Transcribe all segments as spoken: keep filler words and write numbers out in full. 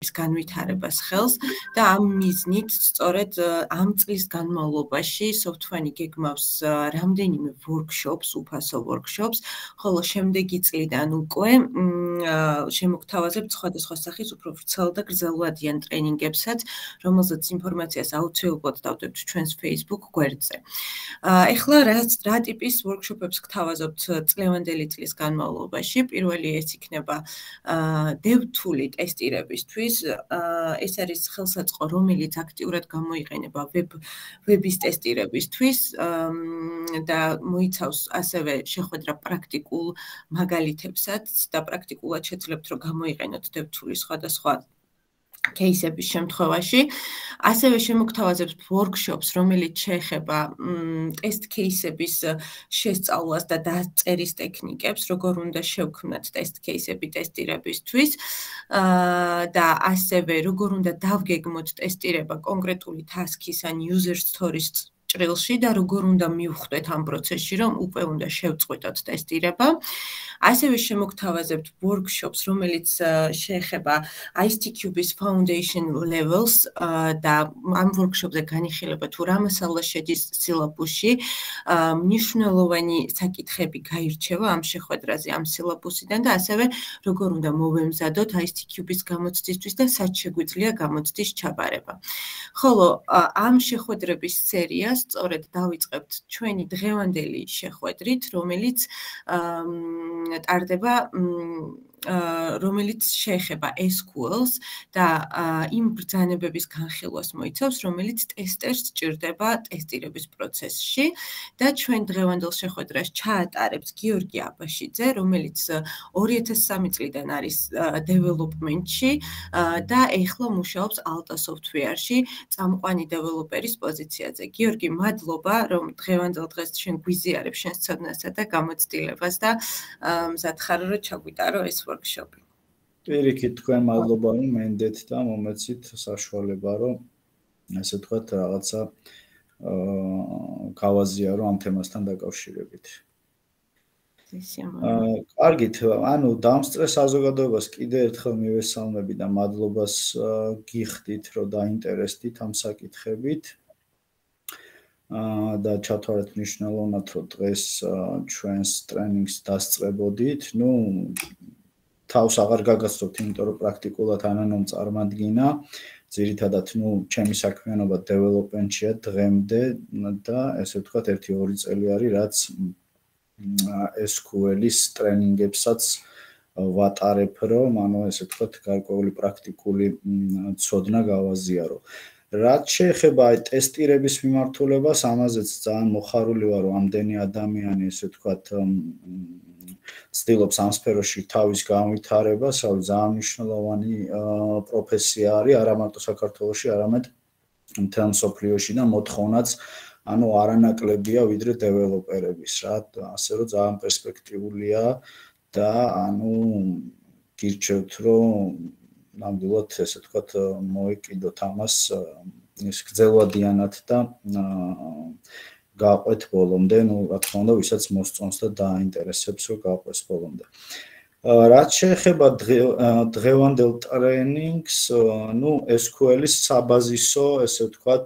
პროტოტიპის განვითარებას ხელს და ამ მიზნით სწორედ ამ წლის განმავლობაში SoftWine გეგმავს რამდენიმე workshops, უფასო workshops, ხოლო შემდეგი წლიდან უკვე შემოგთავაზებთ სხვადასხვა სახის უფრო ვრცელ და გრძელვადიან ტრენინგებსაც, რომელზეც ინფორმაციას აუცილებლად დავდებთ ჩვენს Facebook გვერდზე. ეხლა რა ტიპის workshop-ებს გთავაზობთ წლევანდელი წლის განმავლობაში? პირველი ეს იქნება DevTool-ი ტესტირებისთვის. ეს არის ხელსაწყო, რომელიც აქტიურად გამოიყენება ვების ტესტირებისთვის და მოიცავს ასევე შეხვედრა პრაქტიკულ მაგალითებსაც და პრაქტიკულად შეძლებთ რომ გამოიყენოთ DevTool-ის სხვადასხვა кейსების შემთხვევაში. ასევე შემოგთავაზებთ workshops, რომელიც შეეხება ტესტ кейსების შესწავლას და დაწერის ტექნიკებს, როგორ უნდა შევქმნათ ტესტ кейსები ტესტირებისთვის და ასევე როგორ უნდა დავგეგმოთ ტესტირება კონკრეტული task-ის ან user story-ის ჭრილში და როგორ უნდა მივხვდეთ ამ პროცესში, რომ უკვე უნდა შევწყვიტოთ ტესტირება. ასევე შემოგთავაზებთ workshops, რომელიც შეეხება ICT-Cube-ის foundation levels და ამ workshop-ზე განიხილება თუ რა მასალა შედის სილაბუსში, მნიშვნელოვანი საკითხები გაირჩევა ამ შეხვედრაზე, ამ სილაბუსიდან და ასევე როგორ უნდა მოვემზადოთ ICT-Cube-ის გამოცდისთვის და სად შეგვიძლია გამოცდის ჩაბარება. ხოლო ამ შეხვედრების სერიას სწორედ დავიწყებთ ჩვენი დღევანდელი შეხვედრით, რომელიც ტარდება რომელიც შეეხება ეს кью ელს და იმ ბრძანებების განხილვას მოიცავს, რომელიც ტესტერს სჭირდება ტესტირების პროცესში და ჩვენ დღევანდელ შეხვედრას ჩაატარებს გიორგი აბაშიძე, რომელიც ორი ათას სამი წლიდან არის დეველოპმენტში და ეხლა მუშაობს Alta Software-ში წამყვანი დეველოპერის პოზიციაზე. გიორგი, მადლობა, რომ დღევანდელ დღეს ჩვენ გვიზიარებ შენს ცოდნასა და გამოცდილებას და მზად ხარ რომ ჩაგვიტარო ეს workshop-ი. პირიქით თქვენ მადლობა რომ მენდეთ და მომეცით საშუალება რომ ასე ვთქვათ რაღაცა გავაზიარო ამ თემასთან დაკავშირებით. კარგით, ანუ დამსწრე საზოგადოებას კიდე ერთხელ მივესალმები და მადლობას გიხდით რომ დაინტერესდით ამ საკითხებით. და ჩათვალეთ მნიშვნელოვნად რომ დღეს ჩვენს ტრენინგს დასწრებოდით. ნუ თავს აღარ გაგაცნობთ, იმიტომ რომ პრაქტიკულად ანანომ წარმადგინა. ძირითადად, ნუ ჩემი საქმიანობა დეველოპმენტშია დღემდე და ესე ვთქვათ, ერთი ორი წელი არის, რაც ეს კიუ ელ-ის ტრენინგებსაც ვატარებ, რომ ანუ ესე ვთქვათ, გარკვეული პრაქტიკული ცოდნა გავაზიარო. რაც შეეხება აი ტესტირების მიმართულებას, ამაზეც ძალიან მოხარული ვარ, რომ ამდენი ადამიანი ესე ვთქვათ ცდილობს ამ სფეროში თავის განვითარებას, ანუ ძალიან მნიშვნელოვანი პროფესია არის, არა მარტო საქართველოში, არამედ მთელ მსოფლიოში და მოთხოვნაც ანუ არანაკლებია ვიდრე დეველოპერების, რა, ასე რომ ძალიან პერსპექტიულია და ანუ გირჩევთ, რომ ნამდვილად ესე ვთქვათ მოეკიდოთ ამას ის გრძელვადიანად და გავყვეთ ბოლომდე, ნუ რა თქმა უნდა, ვისაც მოსწონს და დააინტერესებს, რომ გავყვეს ბოლომდე. რაც შეეხება დღევანდელ ტრენინგს, ნუ ეს კიუ ელ-ის საბაზისო, ესე ვთქვათ,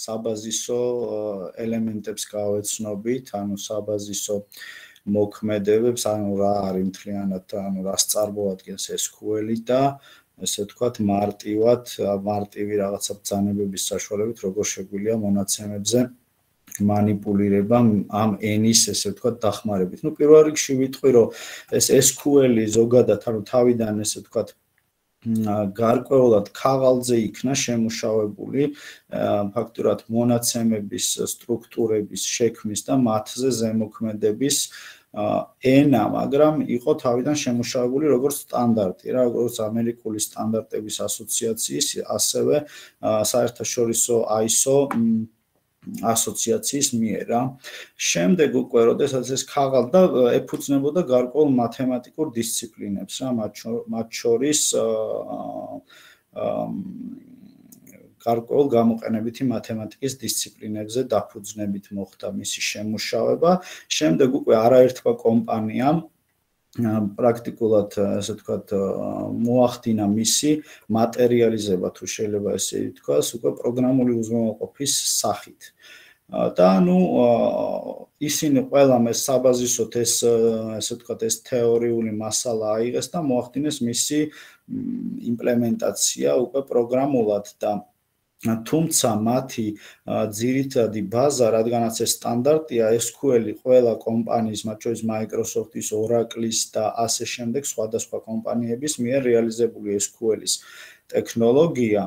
საბაზისო ელემენტებს გავეცნობით, ანუ საბაზისო მოქმედებებს, ანუ რა არის მთლიანად, ანუ რას წარმოადგენს ეს კიუ ელ-ი და ესე ვთქვათ, მარტივად, მარტივი რაღაცა ბრძანებების საშუალებით, როგორ შეგვიძლია მონაცემებზე манипулირება ამ ენის, ესე ვთქვათ, დახმარებით. ნუ პირველ რიგში ვიტყვი, რომ ეს ეს კიუ ელ-ი ზოგადად, ანუ თავიდან, ესე ვთქვათ, გარკვეულად ქაღალდზე იქნა შემუშავებული, ფაქტურად მონაცემების სტრუქტურების შექმნის და მათზე ზემოქმედების ენა, მაგრამ იყო თავიდან შემუშავებული როგორც სტანდარტი, რა, როგორც ამერიკული სტანდარტების ასოციაციის, ასევე საერთაშორისო აი ეს ო ასოციაციის მიერ, რა. შემდეგ უკვე, როდესაც ეს ქაღალდა ეფუძნებოდა გარკვეულ მათემატიკურ დისციპლინებს, რა, მათ შორის გარკვეულ გამოყენებითი მათემატიკის დისციპლინებზე დაფუძნებით მოხდა მისი შემუშავება. შემდეგ უკვე არაერთმა კომპანიამ პრაქტიკულად ასე ვთქვათ მოახდინა მისი მატერიალიზება თუ შეიძლება ესე ითქვას უკვე პროგრამული უზრუნველყოფის სახით. და ნუ ისინი ყველამ ეს საბაზისოდ ეს ასე ვთქვათ ეს თეორიული მასალა აიღეს და მოახდინეს მისი იმპლემენტაცია უკვე პროგრამულად და თუმცა მათი ძირითადი ბაზა, რადგანაც ეს სტანდარტია ეს ес კიუ ელ-ი ყველა კომპანიის, მათ შორის Microsoft-ის, Oracle-ის და ასე შემდეგ სხვადასხვა კომპანიების მიერ რეალიზებული ეს კიუ ელ-ის ტექნოლოგია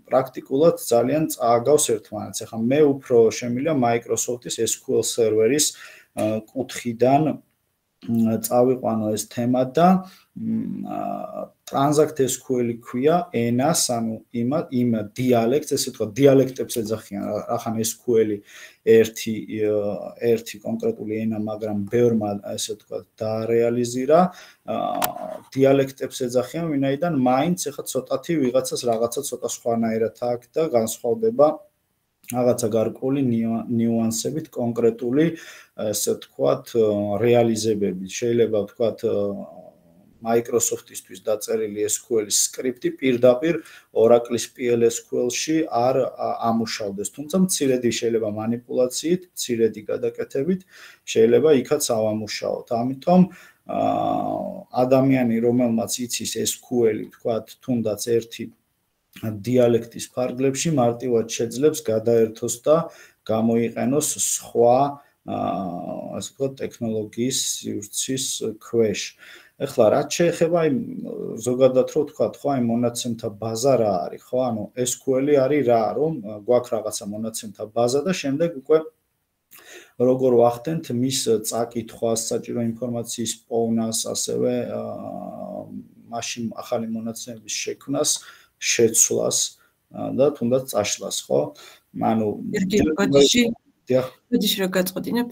პრაქტიკულად ძალიან წააგავს ერთმანეთს. ახლა მე უფრო შემიძლია Microsoft-ის ეს კიუ ელ სერვერის კუთხიდან წავიყვანო ეს თემა და Transact ес კიუ ელ-ი ქვია ენას, ანუ იმ იმ დიალექტს, ესე ვთქვათ, დიალექტებს ეძახიან, ახლა ეს კიუ ელ-ი ერთი ერთი კონკრეტული ენა, მაგრამ ბევრმა ესე ვთქვათ დაარეალიზირა, დიალექტებს ეძახიან, ვინაიდან მაინც ახლა ცოტათი ვიღაცას რაღაცა ცოტა სხვანაირად აქვს და განსხვავდება რაღაცა გარკვეული ნიუანსებით კონკრეტული ესე ვთქვათ რეალიზებები. შეიძლება ვთქვათ Microsoft-ისთვის დაწერილი ეს კიუ ელ-ის სკრიპტი პირდაპირ Oracle-ის პი ელ ес კიუ ელ-ში არ ამუშავდეს, თუმცა მცირედი შეიძლება манипуляციით, მცირედი გადაკეთებით შეიძლება იქაც ავამუშაოთ. ამიტომ ადამიანი, რომელმაც იცის ეს კიუ ელ-ი, ვთქვათ, თუნდაც ერთი დიალექტის ფარგლებში მარტივად შეძლებს გადაერთოს და გამოიყენოს სხვა ასე ვთქვათ ტექნოლოგიის სივრცის ქვეშ. ეხლა რაც შეეხება იმ ზოგადად რო ვთქვათ, ხო, აი მონაცემთა ბაზა რა არის, ხო? ანუ ეს კიუ ელ-ი არის რა, რომ გვაქვს რაღაცა მონაცემთა ბაზა და შემდეგ უკვე როგორ ვახდენთ მის წაკითხვას, საჭირო ინფორმაციის პოვნას, ასევე მაშინ ახალი მონაცემების შექმნას, შეცვლას და თუნდაც წაშლას, ხო? ანუ გიორგი, ბოდიში რა გაწყვეტინებ,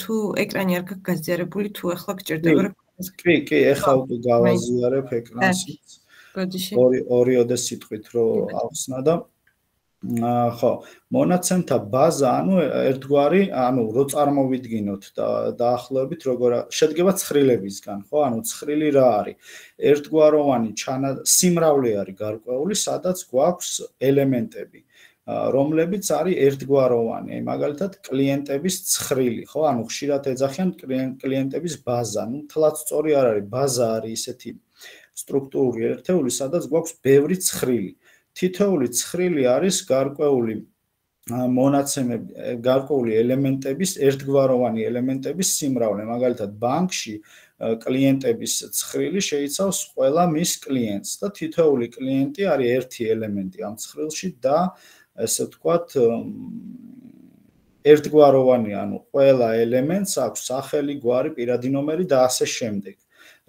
თუ ეკრანი არ გაქვს გაზიარებული, თუ ახლა გჭირდება რა კი, კი, ეხლა უკვე გავაზიარებ ეკრანს. ბოდიში. ორი ორიოდე სიტყვით რო ავხსნა და ხო, მონაცემთა ბაზა, ანუ ერთგვარი, ანუ რო წარმოვიდგინოთ და დაახლოებით როგორ შედგება ცხრილებისგან, ხო? ანუ ცხრილი რა არის? ერთგვაროვანი სიმრავლე არის გარკვეული, სადაც გვაქვს ელემენტები. რომლებიც არის ერთგვაროვანი, მაგალითად კლიენტების ცხრილი, ხო? ანუ ხშირად ეძახიან კლიენტების ბაზა. ნუ თლაც სწორი არ არის, ბაზა არის ისეთი სტრუქტურული ერთეული, სადაც გვაქვს ბევრი ცხრილი. თითოეული ცხრილი არის გარკვეული მონაცემები, გარკვეული ელემენტების, ერთგვაროვანი ელემენტების სიმრავლე. მაგალითად, ბანკში კლიენტების ცხრილი შეიცავს ყველა მის კლიენტს და თითოეული კლიენტი არის ერთი ელემენტი ამ ცხრილში და ესე ვთქვათ ერთგვაროვანი, ანუ ყველა ელემენტს აქვს სახელი, გვარი, პირადი ნომერი და ასე შემდეგ.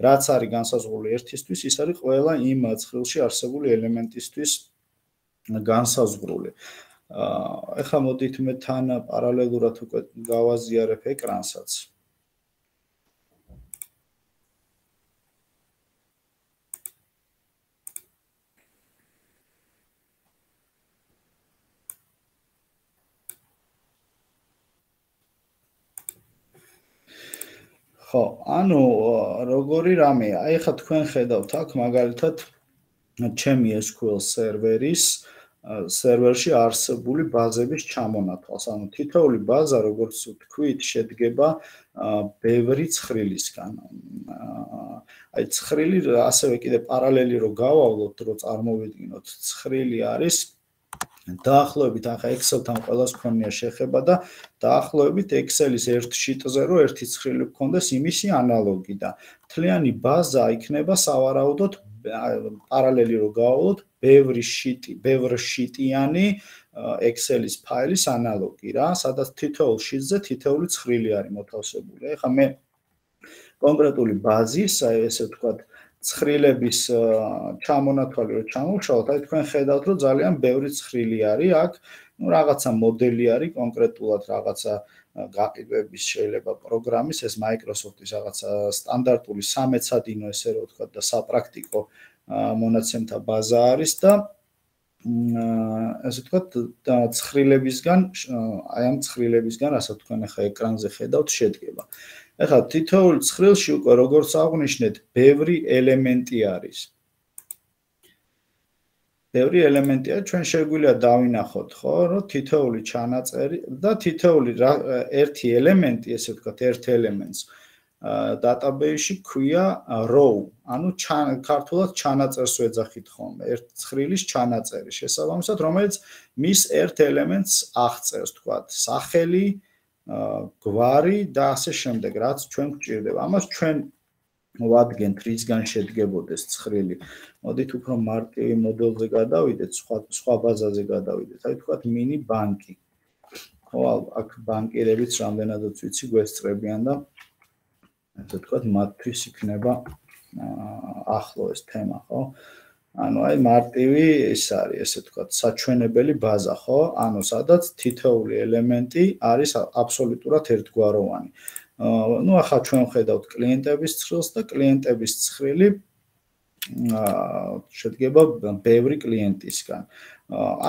რაც არის განსაზღვრული ერთისთვის, ის არის ყველა იმ ცხრილში არსებული ელემენტისთვის განსაზღვრული. ეხლა მოდით მე თან პარალელურად უკვე გავაზიარებ ეკრანსაც. ხო, ანუ როგორი რამეა? აი ხა თქვენ ხედავთ აქ მაგალითად ჩემი ეს კიუ ელ სერვერის სერვერში არსებული ბაზების ჩამონათვალს. ანუ თითოეული ბაზა, როგორც ვთქვით, შედგება ბევრი ცხრილისგან. აი ცხრილი ასევე კიდე პარალელი რო გავავლოთ, რო წარმოვიდგინოთ, ცხრილი არის დაახლოებით ახლა Excel-თან ყველას ქონია შეხება და დაახლოებით Excel-ის ერთ შიტზე რო ერთი ცხრილი გქონდეს იმისი ანალოგი და მთლიანი ბაზა იქნება სავარაუდოდ პარალელი რო გავავლოთ ბევრი შიტი, ბევრ შიტიანი Excel-ის ფაილის ანალოგი რა, სადაც თითოეულ შიტზე თითოეული ცხრილი არის მოთავსებული. ეხლა მე კონკრეტული ბაზის, აი ესე ვთქვათ, ცხრილების ჩამონათვალი რო ჩამოვშალოთ, აი თქვენ ხედავთ, რომ ძალიან ბევრი ცხრილი არის აქ, ну რაღაცა მოდელი არის კონკრეტულად რაღაცა გაყიდვების შეიძლება პროგრამის, ეს Microsoft-ის რაღაცა სტანდარტული სამეცადინო ესე რო ვთქვათ და საპრაქტიკო მონაცემთა ბაზა არის და ესე ვთქვათ ცხრილებისგან, აი ამ ცხრილებისგან, რასაც თქვენ ახლა ეკრანზე ხედავთ, შედგება. ეხლა თითოეულ ცხრილში უკვე როგორც აღვნიშნეთ, ბევრი ელემენტი არის. ბევრი ელემენტია, ჩვენ შეგვიძლია დავინახოთ, ხო, რომ თითოეული ჩანაწერი და თითოეული ერთი ელემენტი, ესე ვთქვათ, ერთ ელემენტს database-ში ქვია row, ანუ ქართულად ჩანაწერს ვეძახით ხოლმე, ერთ ცხრილის ჩანაწერი, შესაბამისად, რომელიც მის ერთ ელემენტს აღწერს, ვთქვათ, სახელი, გვარი და ასე შემდეგ, რაც ჩვენ გვჭირდება. ამას ჩვენ ვადგენთ, რისგან შედგებოდეს ცხრილი. მოდით უფრო მარტივი მოდელზე გადავიდეთ, სხვა სხვა ბაზაზე გადავიდეთ. აი ვთქვათ, მინი ბანკი. ხო, აქ ბანკირებიც რამდენადაც ვიცი გვესწრებიან და ასე ვთქვათ, მათთვის იქნება ახლო ეს თემა, ხო? ანუ აი მარტივი ეს არის, ესე ვთქვათ, საჩვენებელი ბაზა, ხო? ანუ სადაც თითოეული ელემენტი არის აბსოლუტურად ერთგვაროვანი. ну ახლა ჩვენ ვხედავთ კლიენტების ცხრილს და კლიენტების ცხრილი შედგება ბევრი კლიენტისგან.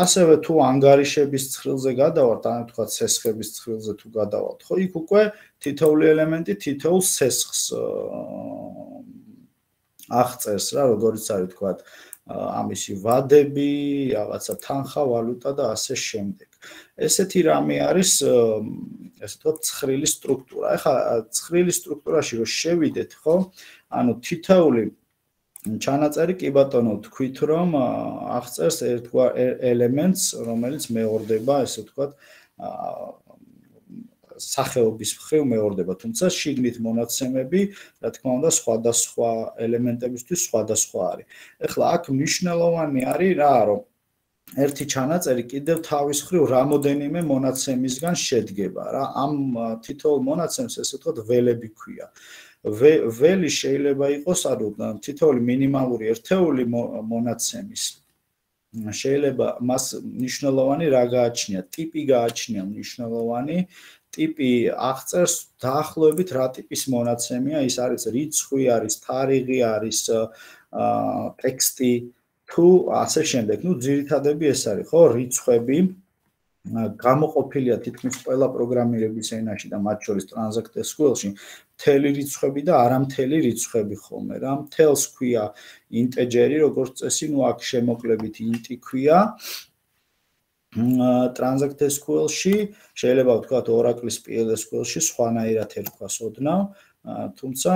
ასევე თუ ანგარიშების ცხრილზე გადავართ, ან თქვა სესხების ცხრილზე თუ გადავალთ, ხო, იქ უკვე თითოეული ელემენტი თითოეულ სესხს აღწერს რა, როგორც არის თქვა ამისი ვადები, რაღაცა თანხა, ვალუტა და ასე შემდეგ. ესეთი რამე არის, ესე ვთქვათ, ცხრილის სტრუქტურა. ეხლა ცხრილის სტრუქტურაში რო შევიდეთ, ხო? ანუ თითოეული ჩანაწერი კი ბატონო თქვით, რომ აღწერს ერთგვარ ელემენტს, რომელიც მეორდება, ესე ვთქვათ, სახეობის მხრივ მეორდება, თუმცა შიგნით მონაცემები, რა თქმა უნდა, სხვადასხვა ელემენტებისთვის სხვადასხვა არის. ეხლა აქ მნიშვნელოვანი არის რა, რომ ერთი ჩანაწერი კიდევ თავის მხრივ რამოდენიმე მონაცემისგან შედგება რა. ამ თითოეულ მონაცემს ესე ვთქვათ ველები ქვია. ველი შეიძლება იყოს, ანუ თითოეული მინიმალური ერთეული მონაცემის შეიძლება მას მნიშვნელოვანი რა გააჩნია, ტიპი გააჩნია მნიშვნელოვანი, ტიპი აღწერს დაახლოებით რა ტიპის მონაცემია, ის არის რიცხვი, არის თარიღი, არის ტექსტი თუ ასე შემდეგ. ну ძირითადები ეს არის, ხო, რიცხვები გამოყოფილია თითქმის ყველა პროგრამირების ენაში და მათ შორის Transact ეს кю ელ-ში მთელი რიცხვები და არამთელი რიცხვები ხოლმე რა. მთელს ქვია ინტეჯერი, როგორც წესი, ну აქ შემოკლებით int-ი ქვია. Transact ეს კю ელ-ში შეიძლება ვთქვათ Oracle-ის პი ელ ეს კю ელ-ში სხვანაირად ერქვას ოდნავ, თუმცა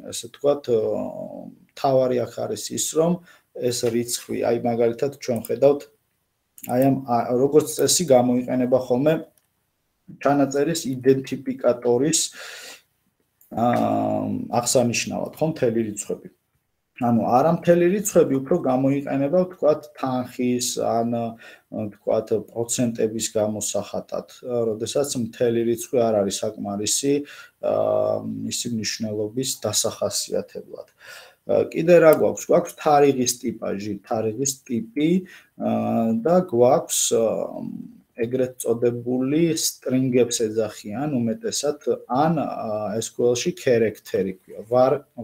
ესე ვთქვათ თავარი აქ არის ის, რომ ეს რიცხვი, აი მაგალითად ჩვენ ხედავთ აი ამ როგორც წესი გამოიყენება ხოლმე ჩანაწერის იდენტიფიკატორის აღსანიშნავად, ხო, მთელი რიცხვები. ანუ არამთელი რიცხვები უფრო გამოიყენება, ვთქვათ, თანხის ან ვთქვათ პროცენტების გამოსახატად, როდესაც მთელი რიცხვი არ არის საკმარისი მისი მნიშვნელობის დასახასიათებლად. კიდე რა გვაქვს? გვაქვს თარიღის ტიპაჟი, თარიღის ტიპი და გვაქვს ეგრეთ წოდებული string-ებს ეძახიან უმეტესად ან ეს კю ელ-ში character-ი ქვია.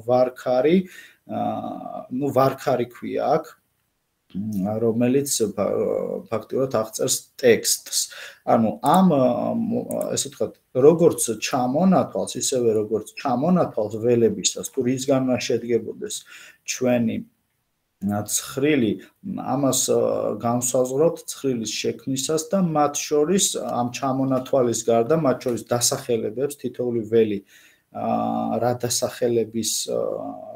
varchar-ი, ну varchar-ი ქვია აქ, რომელიც ფაქტიურად აღწერს ტექსტს. ანუ ამ ესე ვთქვათ, როგორც ჩამონათვალს, ისევე როგორც ჩამონათვალს ველებისას, თუ რისგან უნდა შედგებოდეს ჩვენი ცხრილი, ამას განსაზღვრავთ ცხრილის შექმნისას და მათ შორის ამ ჩამონათვალის გარდა, მათ შორის დასახელებებს თითოეული ველი რა დასახელების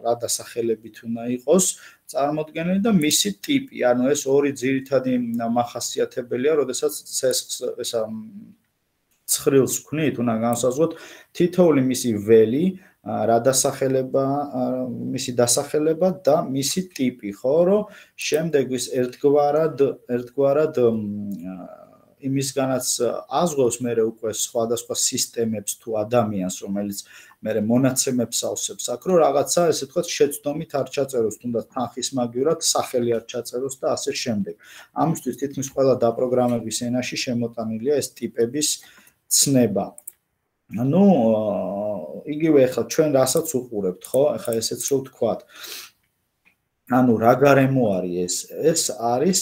რა დასახელებით უნდა იყოს წარმოდგენილი და მისი ტიპი, ანუ ეს ორი ძირითადი მახასიათებელია, როდესაც ესა ცხრილს ვქნით, უნდა განსაზღვროთ თითოეული მისი ველი, რა დასახელება, მისი დასახელება და მისი ტიპი, ხო, რომ შემდეგ ის ერთგვარად ერთგვარად იმისგანაც აზღვევს მე უკვე სხვადასხვა სისტემებს თუ ადამიანს, რომელიც მე მონაცემებს ავსებს აქ, რომ რაღაცა ესე ვთქვათ შეცდომით არ ჩაწეროს, თუნდაც თანხის მაგივრად სახელი არ ჩაწეროს და ასე შემდეგ. ამისთვის თითქმის ყველა დაპროგრამების ენაში შემოტანილია ეს ტიპების ცნება. ну იგივე ახლა ჩვენ რასაც უყურებთ, ხო? ახლა ესეც რო ვთქვათ. ანუ რა გარემო არის ეს? ეს არის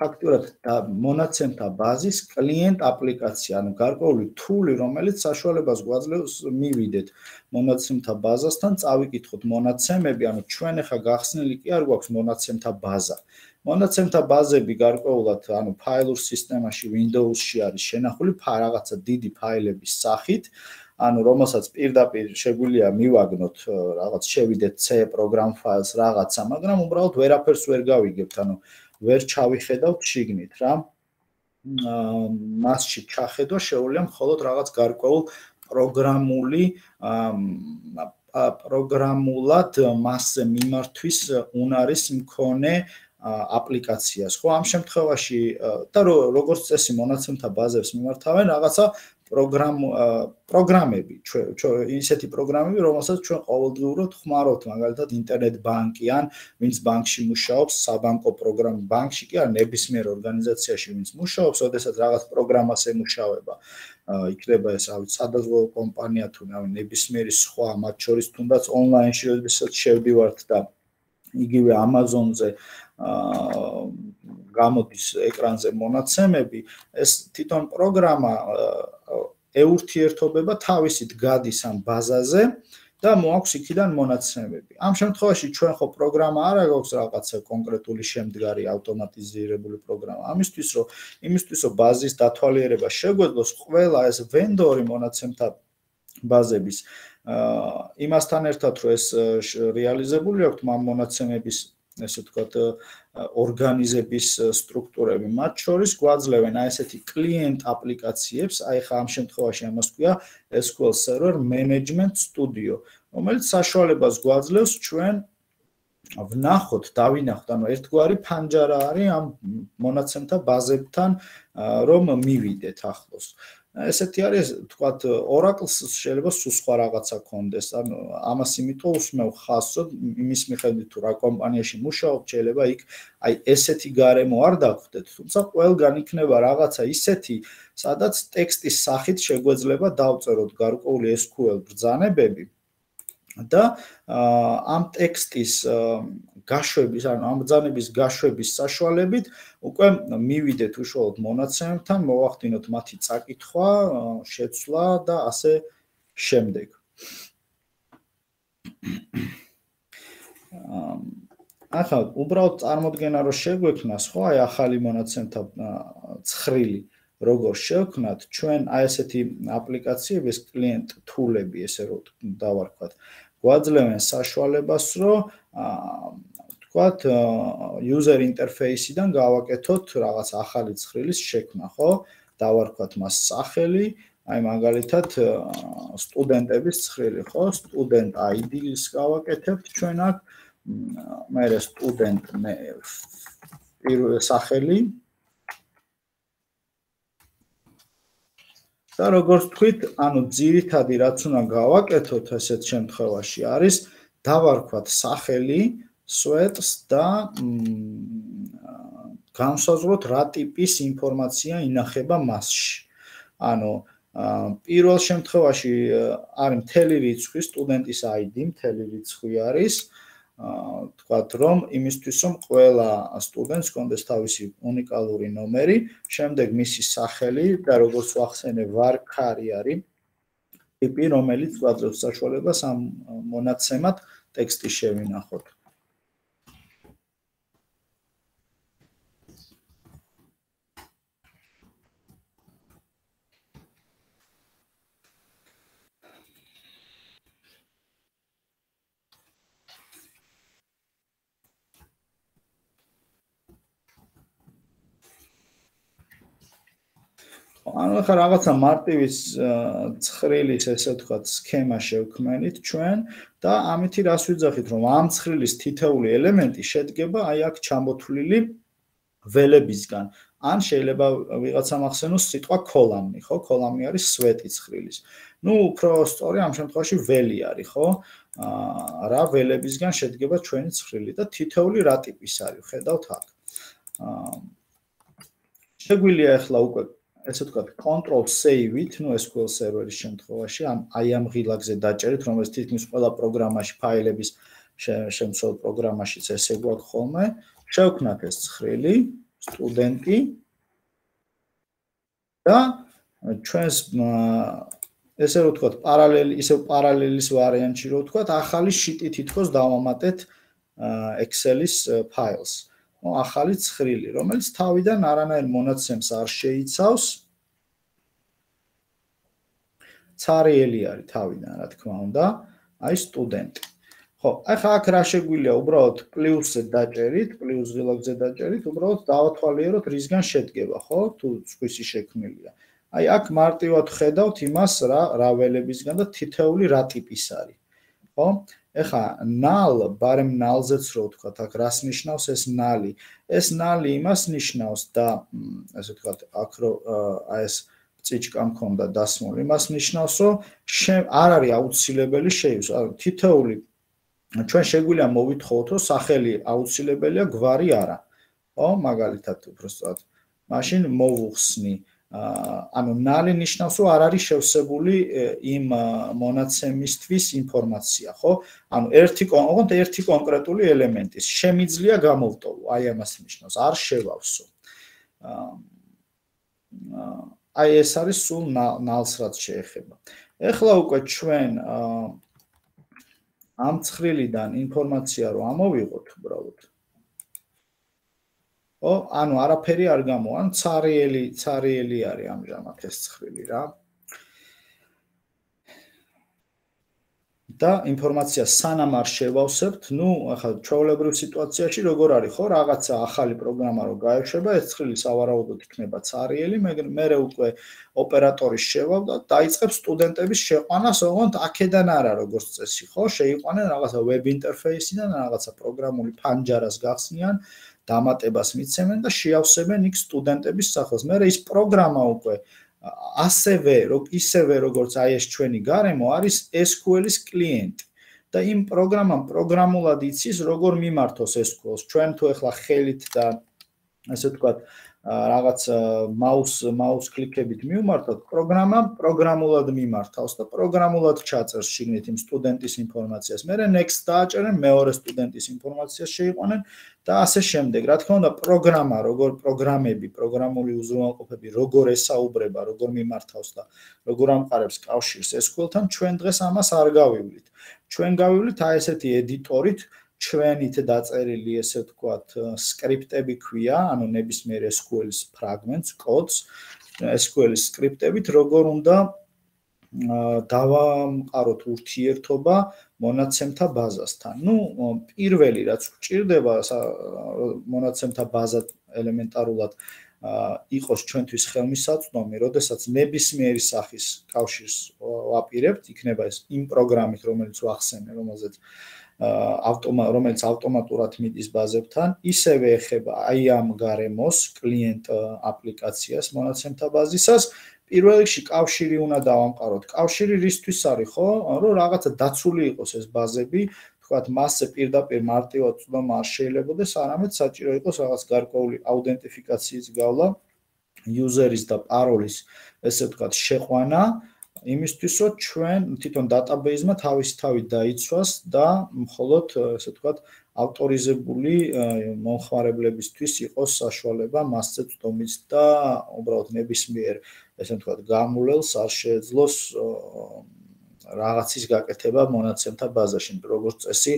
ფაქტურად მონაცემთა ბაზის კლient აპლიკაცია, ანუ გარკვეული თული, რომელიც საშუალებას გვაძლევს მივიდეთ მონაცემთა ბაზასთან, წავიკითხოთ მონაცემები, ანუ ჩვენ ახლა გახსნილი კი არ გვაქვს მონაცემთა ბაზა. მონაცემთა ბაზები გარკვეულად, ანუ ფაილურ სისტემაში Windows-ში არის შენახული რაღაცა დიდი ფაილების სახით, ანუ რომელსაც პირდაპირ შეგვიძლია მივაგნოთ რაღაც შევიდეთ C program files რაღაცა, მაგრამ უბრალოდ ვერაფერს ვერ გავიგებთ, ანუ ვერ ჩავიხედავთ შიგნით რა. მასში ჩახედვა შეუძლია მხოლოდ რაღაც გარკვეულ პროგრამული პროგრამულად მასზე მიმართვის უნარის მქონე აპლიკაციას. ხო, ამ შემთხვევაში და როგორც წესი მონაცემთა ბაზებს მიმართავენ რაღაცა პროგრამ პროგრამები, ისეთი პროგრამები, რომელსაც ჩვენ ყოველდღიურად ხმარობთ, მაგალითად ინტერნეტ ბანკი ან ვინც ბანკში მუშაობს, საბანკო პროგრამა ბანკში კი არ ნებისმიერ ორგანიზაციაში ვინც მუშაობს, ოდესაც რაღაც პროგრამას ემუშავება. იქნება ეს ავი სადაზღვევო კომპანია თუ ნებისმიერი სხვა, მათ შორის თუნდაც ონლაინში როდესაც შევდივართ და იგივე Amazon-ზე გამოდის ეკრანზე მონაცემები, ეს თვითონ პროგრამა ეურთიერთობება თავისით გადის ამ ბაზაზე და მოაქვს იქიდან მონაცემები. ამ შემთხვევაში ჩვენ ხო პროგრამა არ აქვს რაღაცა კონკრეტული შემდგარი ავტომატიზირებული პროგრამა. ამისთვის რომ იმისთვის რომ ბაზის დათვალიერება შეგვეძლოს, ყველა ეს ვენდორი მონაცემთა ბაზების იმასთან ერთად რომ ეს რეალიზებული აქვს ამ მონაცემების ესე ვთქვათ ორგანიზების სტრუქტურები, მათ შორის გვაძლევენ აი ესეთი კლient აპლიკაციებს, აი ხა ამ შემთხვევაში ამას ქვია S Q L Server Management Studio, რომელიც საშუალებას გვაძლევს ჩვენ ვნახოთ, დავინახოთ, ანუ ერთგვარი ფანჯარა არის ამ მონაცემთა ბაზებთან, რომ მივიდეთ ახლოს. ესეთი არის, თქვათ, Oracle-ს შეიძლება სულ სხვა რაღაცა ქონდეს, ანუ ამას იმიტომ უსმევ ხაზს, რომ იმის მიხედვით თუ რა კომპანიაში მუშაობ, შეიძლება იქ აი ესეთი გარემო არ დაგვხდეთ, თუმცა ყველგან იქნება რაღაცა ისეთი, სადაც ტექსტის სახით შეგვეძლება დავწეროთ გარკვეული S Q L ბრძანებები და ამ ტექსტის გაშვების, ანუ ამ ბრძანების გაშვების საშუალებით უკვე მივიდეთ უშუალოდ მონაცემებთან, მოვახდინოთ მათი წაკითხვა, შეცვლა და ასე შემდეგ. ახლა უბრალოდ წარმოდგენა რომ შეგვექნას, ხო, აი ახალი მონაცემთა ცხრილი როგორ შევქმნათ, ჩვენ აი ესეთი აპლიკაციების კლient tool-ები, ესე რომ დავარქვათ, გვაძლევენ საშუალებას, რომ თქვათ user interface-დან გავაკეთოთ რაღაც ახალი ცხრილის შექმნა, ხო? დავარქვათ მას სახელი, აი მაგალითად სტუდენტების ცხრილი, ხო? student I D-ს გავაკეთებთ ჩვენ აქ, მერე student სახელი და როგორც თქვით, ანუ ძირითადი რაც უნდა გავაკეთოთ ასეთ შემთხვევაში არის დავარქვათ სახელი, სვეტს და განსაზღვროთ რა ტიპის ინფორმაცია ინახება მასში. ანუ პირველ შემთხვევაში არის მთელი რიცხვი, სტუდენტის I D მთელი რიცხვი არის. თქვათ რომ იმისთვის რომ ყველა სტუდენტს კონდეს თავისი უნიკალური ნომერი, შემდეგ მისი სახელი და როგორც ვახსენე varchar არის ტიპი, რომელიც გვაძლევს საშუალებას ამ მონაცემად ტექსტი შევინახოთ. ანუ ახლა რაღაცა მარტივის ცხრილის ესე ვთქვათ სქემა შევქმნით ჩვენ და ამითი რას ვიძახით, რომ ამ ცხრილის თითოეული ელემენტი შედგება აი აქ ჩამოთვლილი ველებისგან. ან შეიძლება ვიღაცამ ახსენოს სიტყვა column-ი, ხო? column-ი არის სვეტი ცხრილის. ნუ უფრო სწორი ამ შემთხვევაში ველი არის, ხო? რა ველებისგან შედგება ჩვენი ცხრილი და თითოეული რა ტიპის არის, ხედავთ აქ. შეგვიძლია ახლა უკვე ესე ვთქვათ, control save-ით, ნუ S Q L server-ის შემთხვევაში, ან აი ამ ღილაკზე დაჭერით, რომელიც თითქმის ყველა პროგრამაში ფაილების შემცველ პროგრამაშიც ესე გვაქვს ხოლმე. შევქმნათ ეს ცხრილი სტუდენტი და ჩვენს ესე რომ ვთქვათ, პარალელი, ისევ პარალელის ვარიანტში რომ ვთქვათ, ახალი შიტი თითქოს დავამატეთ Excel-ის ფაილს. ნუ ახალი ცხრილი, რომელიც თავიდან არანაირ მონაცემს არ შეიცავს. ცარიელი არის თავიდან, რა თქმა უნდა, აი სტუდენტი. ხო, ახლა აქ რა შეგვიძლია, უბრალოდ პლუსზე დაჭერით, პლუს ღილაკზე დაჭერით, უბრალოდ დავათვალიეროთ რისგან შედგება, ხო? თუ სხვისი შექმნილია. აი აქ მარტივად ხედავთ იმას რა რა ველებისგან და თითეული რა ტიპის არის. ხო? ეხა null, ბარემ null-ზეც რო ვთქვათ, აქ რას ნიშნავს ეს null-ი? ეს null-ი იმას ნიშნავს და ასე ვთქვათ, აქ რო აი ეს წიჭკა მქონდა დასმული, იმას ნიშნავს, რომ არ არის აუცილებელი შეივსო. თითეული ჩვენ შეგვიძლია მოვითხოვოთ, რომ სახელი აუცილებელია, გვარი არა. ხო, მაგალითად უბრალოდ მაშინ მოვუხსნი ანუ null-ი ნიშნავს, რომ არ არის შევსებული იმ მონაცემისთვის ინფორმაცია, ხო? ანუ ერთი ოღონდ ერთი კონკრეტული ელემენტის შემიძლია გამოვტოვო, აი ამას ნიშნავს, არ შევავსო. აი ეს არის სულ null-ს რაც შეეხება. ეხლა უკვე ჩვენ ამ ცხრილიდან ინფორმაცია რო ამოვიღოთ უბრალოდ. ო, ანუ არაფერი არ გამოვა, ანუ ცარიელი, ცარიელი არის ამჟამად ეს ცხრილი რა. და ინფორმაცია სანამ არ შევავსებთ, ნუ ახლა ჩვეულებრივ სიტუაციაში როგორ არის, ხო, რაღაცა ახალი პროგრამა რო გაეშვება, ეს ცხრილი სავარაუდოდ იქნება ცარიელი, მერე უკვე ოპერატორის შევავ და დაიწყებს სტუდენტების შეყვანას, ოღონდ აქედან არა როგორც წესი, ხო, შეიყვანენ რაღაცა web interface-დან, რაღაცა პროგრამული ფანჯარას გახსნიან, დამატებას მიცემენ და შეავსებენ იქ სტუდენტების სახელს. მერე ის პროგრამა უკვე ასევე ისევე როგორც აი ეს ჩვენი გარემო არის ეს კიუ ელ-ის კლიენტი და იმ პროგრამამ პროგრამულად იცის როგორ მიმართოს ეს კიუ ელს. ჩვენ თუ ახლა ხელით და ასე ვთქვათ რაღაც მაუს მაუს კლიკებით მივმართოთ, პროგრამა პროგრამულად მიმართავს და პროგრამულად ჩაწერს შიგნით იმ სტუდენტის ინფორმაციას. მერე next დააჭერენ, მეორე სტუდენტის ინფორმაციას შეიყვანენ და ასე შემდეგ. რა თქმა უნდა, პროგრამა, როგორ პროგრამები, პროგრამული უზრუნველყოფები, როგორ ესაუბრება, როგორ მიმართავს და როგორ ამყარებს კავშირს ეს კიუ ელ-თან, ჩვენ დღეს ამას არ გავივლით. ჩვენ გავივლით აი ესეთი ედიტორით ჩვენით დაწერილი ესე ვთქვათ სკრიპტები ქვია, ანუ ნებისმიერ ეს კიუ ელ-ის ფრაგმენტს, კოდს, ეს კიუ ელ-ის სკრიპტებით როგორ უნდა დავამყაროთ ურთიერთობა მონაცემთა ბაზასთან. ნუ პირველი რაც გვჭირდება მონაცემთა ბაზა ელემენტარულად იყოს ჩვენთვის ხელმისაწვდომი, როდესაც ნებისმიერი სახის კავშირს ვაპირებთ, იქნება ეს იმ პროგრამით, რომელიც ვახსენე, რომელზეც ავტომა რომელიც ავტომატურად მიდის ბაზებთან, ისევე ეხება აი ამ გარემოს კლიენტ აპლიკაციას მონაცემთა ბაზისას. პირველ რიგში კავშირი უნდა დავამყაროთ. კავშირი რისთვის არის, ხო? რომ რაღაცა დაცული იყოს ეს ბაზები, თქვათ მასზე პირდაპირ მარტივად წვდომა არ შეიძლებადეს, არამედ საჭირო იყოს რაღაც გარკვეული აუდენტიფიკაციის გავლა, იუზერის და პაროლის, ესე ვთქვათ, შეყვანა. იმისთვის რომ ჩვენ თვითონ დატაბეიზმა თავისი თავი დაიცვას და მხოლოდ ესე ვთქვათ ავტორიზებული მომხმარებლებისთვის იყოს საშუალება მასზე წვდომის და უბრალოდ ნებისმიერ ესე ვთქვათ გამულელს არ შეეძლოს რაღაცის გაკეთება მონაცემთა ბაზაში. როგორც წესი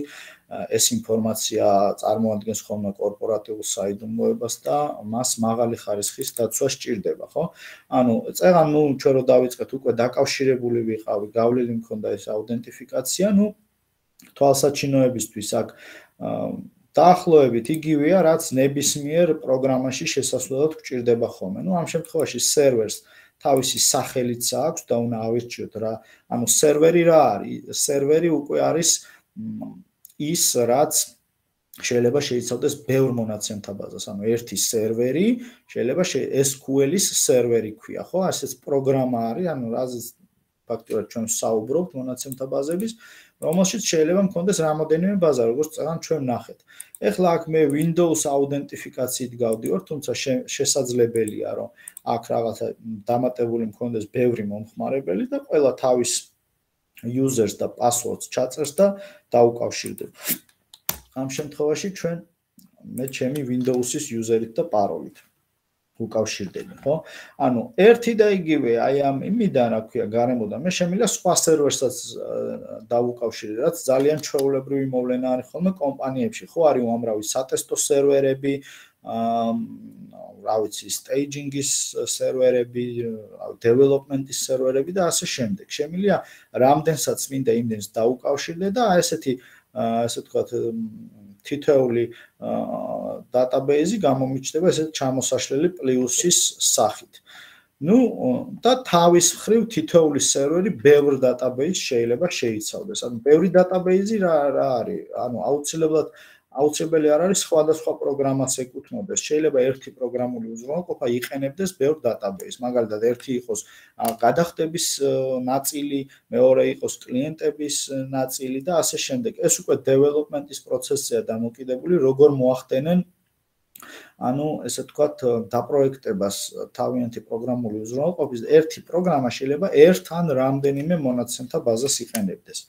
ეს ინფორმაცია წარმოადგენს ხოლმე კორპორატიულ საიდუმლოებას და მას მაღალი ხარისხის დაცვა სჭირდება, ხო? ანუ წეღან ნუ ჩვენ რო დავიწყეთ უკვე დაკავშირებული ვიყავი, გავლილი მქონდა ეს აუდენტიფიკაცია, ნუ თვალსაჩინოებისთვის აქ დაახლოებით იგივეა, რაც ნებისმიერ პროგრამაში შესასვლელად გვჭირდება ხოლმე. ნუ ამ შემთხვევაში სერვერს თავისი სახელიც აქვს და უნდა ავირჩიოთ რა. ანუ სერვერი რა არის? სერვერი უკვე არის ის, რაც შეიძლება შეიცავდეს ბევრ მონაცემთა ბაზას. ანუ ერთი სერვერი შეიძლება ეს კიუ ელ-ის სერვერი ქვია, ხო? ასეც პროგრამა არის, ანუ რაზეც ფაქტობრივად ჩვენ საუბრობთ მონაცემთა ბაზების, რომელშიც შეიძლება მქონდეს რამოდენიმე ბაზა, როგორც წეგან ჩვენ ნახეთ. ეხლა აქ მე Windows აუდენტიფიკაციით გავდივარ, თუმცა შესაძლებელია, რომ აქ რაღაცა დამატებული მქონდეს ბევრი მომხმარებელი და ყველა თავის users და passwords ჩაწერს და დაუკავშირდება. ამ შემთხვევაში ჩვენ მე ჩემი Windows-ის user-ით და parol-ით უკავშირდები, ხო? ანუ ერთი და იგივე აი ამ იმიდან, რა ქვია, გარემოდან მე შემიძლია სხვა სერვერსაც დავუკავშირდე, რაც ძალიან ჩვეულებრივი მოვლენა არის ხოლმე კომპანიებში, ხო, არის უამრავი სატესტო სერვერები, აა რა ვიცი, staging-ის სერვერები, development-ის სერვერები და ასე შემდეგ. შემიძლია რამდენსაც მინდა იმდენს დაუკავშირდე და აი ესეთი ასე ვთქვათ თითოეული database-ი გამომიჩნდება ესეთ ჩამოსაშლელი პლუსის სახით. ნუ და თავის მხრივ თითოეული სერვერი ბევრ database შეიძლება შეიცავდეს. ანუ ბევრი database-ი რა რა არის? ანუ აუცილებლად აუცილებელი არ არის სხვადასხვა პროგრამას ეკუთვნოდეს. შეიძლება ერთი პროგრამული უზრუნველყოფა იყენებდეს ბევრ database. მაგალითად, ერთი იყოს გადახდების ნაწილი, მეორე იყოს კლიენტების ნაწილი და ასე შემდეგ. ეს უკვე development-ის პროცესია დამოკიდებული, როგორ მოახდენენ ანუ ესე ვთქვათ, დაპროექტებას თავიანთი პროგრამული უზრუნველყოფის ერთი პროგრამა შეიძლება ერთ ან რამდენიმე მონაცემთა ბაზას იყენებდეს.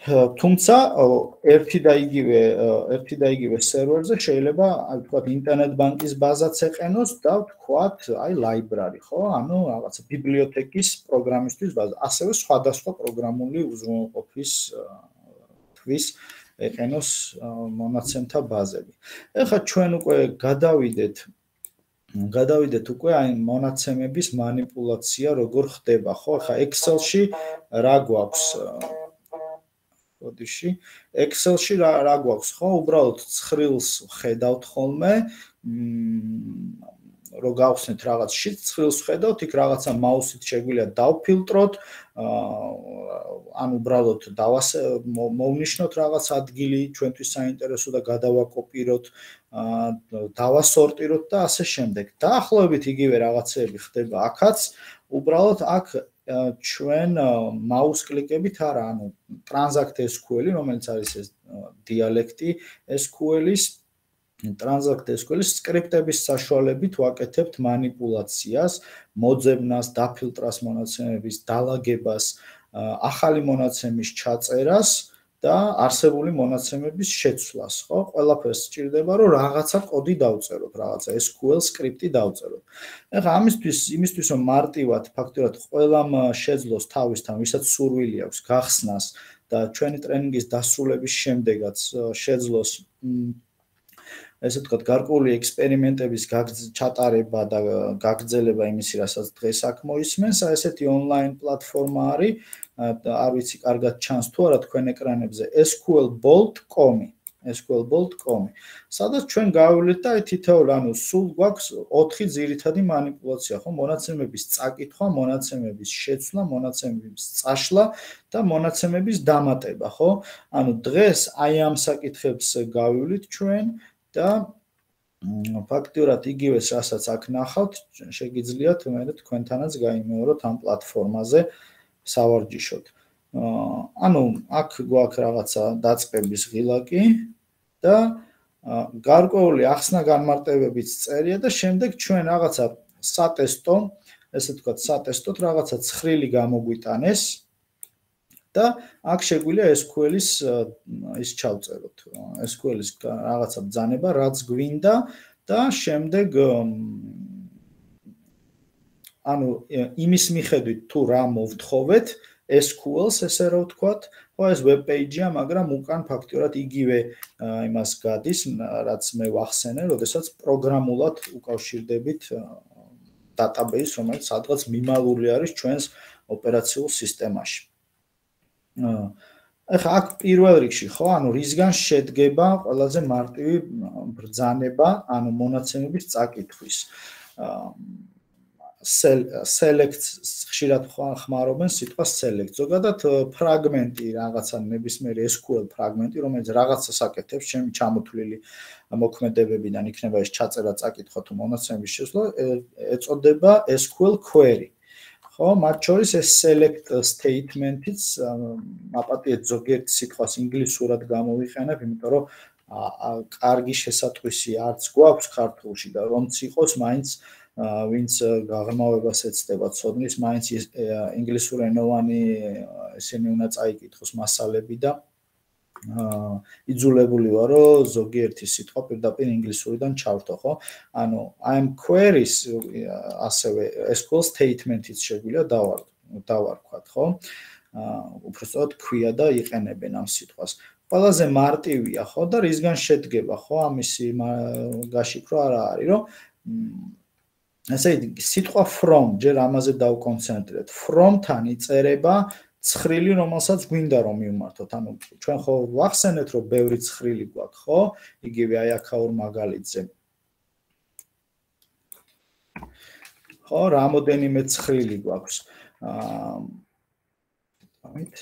თუმცა ერთი და იგივე ერთი და იგივე სერვერზე შეიძლება აი ვთქვათ ინტერნეტ ბანკის ბაზაც ეყენოს და ვთქვათ აი library, ხო? ანუ რაღაცა ბიბლიოთეკის პროგრამისთვის ბაზა. ასევე სხვადასხვა პროგრამული უზრუნველყოფის თვის ეყენოს მონაცემთა ბაზები. ეხლა ჩვენ უკვე გადავიდეთ გადავიდეთ უკვე აი მონაცემების манипуляცია როგორ ხდება, ხო? ეხლა Excel-ში რა გვაქვს? ოდიში Excel-ში რა რა გვაქვს, ხო? უბრალოდ ცხრილს ხედავთ ხოლმე, რო გავხსნით რაღაც შიტს, ცხრილს ხედავთ, იქ რაღაცა მაუსით შეგვიძლია დავფილტროთ, ან უბრალოდ დავასე მოვნიშნოთ რაღაც ადგილი ჩვენთვის საინტერესო და გადავაკოპიროთ, დავასორტიროთ და ასე შემდეგ. დაახლოებით იგივე რაღაცეები ხდება აქაც, უბრალოდ აქ ჩვენ მაუს კლიკებით არა, ანუ Transact S Q L-ი, რომელიც არის ეს დიალექტი S Q L-ის, Transact S Q L-ის სკრიპტების საშუალებით ვაკეთებთ манипуляციას, მოძებნას, დაფილტრას მონაცემების, დალაგებას, ახალი მონაცემის ჩაწერას და არსებული მონაცემების შეცვლას, ხო? ყველაფერს სჭირდება, რომ რაღაცა კოდი დავწეროთ, რაღაცა S Q L სკრიპტი დავწეროთ. ეხლა ამისთვის, იმისთვის რომ მარტივად ფაქტურად ყველამ შეძლოს თავისთან, ვისაც სურვილი აქვს გახსნას და ჩვენი ტრენინგის დასრულების შემდეგაც შეძლოს ესე ვთქვათ, გარკვეული ექსპერიმენტების ჩატარება და გაგრძელება იმისი, რასაც დღეს აქ მოისმენს, ესეთი ონლაინ პლატფორმა არის, არ ვიცი, კარგად ჩანს თუ არა თქვენ ეკრანებზე, S Q L bolt dot com, S Q L bolt dot com, სადაც ჩვენ გავივლით და აი თითოეული, ანუ სულ გვაქვს ოთხი ძირითადი манипуляცია, ხო, მონაცემების წაკითხვა, მონაცემების შეცვლა, მონაცემების წაშლა და მონაცემების დამატება, ხო? ანუ დღეს აი ამ საკითხებს გავივლით ჩვენ და ფაქტურად იგივეს რასაც აქ ნახავთ, შეგიძლიათ მე თქვენთანაც გაიმეოროთ ამ პლატფორმაზე სავარჯიშოდ. ანუ აქ გვაქვს რაღაცა დაწყების ღილაკი და გარკვეული ახსნა განმარტებებიც წერია და შემდეგ ჩვენ რაღაცა სატესტო, ესე ვთქვათ, სატესტოდ რაღაცა ცხრილი გამოგვიტანეს და აქ შეგვიძლია S Q L-ის ის ჩავწეროთ. S Q L-ის რაღაცა ბრძანება, რაც გვინდა და შემდეგ ანუ იმის მიხედვით თუ რა მოვთხოვეთ S Q L-ს, ესე რა ვთქვათ, ხო ეს web page-ია, მაგრამ უკან ფაქტურად იგივე იმას გადის, რაც მე ვახსენე, როდესაც პროგრამულად უკავშირდებით database, რომელიც სადღაც მიმალული არის ჩვენს ოპერაციულ სისტემაში. ეხლა აქ პირველ რიგში, ხო, ანუ რისგან შედგება ყველაზე მარტივი ბრძანება, ანუ მონაცემების წაკითხვის. select ხშირად ხმარობენ სიტყვას select. ზოგადად ფრაგმენტი რაღაცა ნებისმიერი S Q L ფრაგმენტი, რომელიც რაღაცას აკეთებს ჩემი ჩამოთვლილი მოქმედებებიდან იქნება ეს ჩაწერა, წაკითხვა თუ მონაცემების შესვლა, ეწოდება S Q L query. ხო, მათ შორის ეს select statement-იც აპატიეთ ზოგიერთ სიტყვას ინგლისურად გამოვიყენებ, იმიტომ რომ კარგი შესატყვისი არც გვაქვს ქართულში და რომც იყოს, მაინც ვინც გაღრმავებას ეცდება ცოდნის, მაინც ინგლისურენოვანი ესენი უნდა წაიკითხოს მასალები და იძულებული ვარ, რომ ზოგიერთი სიტყვა პირდაპირ ინგლისურიდან ჩავრთო, ხო? ანუ I am queries ასევე ეს query statement-იც შეგვიძლია დავარ დავარქვათ, ხო? უბრალოდ ქვია და იყენებენ ამ სიტყვას. ყველაზე მარტივია, ხო და რისგან შედგება, ხო? ამისი გაშიფრო არა არის, რომ ესე იგი სიტყვა from ჯერ ამაზე დავკონცენტრირეთ. From-თან იწერება ცხრილი, რომელსაც გვინდა რომ მივმართოთ. ანუ ჩვენ ხო ვახსენეთ, რომ ბევრი ცხრილი გვაქვს, ხო? იგივე აი აქაურ მაგალითზე. ხო, რამოდენიმე ცხრილი გვაქვს. აა ამით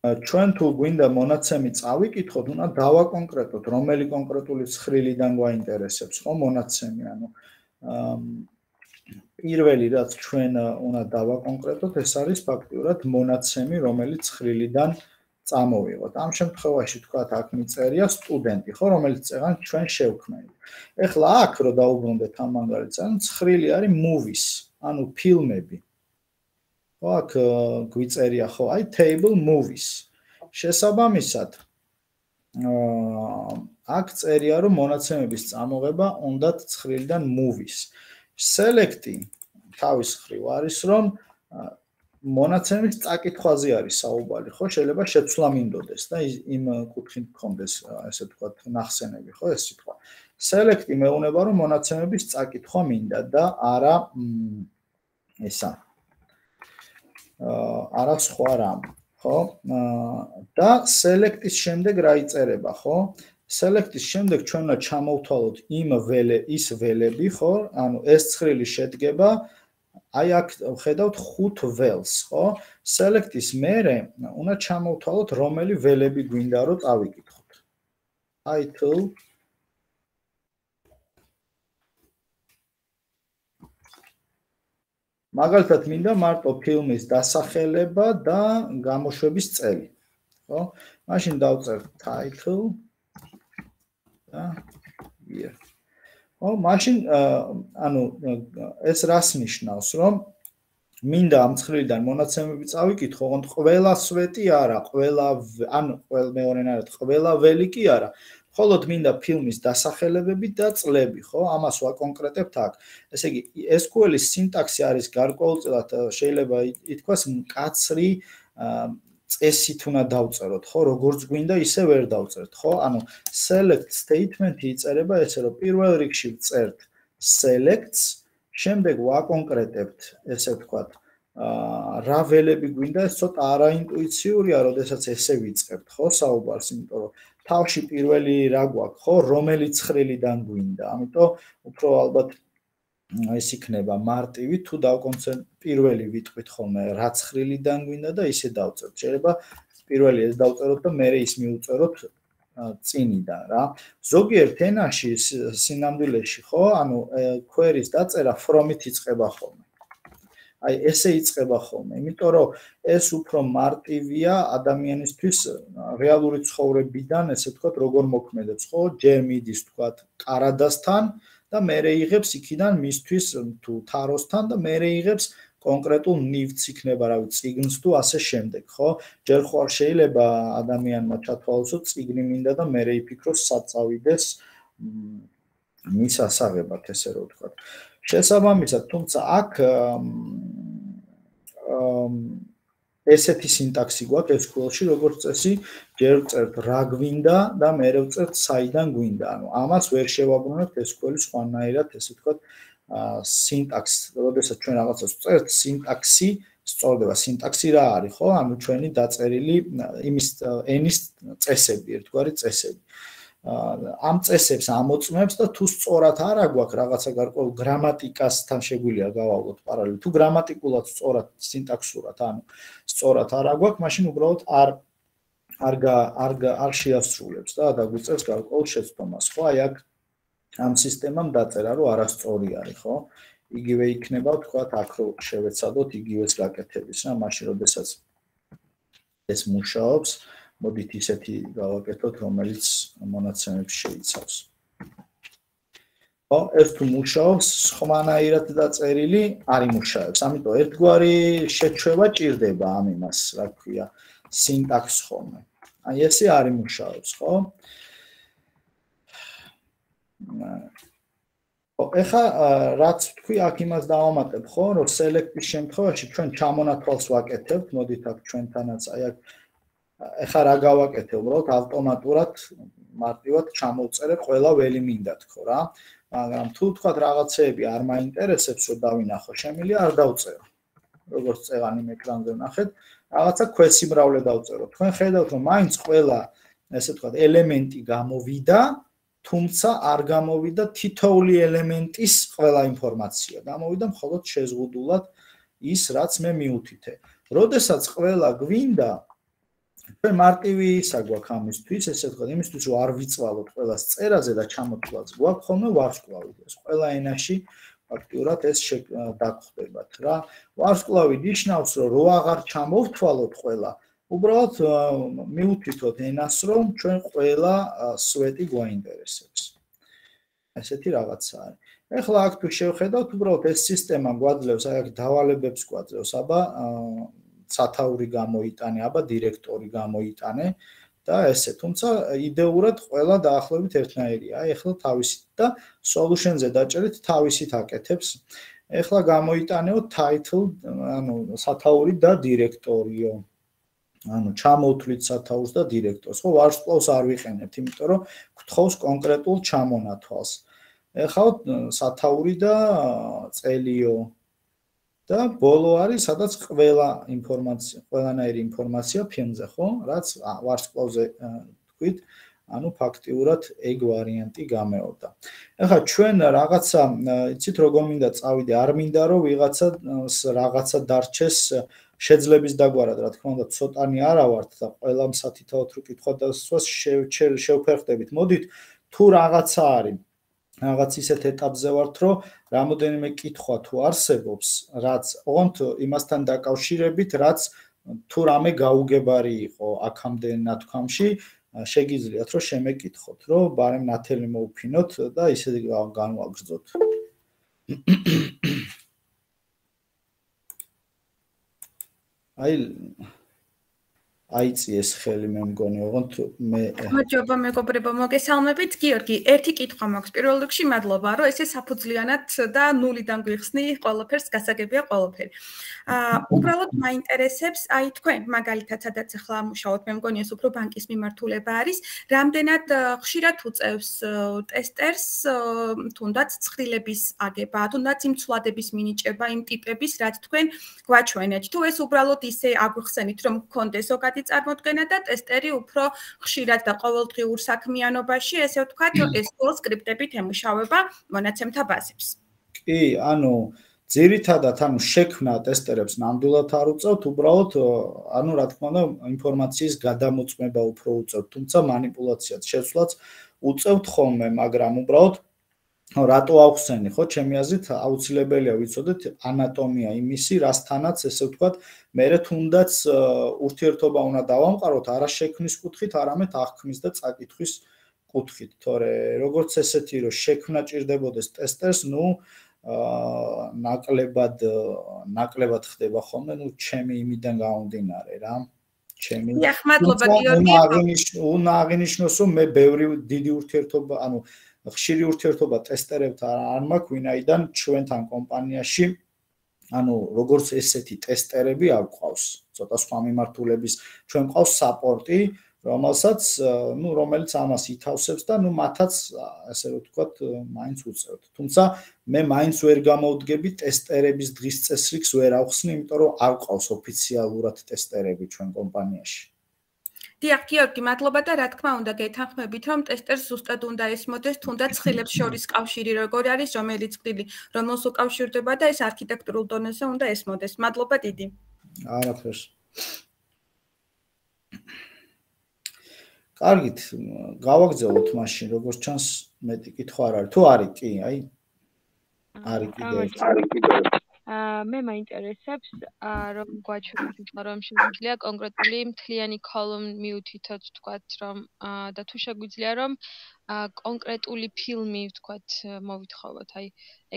ჩვენ თუ გვინდა მონაცემი წავიკითხოთ, უნდა დავაკონკრეტოთ, რომელი კონკრეტული ცხრილიდან გვაინტერესებს, ხო, მონაცემი, ანუ პირველი რაც ჩვენ უნდა დავაკონკრეტოთ, ეს არის ფაქტიურად მონაცემი, რომელიც ცხრილიდან წამოვიღოთ. ამ შემთხვევაში თქვათ, აქ მიწერია სტუდენტი, ხო, რომელიც წეგან ჩვენ შევქმნით. ეხლა აქ რო დაუბრუნდეთ ამ მაგალითს, ანუ ცხრილი არის movies, ანუ ფილმები. ხო, აქ გვიწერია, ხო, აი table movies. შესაბამისად, აქ წერია, რომ მონაცემების წამოღება უნდათ ცხრილიდან movies. Select-ი თავის მხრივ არის, რომ მონაცემის წაკითხვაზე არის საუბარი, ხო, შეიძლება შეცვლა მინდოდეს და იმ კუთხით გქონდეს, ესე ვთქვათ, ნახსენები, ხო, ეს სიტყვა. Select-ი მეუბნება, რომ მონაცემების წაკითხვა მინდა და არა ესა. არა სხვა რამ, ხო? და select-ის შემდეგ რა იწერება, ხო? Select-ის შემდეგ ჩვენ უნდა ჩამოვთვალოთ იმ ველე ის ველები, ხო? ანუ ეს ცხრილი შედგება აი აქ ხედავთ ხუთ ველს, ხო? Select-ის მერე უნდა ჩამოვთვალოთ რომელი ველები გვინდა რომ წავიკითხოთ. Title მაგალითად მინდა მარტო ფილმის დასახელება და გამოშვების წელი, ხო? მაშინ დავწერთ title და year. ხო, მაშინ ანუ ეს რას ნიშნავს, რომ მინდა ამ ცხრილიდან მონაცემები წავიკითხო, ოღონდ ყველა სვეტი არა, ყველა ანუ მეორენ არა, ყველა ველი კი არა. Მხოლოდ მინდა ფილმის დასახელებები და წლები, ხო? ამას ვაკონკრეტებთ აქ. ესე იგი, ეს კიუ ელ-ის სინტაქსი არის გარკვეულწილად შეიძლება ითქვას მკაცრი წესით უნდა დავწეროთ, ხო? როგორც გვინდა, ისე ვერ დავწერთ, ხო? ანუ select statement-ი იწერება ესე, რომ პირველ რიგში ვწერთ selects, შემდეგ ვაკონკრეტებთ, ესე ვთქვათ, რა ველები გვინდა, ეს ცოტა არაინტუიციურია, როდესაც ესე ვიწყებთ, ხო, საუბარს, იმიტომ რომ თავში პირველი რა გვაქვს, ხო, რომელი ცხრილიდან გვინდა. ამიტომ უფრო ალბათ ეს იქნება მარტივი, თუ დავკონცენტრ პირველი ვიტყვით ხოლმე რა ცხრილიდან გვინდა და ისე დავწერთ. შეიძლება პირველი ეს დავწეროთ და მერე ის მივუწეროთ წინიდან, რა. ზოგიერთ ენაში სინამდვილეში, ხო, ანუ query-ს დაწერა from-ით იწყება ხოლმე. აი ესე იწყება ხოლმე, იმიტომ რომ ეს უფრო მარტივია ადამიანისთვის რეალური ცხოვრებიდან, ესე ვთქვათ, როგორ მოქმედებს, ხო? ჯერ მიდის, ვთქვათ, კარადასთან და მერე იღებს იქიდან მისთვის თუ თაროსთან და მერე იღებს კონკრეტულ ნივთს იქნება, რა ვიცი, წიგნს თუ ასე შემდეგ, ხო? ჯერ ხوار შეიძლება ადამიანმა ჩათვალოს, რომ წიგნი მინდა და მერე იფიქროს სად წავიდეს მის ასაღებად, ესე რომ ვთქვათ. შესაბამისად, თუმცა აქ ესეთი სინტაქსი გვაქვს ეს კიუ ელ-ში, როგორც წესი, ჯერ ვწერთ რა გვინდა და მერე ვწერთ საიდან გვინდა. ანუ ამას ვერ შევაბრუნებთ ეს კიუ ელი სხვანაირად, ესე ვთქვათ, სინტაქსს, როდესაც ჩვენ რაღაცას ვწერთ, სინტაქსი სწორდება. სინტაქსი რა არის, ხო? ანუ ჩვენი დაწერილი იმის ენის წესები, ერთგვარი წესები. ამ წესებს ამოწმებს და თუ სწორად არა გვაქვს რაღაცა გარკვეულ გრამატიკასთან შეგვიძლია გავავლოთ პარალელი. თუ გრამატიკულად სწორად სინტაქსურად, ანუ სწორად არა გვაქვს, მაშინ უბრალოდ არ არ არ არ შეასრულებს და დაგვიწევს გარკვეულ შეცდომას, ხო? აი აქ ამ სისტემამ დაწერა, რომ არასწორი არის, ხო? იგივე იქნება, თქვათ, აქ რო შევეცადოთ იგივეს გაკეთების, რა, მაშინ როდესაც ეს მუშაობს, მოდით ისეთი გავაკეთოთ, რომელიც მონაცემებს შეიცავს. ეს თუ მუშაობს, სხვანაირად დაწერილი არ იმუშავებს. ამიტომ ერთგვარი შეჩვევა ჭირდება ამ იმას, რა ქვია, სინტაქსს ხოლმე. აი ესე არ იმუშავებს, ხო? ეხა რაც თქვი, აქ იმას დავამატებ, ხო, რომ select-ის შემთხვევაში ჩვენ ჩამონათვალს ვაკეთებთ, მოდით აქ ჩვენთანაც აი აქ ეხა რა გავაკეთე, უბრალოდ ავტომატურად მარტივად ჩამოვწერე ყველა ველი მინდა თქო რა. მაგრამ თუ თქვათ რაღაცეები არ მაინტერესებს, რომ დავინახო, შემიძლია არ დავწერო. როგორც წევანი ეკრანზე ვნახეთ, რაღაცა ქვესიმრავლე დავწერო. თქვენ ხედავთ, რომ მაინც ყველა, ესე ვთქვათ, ელემენტი გამოვიდა, თუმცა არ გამოვიდა თითოეული ელემენტის ყველა ინფორმაცია. გამოვიდა მხოლოდ შეზღუდულად ის, რაც მე მიუთითე. როდესაც ყველა გვინდა, ჩვენ მარტივი ისა გვაქვს ამისთვის, ესე ვთქვათ, იმისთვის რომ არ ვიწვალოთ ყველას წერაზე და ჩამოთვლაც გვაქვს ხოლმე ვარსკვლავი. ეს ყველა ენაში ფაქტიურად ეს დაგხვდებათ რა. ვარსკვლავი ნიშნავს, რომ რო აღარ ჩამოვთვალოთ ყველა, უბრალოდ მიუთითოთ ენას, რომ ჩვენ ყველა სვეტი გვაინტერესებს. ესეთი რაღაცა არის. ეხლა აქ თუ შევხედავთ, უბრალოდ ეს სისტემა გვაძლევს, აი აქ დავალებებს გვაძლევს, აბა სათაური გამოიტანე, აბა დირექტორი გამოიტანე და ესე. თუმცა იდეურად ყველა დაახლოებით ერთნაირია. აი ეხლა თავისით და solution-ზე დაჭერით თავისით აკეთებს. ეხლა გამოიტანეო title, ანუ სათაური და დირექტორიო. ანუ ჩამოვთვლით სათაურს და დირექტორს. ხო, ვარსკვლავს არ ვიყენებთ, იმიტომ რომ გთხოვს კონკრეტულ ჩამონათვალს. ეხლა სათაური და წელიო და ბოლო არის, სადაც ყველა ინფორმაცია, ყველანაირი ინფორმაცია ფილმზე, ხო? რაც ვარსკვლავზე თქვით, ანუ ფაქტიურად ეგ ვარიანტი გამეორდა. ეხლა ჩვენ რაღაცა, იცით როგორ მინდა წავიდე, არ მინდა რომ ვიღაცა რაღაცა დარჩეს შეძლების დაგვარად, რა თქმა უნდა, ცოტანი არა ვართ და ყველა მსათითაოდ რო კითხვა დასვას შევფერხდებით. მოდით თუ რაღაცა არის, რაღაც ისეთ ეტაპზე ვართ, რომ რამოდენიმე კითხვა თუ არსებობს, რაც ოღონდ იმასთან დაკავშირებით, რაც თუ რამე გაუგებარი იყო აქამდე ნათქვამში, შეგიძლიათ რომ შემეკითხოთ, რომ ბარემ ნათელი მოუფინოთ და ისე განვაგრძოთ. აი აიწიეს ხელი მე მგონი, ოღონდ მე მადლობა მეგობრებო, მოგესალმებით. გიორგი, ერთი კითხვა მაქვს. პირველ რიგში მადლობა, რომ ესე საფუძვლიანად და ნულიდან გვიხსნი ყველაფერს, გასაგებია ყველაფერი. აა უბრალოდ მაინტერესებს, აი თქვენ მაგალითად სადაც ახლა მუშაობთ, მე მგონი ეს უფრო ბანკის მიმართულება არის, რამდენად ხშირად უწევს ტესტერს თუნდაც ცხრილების აგება, თუნდაც იმ ცვლადების მინიჭება, იმ ტიპების, რაც თქვენ გვაჩვენეთ. თუ ეს უბრალოდ ისე აგვიხსენით, რომ გქონდეს ზოგადი წარმოდგენა და ტესტერი უფრო ხშირად და ყოველდღიურ საქმიანობაში, ესე ვთქვათ, ეს სკოლ სკრიპტებით ემუშავება მონაცემთა ბაზებს. კი, ანუ ძირითადად ანუ შექმნა ტესტერებს ნამდვილად არ უწევთ, უბრალოდ ანუ რა თქმა უნდა ინფორმაციის გადამოწმება უფრო უწევთ, თუმცა манипуляციაც შეცვლაც უწევთ ხოლმე, მაგრამ უბრალოდ რატო ავხსენი, ხო, ჩემი აზრით აუცილებელია ვიცოდეთ ანატომია იმისი, რასთანაც ესე ვთქვათ, მერე თუნდაც ურთიერთობა უნდა დავამყაროთ არა შექმნის კუთხით, არამედ აღქმის და წაკითხვის კუთხით, თორე როგორც ესეთი რომ შექმნა ჭირდებოდეს ტესტერს, ნუ ნაკლებად ნაკლებად ხდება ხოლმე, ნუ ჩემი იმიდან გამომდინარე რა. ჩემი დიახ, მადლობა გიორგი. უნდა აღინიშნოს, რომ მე ბევრი დიდი ურთიერთობა, ანუ ხშირი ურთიერთობა ტესტერებთან არ მაქვს, ვინაიდან ჩვენთან კომპანიაში ანუ როგორც ესეთი ტესტერები არ გვყავს, ცოტა სხვა მიმართულების, ჩვენ გვყავს საპორტი, რომელსაც, ну, რომელიც ამას ითავსებს და ну, მათაც, ასე ვთქვათ, მაინც უწევთ. თუმცა მე მაინც ვერ გამოვდგები ტესტერების დღის წესრიგს ვერ ავხსნი, იმიტომ რომ არ გვყავს ოფიციალურად ტესტერები ჩვენ კომპანიაში. დიახ, გიორგი, მადლობა და რა თქმა უნდა გეთანხმებით, რომ ტესტერს ზუსტად უნდა ესმოდეს თუნდაც ხილებს შორის კავშირი როგორ არის, რომელიც წილი, რომელს უკავშირდება და ეს არქიტექტურულ დონეზე უნდა ესმოდეს. მადლობა დიდი. არაფერს. კარგით, გავაგზავნოთ მაშინ, როგორც ჩანს, მეტი კითხვა არ არის. თუ არის, კი, აი. არის კიდევ. არის კიდევ. მე მაინტერესებს რომ გვაჩვენოთ რომ შეგვიძლია კონკრეტული მთლიანი column მიუთითოთ თქვათ რომ და თუ შეგვიძლია რომ კონკრეტული ფილმი თქვათ მოვითხოვოთ აი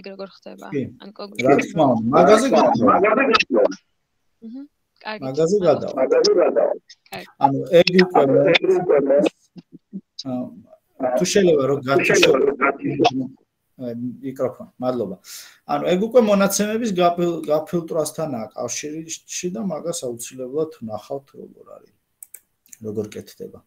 ეგ როგორ ხდება ან კონკრეტული რა თქმა უნდა მაგაზე გადავა აჰა კარგი მაგაზე გადავა ანუ ეგ უკვე თუ შეიძლება რომ გათიშო მიკროფონი, მადლობა. ანუ ეგ უკვე მონაცემების გაფილტრასთანაა კავშირში და მაგას აუცილებლად ნახავთ როგორ არის. როგორ კეთდება.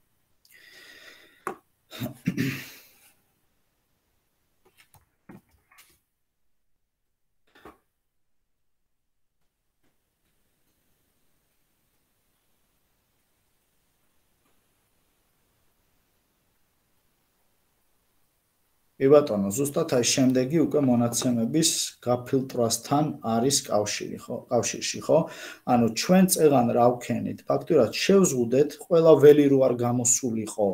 ებატონო, ზუსტად აი შემდეგი უკვე მონაცემების გაფილტრასთან არის კავშირი, ხო? კავშირში, ხო? ანუ ჩვენ წეღან რა ვქენით? ფაქტურად შევზღუდეთ, ყველა ველი რო არ გამოსულიყო.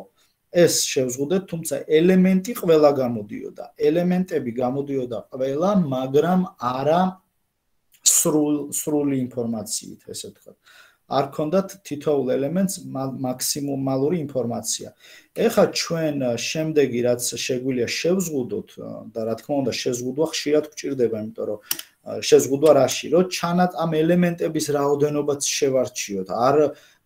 ეს შევზღუდეთ, თუმცა ელემენტი ყველა გამოდიოდა. ელემენტები გამოდიოდა ყველა, მაგრამ არა სრულ სრული ინფორმაციით, ესე ვთქვათ. არ ქონდათ თითოეულ ელემენტს მაქსიმუმალური ინფორმაცია. ეხლა ჩვენ შემდეგი რაც შეგვიძლია შევზღუდოთ და რა თქმა უნდა შეზღუდვა ხშირად გვჭირდება, იმიტომ რომ შეზღუდვა რაში, რომ ჩანათ ამ ელემენტების რაოდენობაც შევარჩიოთ. არ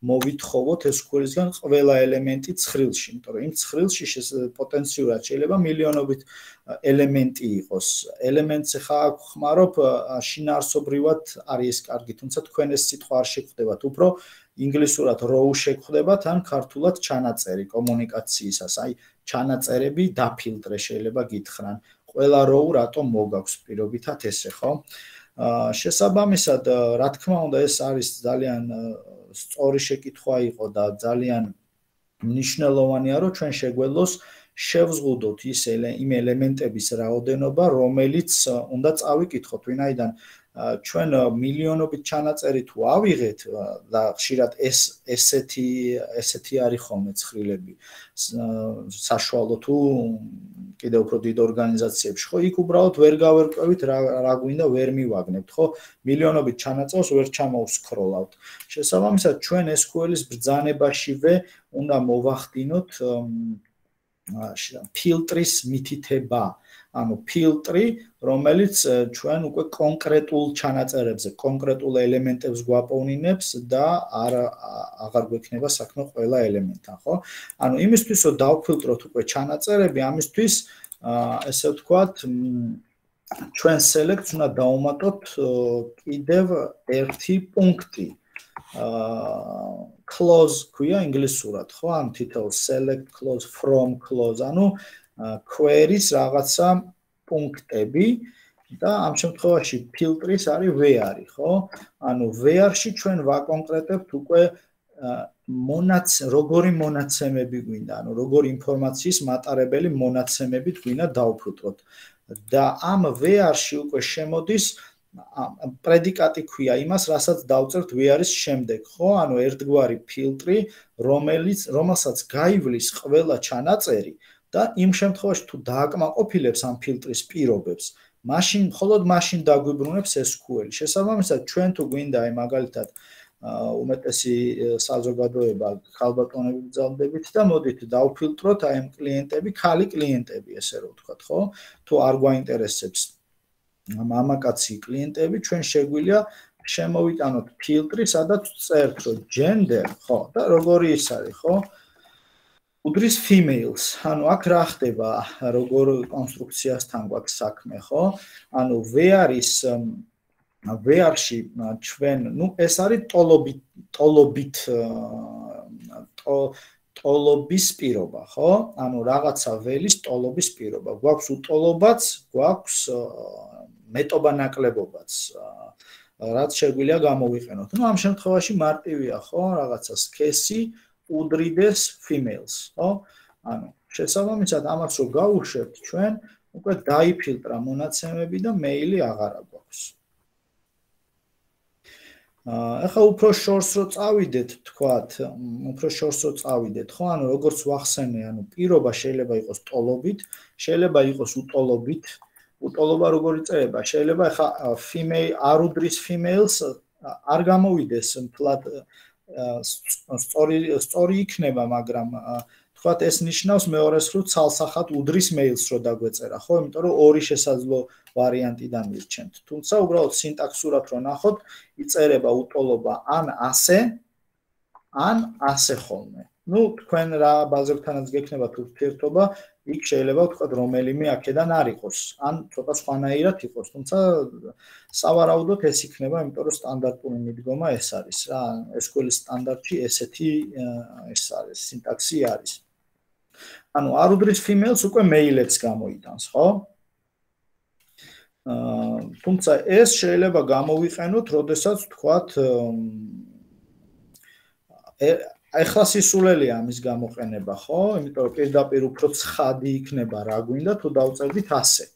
მოვითხოვოთ ეს სკულისგან ყველა ელემენტი ცხრილში, იმიტომ რომ იმ ცხრილში პოტენციურად შეიძლება მილიონობით ელემენტი იყოს. ელემენტს ხა ხმარობ შინაარსობრივად არის ეს კარგი, თუმცა თქვენ ეს სიტყვა არ შეგხვდებათ, უფრო ინგლისურად row შეგხვდებათ ან ქართულად ჩანაწერი კომუნიკაციისას. აი ჩანაწერები დაფილტრე შეიძლება გითხრან. ყველა row რატომ მოგაქვს პირობითად ესე, ხო? შესაბამისად, რა თქმა უნდა, ეს არის ძალიან სწორი შეკითხვა იყო და ძალიან მნიშვნელოვანია, რომ ჩვენ შეგვეძლოს შევზღუდოთ ის იმ ელემენტების რაოდენობა, რომელიც უნდა წავიკითხოთ, ვინაიდან ჩვენ მილიონობით ჩანაწერი თუ ავიღეთ და ხშირად ეს ესეთი ესეთი არის ხოლმე ცხრილები საშუალო თუ კიდევ უფრო დიდ ორგანიზაციებში, ხო, იქ უბრალოდ ვერ გავერკვევით რა რა გვინდა ვერ მივაგნებთ, ხო? მილიონობით ჩანაწერს ვერ ჩამოვსკროლავთ. შესაბამისად, ჩვენ ეს ес კიუ ელ-ის ბრძანებაშივე უნდა მოვახდინოთ ფილტრის მითითება. ანუ ფილტრი, რომელიც ჩვენ უკვე კონკრეტულ ჩანაწერებზე, კონკრეტულ ელემენტებს გვაპოვნინებს და არ აღარ გვექნება საქმე ყველა ელემენტთან, ხო? ანუ იმისთვის, რომ დავფილტროთ უკვე ჩანაწერები, ამისთვის ესე ვთქვათ, ჩვენ select-ს უნდა დავუმატოთ კიდევ ერთი პუნქტი. close ქვია ინგლისურად, ხო? ანუ თითოეულ select, close, from, close, ანუ query-ს რაღაცა პუნქტები და ამ შემთხვევაში ფილტრის არის where-ი, ხო? ანუ where-ში ჩვენ ვაკონკრეტებთ უკვე მონაც როგორი მონაცემები გვინდა, ანუ როგორი ინფორმაციის მატარებელი მონაცემებით გვინდა დავფილტროთ. და ამ where-ში უკვე შემოდის პრედიკატი ქვია იმას, რასაც დავწერთ where-ის შემდეგ, ხო? ანუ ერთგვარი ფილტრი, რომელიც რომელსაც გაივლის ყველა ჩანაწერი და იმ შემთხვევაში თუ დააკმაყოფილებს ამ ფილტრის პირობებს, მაშინ მხოლოდ მაშინ დაგვიბრუნებს ეს კიუ ელი. შესაბამისად, ჩვენ თუ გვინდა აი მაგალითად უმეტესი საზოგადოება ქალბატონები გძალდებით და მოდით დავფილტროთ აი ამ კლიენტები, ქალი კლიენტები, ესე რომ ვთქვათ, ხო? თუ არ გვაინტერესებს მამაკაცი კლიენტები, ჩვენ შეგვიძლია შემოვიტანოთ ფილტრი, სადაც წერთ, რომ gender, ხო, და როგორი ის არის, ხო? უდრის females, ანუ აქ რა ხდება, როგორ კონსტრუქციასთან გვაქვს საქმე, ხო? ანუ where-ის where-ში ჩვენ, ну, ეს არის ტოლობით, ტოლობით ტოლობის პირობა, ხო? ანუ რაღაცა ველის ტოლობის პირობა. გვაქვს უტოლობაც, გვაქვს მეტობა ნაკლებობაც, რაც შეგვიძლია გამოვიყენოთ. ну, ამ შემთხვევაში მარტივია, ხო? რაღაცა სქესი უდრიდეს females, ხო? ანუ შესაბამისად ამას რო გავუშვებთ ჩვენ, უკვე დაიფილტრა მონაცემები და მეილი აღარა გვაქვს. ახლა უფრო შორს რო წავიდეთ, თქვათ, უფრო შორს რო წავიდეთ, ხო? ანუ როგორც ვახსენე, ანუ პირობა შეიძლება იყოს ტოლობით, შეიძლება იყოს უტოლობით, უტოლობა როგორ იწერება? შეიძლება ხა female არ უდრის females არ გამოვიდეს მთლად სწორი სწორი იქნება, მაგრამ თქვათ ეს ნიშნავს მეორეს ხრივ ცალსახად უდრის males რო დაგვეწერა, ხო? იმიტომ რომ ორი შესაძლო ვარიანტიდან მირჩენთ. თუმცა უბრალოდ სინტაქსურად რო ნახოთ, იწერება უტოლობა ან ასე, ან ასე ხოლმე. ნუ თქვენ რა ბაზებთანაც გექნებათ ურთიერთობა, იქ შეიძლება ვთქვათ რომელიმე აქედან არ იყოს, ან ცოტა სხვანაირად იყოს, თუმცა სავარაუდოდ ეს იქნება, იმიტომ რომ სტანდარტული მიდგომა ეს არის რა, ეს სკოლის სტანდარტში ესეთი ეს არის, სინტაქსი არის. ანუ არ უდრის females უკვე male-ებს გამოიტანს, ხო? აა თუმცა ეს შეიძლება გამოვიყენოთ, როდესაც ვთქვათ ეხლა სისულელია ამის გამოყენება, ხო? იმიტომ რომ პირდაპირ უფრო ცხადი იქნება რა გვინდა თუ დავწერდით ასე.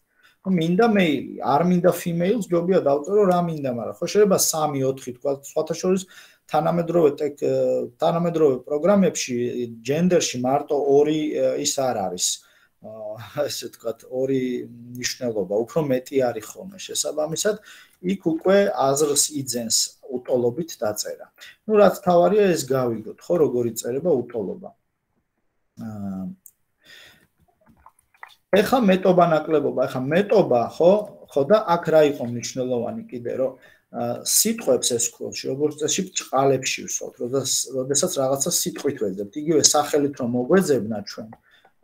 მინდა მეილი, არ მინდა females, ჯობია დავწერო რა მინდა, მაგრამ ხო შეიძლება სამი ოთხი თქვა, სხვათა შორის თანამედროვე თანამედროვე პროგრამებში ჯენდერში მარტო ორი ის არ არის. ესე ვთქვათ, ორი ნიშნულობა, უფრო მეტი არის ხოლმე შესაბამისად, იქ უკვე აზრს იძენს უტოლობით დაწერა. ნუ რაც თავარია ეს გავიგოთ, ხო, როგორ იწერება უტოლობა. აა ეხლა მეტობა ნაკლებობა, ეხლა მეტობა, ხო, ხო და აქ რა იყო მნიშვნელოვანი კიდე, რომ სიტყვებს ეს სკოლში, როგორც წესი ბრჭყალებში ვსვათ, როდესაც რაღაცა სიტყვით ვეძებთ, იგივე სახელით რომ მოგვეძებნა ჩვენ,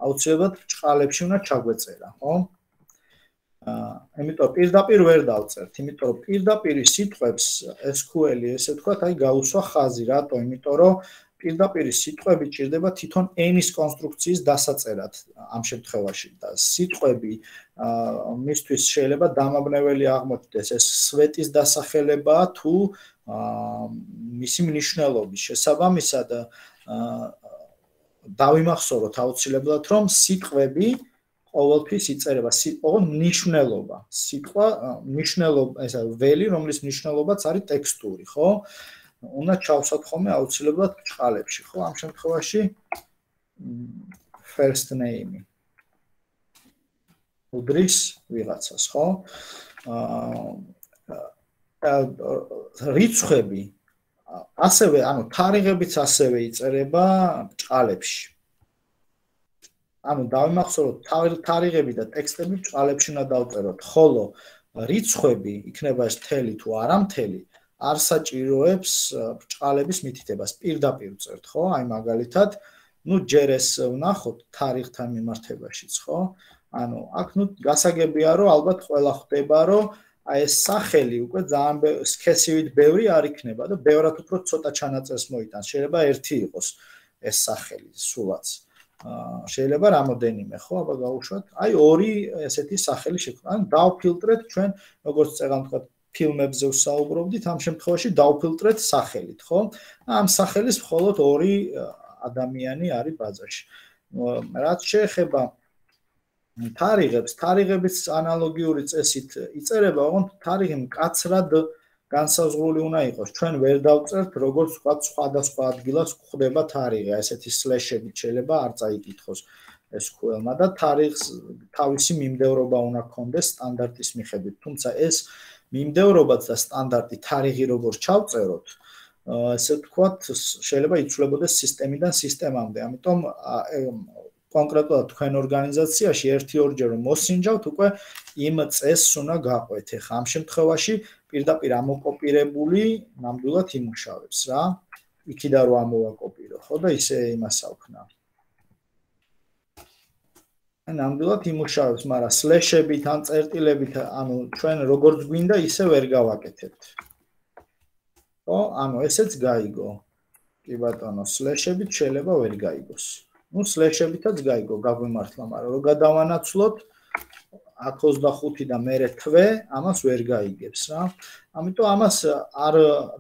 აუცილებლად ბრჭყალებში უნდა ჩაგვეწერა, ხო? აა, იმიტომ პირდაპირ ვერ დავწერთ, იმიტომ რომ პირდაპირი სიტყვებს ეს სკოლი, ესე ვთქვათ, აი გაუსვა ხაზი, რატო? იმიტომ რომ პირდაპირი სიტყვები ჭირდება თვითონ ენის კონსტრუქციის დასაწერად ამ შემთხვევაში და სიტყვები აა მისთვის შეიძლება დამაბნეველი აღმოჩნდეს ეს სვეტის დასახელებაა თუ აა მისი მნიშვნელობის შესაბამისად აა დავიმახსოვროთ აუცილებლად რომ სიტყვები ყოველთვის იწერება სიტყვა მნიშვნელობა სიტყვა მნიშვნელობა ესა ველი რომლის მნიშვნელობაც არის ტექსტური ხო უნდა ჩავსვათ ხოლმე აუცილებლად ბრჭყალებში, ხო? ამ შემთხვევაში first name. უდრის ვიღაცას, ხო? აა რიცხვები ასევე, ანუ თარიღებიც ასევე იწერება ბრჭყალებში. ანუ დავიმახსოვროთ თარიღები და ტექსტები ბრჭყალებში უნდა დავწეროთ, ხოლო რიცხვები იქნება ეს მთელი თუ არა მთელი არ საჭიროებს ბრჭყალების მითითებას პირდაპირ წერთ, ხო? აი მაგალითად, ნუ ჯერ ეს ვნახოთ თარიღთან მიმართებაშიც, ხო? ანუ აქ ნუ გასაგებია, რომ ალბათ ყველა ხვდება, რომ აი ეს სახელი უკვე ძალიან სქესივით ბევრი არ იქნება და ბევრად უფრო ცოტა ჩანაწერს მოიტანს. შეიძლება ერთი იყოს ეს სახელი სულაც. აა შეიძლება რამოდენიმე, ხო? აბა გავუშვათ. აი ორი ესეთი სახელი შექმნა. ანუ დავფილტრეთ ჩვენ, როგორც წეგან თქვა ფილმებზე ვსაუბრობდით, ამ შემთხვევაში დავფილტრეთ სახელით, ხო? ამ სახელის მხოლოდ ორი ადამიანი არის ბაზაში. რაც შეეხება თარიღებს, თარიღების ანალოგიური წესით იწერება, ოღონდ თარიღი მკაცრად განსაზღვრული უნდა იყოს. ჩვენ ვერ დავწერთ, როგორც სხვა სხვადასხვა ადგილას გვხვდება თარიღი, ესეთი სლეშებით შეიძლება არ წაიკითხოს ეს ყველმა და თარიღს თავისი მიმდევრობა უნდა ჰქონდეს სტანდარტის მიხედვით. თუმცა ეს მიმდევრობაც და სტანდარტი თარიღი როგორ ჩავწეროთ, ესე ვთქვათ, შეიძლება იცვლებოდეს სისტემიდან სისტემამდე. ამიტომ კონკრეტულად თქვენ ორგანიზაციაში ერთი-ორჯერ რომ მოსინჯავთ, უკვე იმ წესს უნდა გაყვეთ. ეხლა ამ შემთხვევაში პირდაპირ ამოკოპირებული ნამდვილად იმუშავებს რა. იქიდან რომ ამოვაკოპირო, ხო და ისე იმას ავქნა. ნამდვილად იმუშავებს, მაგრამ სლეშებით ან წერტილებით, ანუ ჩვენ როგორც გვინდა, ისე ვერ გავაკეთებთ. ხო, ანუ ესეც გაიგო. კი ბატონო, სლეშებით შეიძლება ვერ გაიგოს. ნუ სლეშებითაც გაიგო, გაგვიმართლა, მაგრამ რო გადავანაცვლოთ აქ ოცდახუთი და მერე თვე, ამას ვერ გაიგებს რა. ამიტომ ამას არ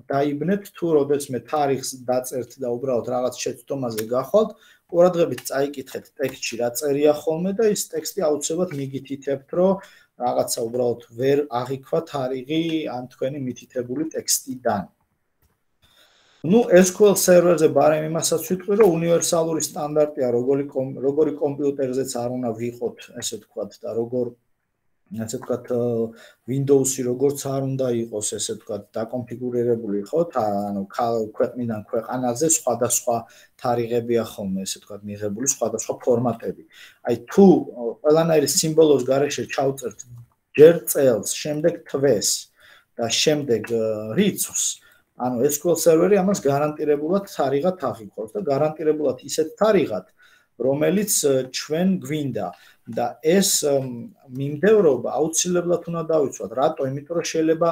დაიბნეთ თუ როდესაც მე თარიღს დაწერთ და უბრალოდ რაღაც შეცდომაზე გახვალთ, ყურადღებით წაიკითხეთ ტექსტში რა წერია ხოლმე და ის ტექსტი აუცილებლად მიგითითებთ, რომ რაღაცა უბრალოდ ვერ აღიქვა თარიღი ან თქვენი მითითებული ტექსტიდან. ნუ ეს q l სერვერზე ბარემ იმასაც ვიტყვი, რომ უნივერსალური სტანდარტია, როგორი როგორი კომპიუტერზეც არ უნდა ვიყოთ, ესე ვთქვათ და როგორ ასე ვთქვათ, Windows-ი როგორც არ უნდა იყოს, ესე ვთქვათ, დაკონფიგურირებული, ხო? ანუ ქვეყნიდან ქვეყანაზე სხვადასხვა თარიღებია ხოლმე, ესე ვთქვათ, მიღებული სხვადასხვა ფორმატები. აი თუ ყველანაირი სიმბოლოს გარეშე ჩავწერთ ჯერ წელს, შემდეგ თვეს და შემდეგ რიცხვს, ანუ ეს ес кю ელ სერვერი ამას გარანტირებულად თარიღად აღიქვავს და გარანტირებულად ისეთ თარიღად, რომელიც ჩვენ გვინდა და ეს მიმდევრობა აუცილებლად უნდა დავიცვათ. რატო? იმიტომ რომ შეიძლება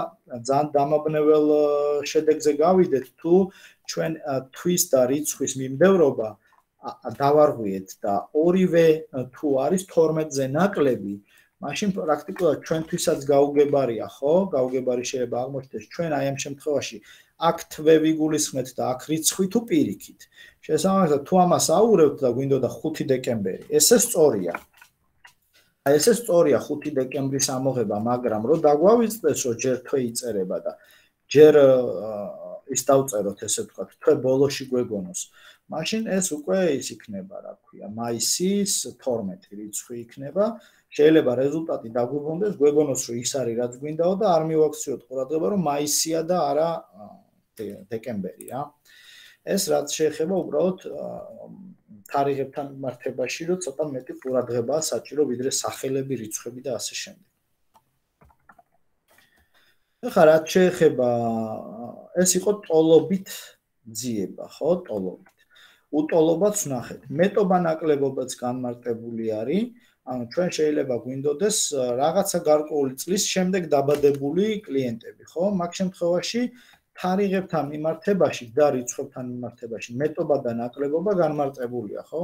ძალიან დამაბნეველ შედეგზე გავიდეთ, თუ ჩვენ თვის და რიცხვის მიმდევრობა დავარღვიეთ და ორივე თუ არის თორმეტზე ნაკლები, მაშინ პრაქტიკულად ჩვენთვისაც გაუგებარია, ხო? გაუგებარი შეიძლება აღმოჩნდეს ჩვენ აი ამ შემთხვევაში აქ თვე ვიგულისხმეთ და აქ რიცხვი თუ პირიქით. შესაბამისად, თუ ამას აურევთ და გვინდოდა ხუთი დეკემბერი, ესე სწორია. აი ესე სწორია ხუთი დეკემბრის ამოღება, მაგრამ რო დაგვავიწყდეს, რომ ჯერ თვე იწერება და ჯერ ის დავწეროთ, ესე ვთქვათ, თვე ბოლოში გვეგონოს. მაშინ ეს უკვე ის იქნება, რა ქვია, მაისის თორმეტი რიცხვი იქნება. შეიძლება რეზულტატი დაგვიბრუნდეს, გვეგონოს, რომ ის არის, რაც გვინდაო და არ მივაქციოთ ყურადღება, რომ მაისია და არა დეკემბერია. ეს რაც შეეხება უბრალოდ თარიღებთან მიმართებაში, რომ ცოტა მეტი ყურადღებაა საჭირო, ვიდრე სახელები, რიცხვები და ასე შემდეგ. ეხლა რაც შეეხება, ეს იყო ტოლობით ძიება, ხო, ტოლობით. უტოლობაც ვნახეთ. მეტობა ნაკლებობაც განმარტებული არის. ანუ ჩვენ შეიძლება გვინდოდეს რაღაცა გარკვეული წლის შემდეგ დაბადებული კლიენტები, ხო? მაგ შემთხვევაში თარიღებთან მიმართებაში და რიცხვებთან მიმართებაში მეტობა და ნაკლებობა განმარტებულია, ხო?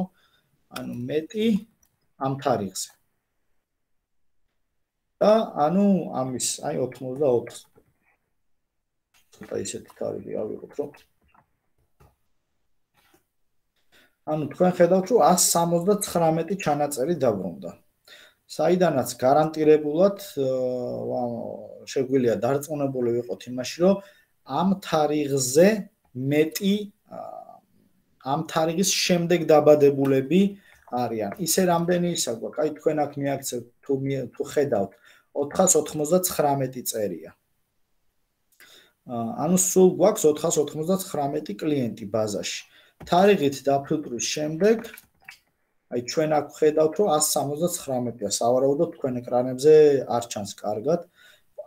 ანუ მეტი ამ თარიღზე. და ანუ ამის, აი ოცდაოთხი. ცოტა ისეთი თარიღი ავიღოთ, რომ ანუ თქვენ ხედავთ, რომ ას სამოცდათხრამეტი ჩანაწერი დაბრუნდა. საიდანაც გარანტირებულად შეგვიძლია დარწმუნებული ვიყოთ იმაში, რომ ამ თარიღზე მეტი ამ თარიღის შემდეგ დაბადებულები არიან. ისე რამდენი ისა გვაქვს? აი თქვენ აქ მიაქცევთ თუ თუ ხედავთ ოთხას ოცდათხრამეტი წერია. ანუ სულ გვაქვს ოთხას ოცდათხრამეტი კლიენტი ბაზაში. თარიღით დაფილტვის შემდეგ აი ჩვენ აქ ხედავთ რომ ას სამოცდათხრამეტია, სავარაუდოდ თქვენ ეკრანებზე არ ჩანს კარგად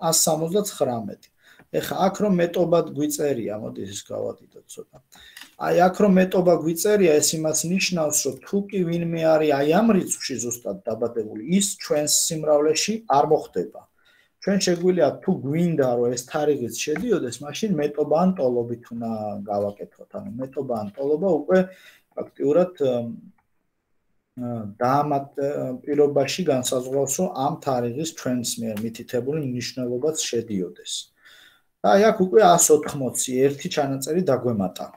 ას სამოცდათხრამეტი. ეხლა აქ რომ მეტობად გვიწერია, მოდი ეს გავადიდოთ ცოტა. აი აქ რომ მეტობა გვიწერია, ეს იმას ნიშნავს, რომ თუ კი ვინმე არის აი ამ რიცხვში ზუსტად დაბადებული, ის ჩვენს სიმრავლეში არ მოხდება. ჩვენ შეგვიძლია თუ გვინდა რომ ეს თარიღიც შედიოდეს, მაშინ მეტობა ან ტოლობით უნდა გავაკეთოთ. ანუ მეტობა ან ტოლობა უკვე ფაქტიურად დაამატ პირობაში განსაზღვრავს, რომ ამ თარიღის ჩვენს მიერ მითითებული მნიშვნელობაც შედიოდეს. და აი აქ უკვე ას ოთხმოცი ერთი ჩანაწერი დაგვემატა.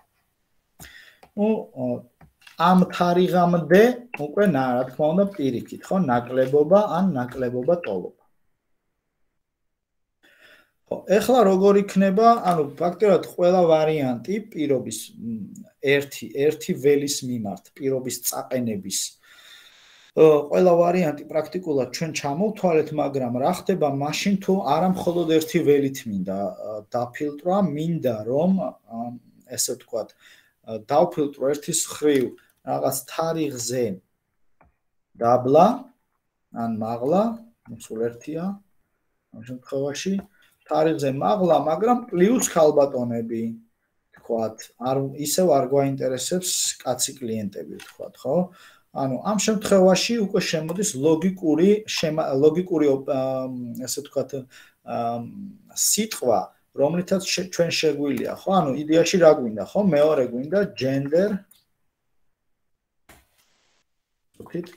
ნუ ამ თარიღამდე უკვე რა თქმა უნდა პირიქით, ხო, ნაკლებობა ან ნაკლებობა ტოლობა. ეხლა როგორ იქნება, ანუ ფაქტობრივად ყველა ვარიანტი პირობის ერთი ერთი ველის მიმართ, პირობის წაყენების ყველა ვარიანტი პრაქტიკულად ჩვენ ჩამოვთვალეთ, მაგრამ რა ხდება მაშინ თუ არა მხოლოდ ერთი ველით მინდა დაფილტრა, მინდა რომ ესე ვთქვათ, დავფილტრო ერთის ხრივ რაღაც თარიღზე დაბლა ან მაღლა, სულ ერთია ამ შემთხვევაში თარიღზე მაღლა, მაგრამ პლუს ქალბატონები, თქვათ, არ ისევ არ გვაინტერესებს კაცი კლიენტები, თქვათ, ხო? ანუ ამ შემთხვევაში უკვე შემოდის ლოგიკური ლოგიკური ესე ვთქვათ, სიტყვა, რომლითაც ჩვენ შეგვიძლია, ხო? ანუ იდეაში რა გვინდა, ხო? მეორე გვინდა gender ვთქვით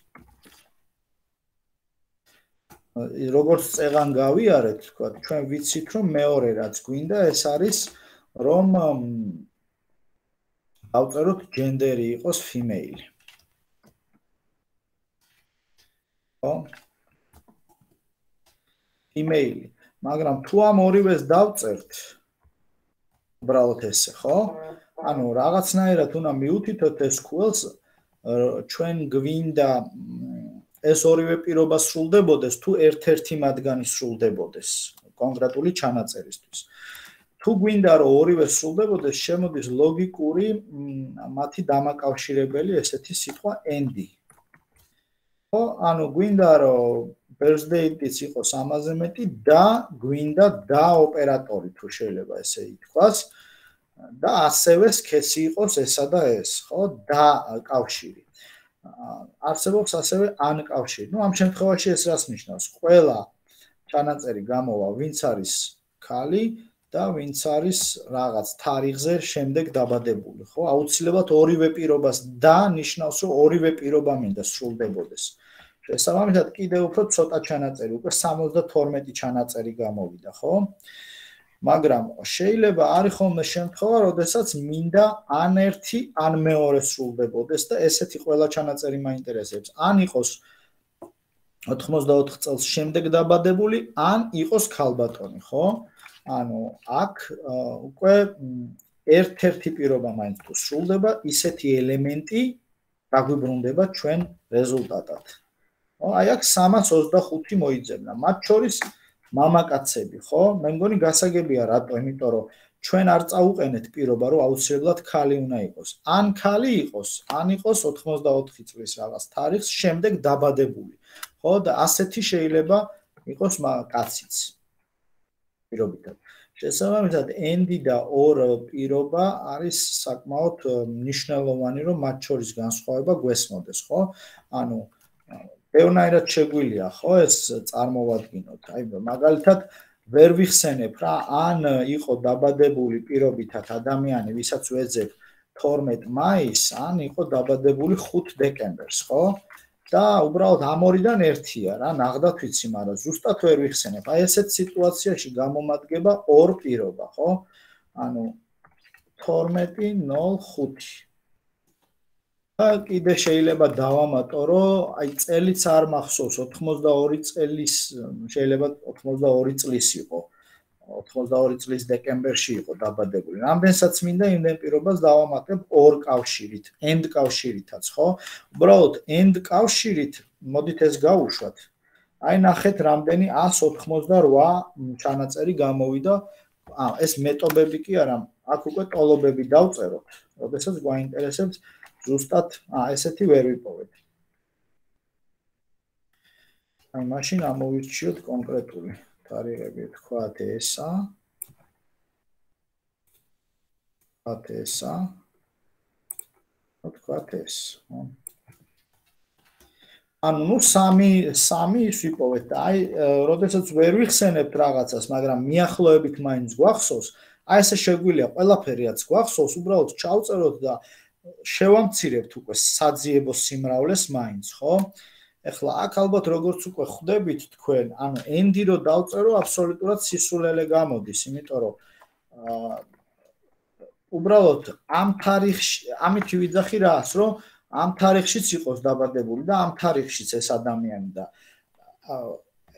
როგორც წეღან გავიარეთ, თქვა, ჩვენ ვიცით, რომ მეორე რაც გვინდა, ეს არის, რომ დავწეროთ gender-ი იყოს female. ხო? female. მაგრამ თუ ამ ორივეს დავწერთ, უბრალოდ ესე, ხო? ანუ რაღაცნაირად უნდა მივუთითოთ ეს ес კიუ ელ-ს, ჩვენ გვინდა ეს ორივე პირობა სრულდებოდეს თუ ერთ-ერთი მათგანი სრულდებოდეს კონკრეტული ჩანაწერისთვის. თუ გვინდა რომ ორივე სრულდებოდეს, შემოდის ლოგიკური მათი დამაკავშირებელი ესეთი სიტყვა and. ხო, ანუ გვინდა რომ birthday-იც იყოს ამაზე მეტი და გვინდა და ოპერატორი თუ შეიძლება ესე ითქვას და ასევე სქესი იყოს ესა და ეს, ხო, და კავშირი. არსებობს ასევე ან კავშირი. ნუ ამ შემთხვევაში ეს რას ნიშნავს? ყველა ჩანაწერი გამოვა, ვინც არის ქალი და ვინც არის რაღაც თარიღზე შემდეგ დაბადებული, ხო? აუცილებლად ორივე პირობას და ნიშნავს, რომ ორივე პირობა მინდა სრულდებოდეს. შესაბამისად, კიდევ უფრო ცოტა ჩანაწერი, უკვე სამოცდათორმეტი ჩანაწერი გამოვიდა, ხო? მაგრამ შეიძლება არის ხოლმე შემთხვევა, როდესაც მინდა ან ერთი, ან მეორე სრულდებოდეს და ესეთი ყველა ჩანაწერი მაინტერესებს. ან იყოს ოთხმოცდაოთხ წელს შემდეგ დაბადებული, ან იყოს ქალბატონი, ხო? ანუ აქ უკვე ერთ-ერთი პირობა მაინც თუ სრულდება, ისეთი ელემენტი დაგვიბრუნდება ჩვენ რეზულტატად. აი აქ სამას ოცდახუთი მოიძებნა. მათ შორის მამაკაცები, ხო? მე მგონი გასაგებია რატო, იმიტომ რომ ჩვენ არ წაუყენეთ პირობა, რომ აუცილებლად ქალი უნდა იყოს. ან ქალი იყოს, ან იყოს ოთხმოცდაოთხი წლის რაღაც თარიღს შემდეგ დაბადებული. ხო, და ასეთი შეიძლება იყოს კაციც. პირობითად. შესაბამისად, and და ორ პირობა არის საკმაოდ მნიშვნელოვანი, რომ მათ შორის განსხვავება გვესმოდეს, ხო? ანუ ბევრნაირად შეგვიძლია, ხო, ეს წარმოვადგინოთ. აი, მაგალითად, ვერ ვიხსენებ რა, ან იყო დაბადებული პირობითად ადამიანი, ვისაც ვეძებ თორმეტ მაისს, ან იყო დაბადებული ხუთ დეკემბერს, ხო? და უბრალოდ ამ ორიდან ერთია რა, ნახდათ ვიცი, მაგრამ ზუსტად ვერ ვიხსენებ. აი ესეთ სიტუაციაში გამომადგება ორ პირობა, ხო? ანუ თორმეტი ნულ ხუთი. და კიდე შეიძლება დავამატო, რომ აი წელიც არ მახსოვს, ოთხმოცდაორი წელის, შეიძლება ოთხმოცდაორი წლის იყო. ოთხმოცდაორი წლის დეკემბერში იყო დაბადებული. რამდენსაც მინდა იმდენ პირობას დავამატებ ორ კავშირით, and კავშირითაც, ხო? უბრალოდ and კავშირით, მოდით ეს გავუშვათ. აი ნახეთ, რამდენი ას ოთხმოცდარვა ჩანაწერი გამოვიდა. აა ეს მეტობები კი არა, აქ უკვე ტოლობები დავწეროთ. როდესაც გვაინტერესებს ზუსტად აა ესეთი ვერ ვიპოვეთ. აი მაშინ ამოვირჩიოთ კონკრეტული თარიღები, თქვათ ესა. თქვათ ესა. თქვათ ეს. ანუ ნუ სამი სამი ის ვიპოვეთ და აი როდესაც ვერ ვიხსენებთ რაღაცას, მაგრამ მიახლოებით მაინც გვახსოვს, აი ესე შეგვიძლია ყველაფერიაც გვახსოვს, უბრალოდ ჩავწეროთ და შევამცირებთ უკვე საძიებო სიმრავლეს მაინც, ხო? ეხლა აქ ალბათ როგორც უკვე ხვდებით თქვენ, ანუ and-ი რო დავწერო, აბსოლუტურად სისულელე გამოდის, იმიტომ რომ აა უბრალოდ ამ თარიღში, ამითი ვიძახი რას, რომ ამ თარიღშიც იყოს დაბადებული და ამ თარიღშიც ეს ადამიანი და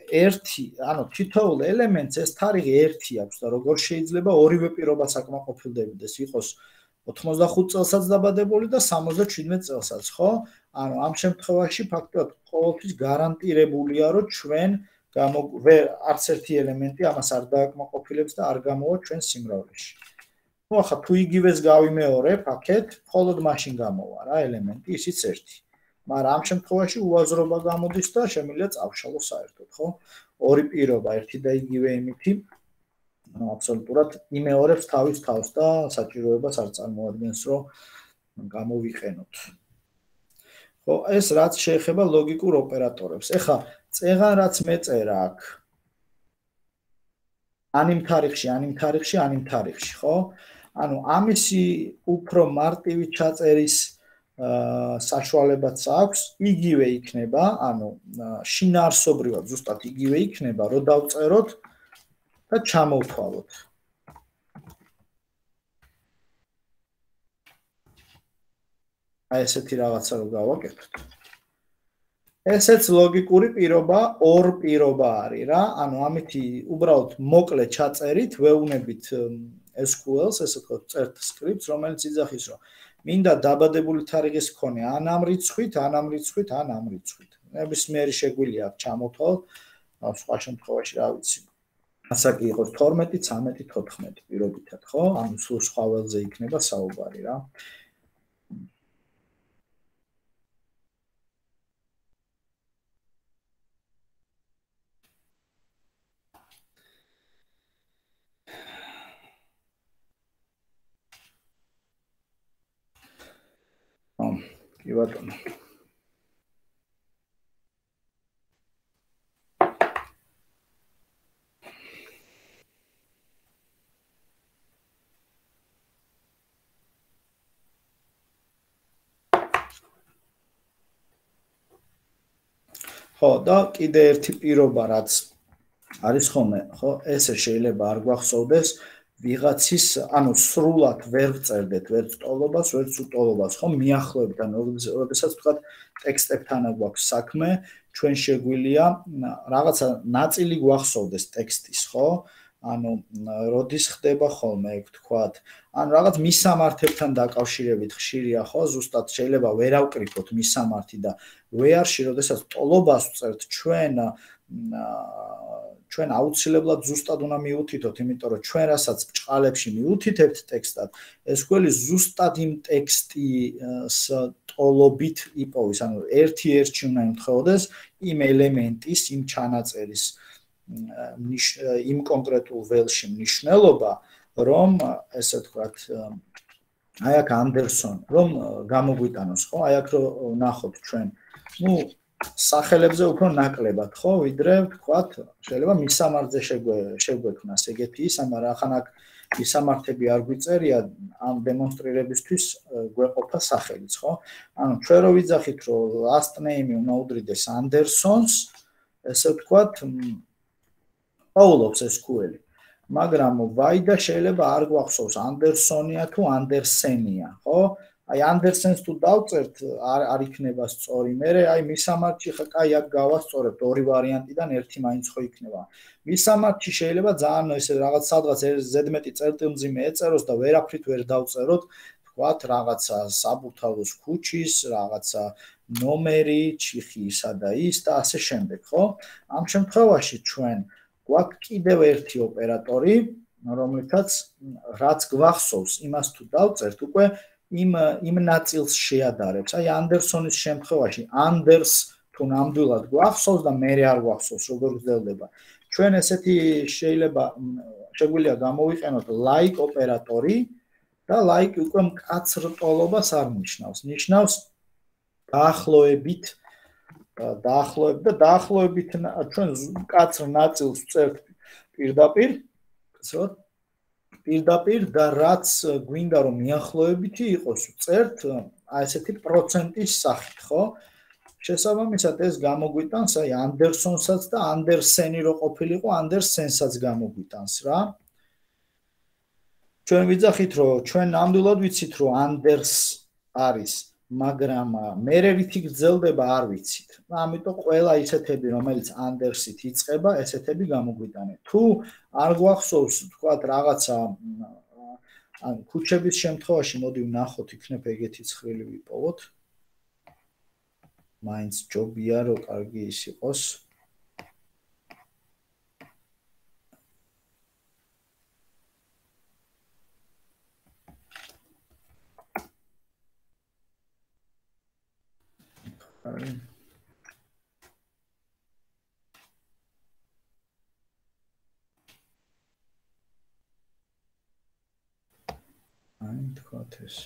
ერთი, ანუ თითოეულ ელემენტს ეს თარიღი ერთი აქვს და როგორ შეიძლება ორივე პირობა საკმაყოფილდებოდეს, იყოს ოთხმოცდახუთ წელსაც დაბადებული და სამოცდაჩვიდმეტ წელსაც, ხო? ანუ ამ შემთხვევაში ფაქტობრივად ყოველთვის გარანტირებულია, რომ ჩვენ არც ერთი ელემენტი ამას არ დააკმაყოფილებს და არ გამოვა ჩვენ სიმრავლეში. ნუ ახლა თუ იგივეს გავიმეორებ, აქეთ მხოლოდ მაშინ გამოვა რა ელემენტი, ისიც ერთი. მაგრამ ამ შემთხვევაში უაზრობა გამოდის და შემიძლია წავშალო საერთოდ, ხო? ორი პირობა, ერთი და იგივე იმითი აბსოლუტურად იმეორებს თავის თავს და საჭიროებას არ წარმოადგენს, რომ გამოვიყენოთ. ხო, ეს რაც შეეხება ლოგიკურ ოპერატორებს. ეხლა წეღან რაც მეწერა აქ. ან იმ თარიღში, ან იმ თარიღში, ან იმ თარიღში, ხო? ანუ ამისი უფრო მარტივი ჩაწერის საშუალებაც აქვს, იგივე იქნება, ანუ შინაარსობრივად ზუსტად იგივე იქნება, რომ დავწეროთ და ჩამოვთვალოთ. აი ესეთი რაღაცა რო გავაკეთოთ. ესეც ლოგიკური პირობა, ორ პირობა არის რა, ანუ ამითი უბრალოდ მოკლე ჩაწერით, ვეუბნებით ეს კიუ ელს, ესე ვთქვათ, წერთ სკრიპტს, რომელიც იძახის, რომ მინდა დაბადებული თარიღის მქონე ან ამ რიცხვით, ან ამ რიცხვით, ან ამ რიცხვით. ნებისმიერი შეგვიძლია აქ ჩამოთვალ, სხვა შემთხვევაში რა ვიცი. ასაკი იყოს თორმეტი, ცამეტი, თოთხმეტი პირობითად, ხო? ანუ სულ სხვა ველზე იქნება საუბარი რა. კი ბატონო. ხო, და კიდე ერთი პირობა რაც არის ხოლმე, ხო, ესე შეიძლება არ გვახსოვდეს ვიღაცის, ანუ სრულად ვერ ვწერდეთ ვერც ტოლობას, ვერც უტოლობას, ხო, მიახლოებით, ანუ როდესაც ვთქვათ ტექსტებთან გვაქვს საქმე, ჩვენ შეგვიძლია რაღაცა ნაწილი გვახსოვდეს ტექსტის, ხო? ანუ როდის ხდება ხოლმე, ეგ ვთქვათ, ანუ რაღაც მისამართებთან დაკავშირებით ხშირია, ხო? ზუსტად შეიძლება ვერ ავკრიფოთ მისამართი და ვეარში, როდესაც ტოლობას ვწერთ ჩვენ ჩვენ აუცილებლად ზუსტად უნდა მიუთითოთ, იმიტომ რომ ჩვენ რასაც ბჭყალებში მიუთითებთ ტექსტად, ეს გველი ზუსტად იმ ტექსტის ტოლობით იპოვის, ანუ ერთი ერთში უნდა იმთხოვდეს იმ ელემენტის, იმ ჩანაწერის იმ კონკრეტულ ველში მნიშვნელობა, რომ ესე ვთქვათ, აი აქ ანდერსონ, რომ გამოგვიტანოს, ხო? აი აქ რომ ნახოთ ჩვენ, ну სახელებზე უფრო ნაკლებად, ხო, ვიდრე ვთქვათ, შეიძლება მისამართზე შეგვექმნას ეგეთი ის, მაგრამ ახან აქ მისამართები არ გვიწერია ამ დემონსტრირებისთვის გვეყოფა სახელიც, ხო? ანუ ჩვენ რო ვიძახით, რომ last name უნდა უდრიდეს ანდერსონს, ესე ვთქვათ, პაულობს ეს ქუელი. მაგრამ ვაიდა შეიძლება არ გვახსოვს ანდერსონია თუ ანდერსენია, ხო? აი ანდერსენს თუ დავწერთ, არ არ იქნება სწორი. მე აი მისამართში ხა კაი აქ გავასწორებთ ორი ვარიანტიდან ერთი მაინც ხო იქნება. მისამართში შეიძლება ძალიან ესე რაღაც სადღაც ზედმეტი წერტილმძიმე ეწეროს და ვერაფრით ვერ დავწეროთ, თქვათ რაღაცა საბურთალოს ქუჩის, რაღაცა ნომერი, ჩიხიისა და ის და ასე შემდეგ, ხო? ამ შემთხვევაში ჩვენ გვაქვს კიდევ ერთი ოპერატორი, რომლითაც რაც გვახსოვს, იმას თუ დავწერთ, უკვე იმ იმ ნაწილს შეადარებს. აი ანდერსონის შემთხვევაში ანდერს თუ ნამდვილად გვახსოვს და მე არ გვახსოვს, როგორ გრძელდება. ჩვენ ესეთი შეიძლება შეგვიძლია გამოვიყენოთ like ოპერატორი და like უკვე მკაცრ ტოლობას არ ნიშნავს. ნიშნავს დაახლოებით დაახლოებით და დაახლოებით ჩვენ მკაცრ ნაწილს ვწერთ პირდაპირ, ვწერთ პირდაპირ და რაც გვინდა რომ მიახლოებითი იყოს ვწერთ აი ესეთი პროცენტის სახით, ხო? შესაბამისად ეს გამოგვიტანს აი ანდერსონსაც და ანდერსენი რო ყოფილიყო, ანდერსენსაც გამოგვიტანს რა. ჩვენ ვიძახით რომ ჩვენ ნამდვილად ვიცით რომ ანდერს არის, მაგრამ მე რითი გრძელდება არ ვიცით. ამიტომ ყველა ისეთები რომელიც ანდერსით იწყება, ესეთები გამოგვიტანეთ. თუ არ გვახსოვს თქვათ რაღაცა ან ქუჩების შემთხვევაში მოდი ვნახოთ, იქნებ ეგეთი ცხრილი ვიპოვოთ. მაინც ჯობია რომ კარგი ის იყოს. აი თქვათ ეს.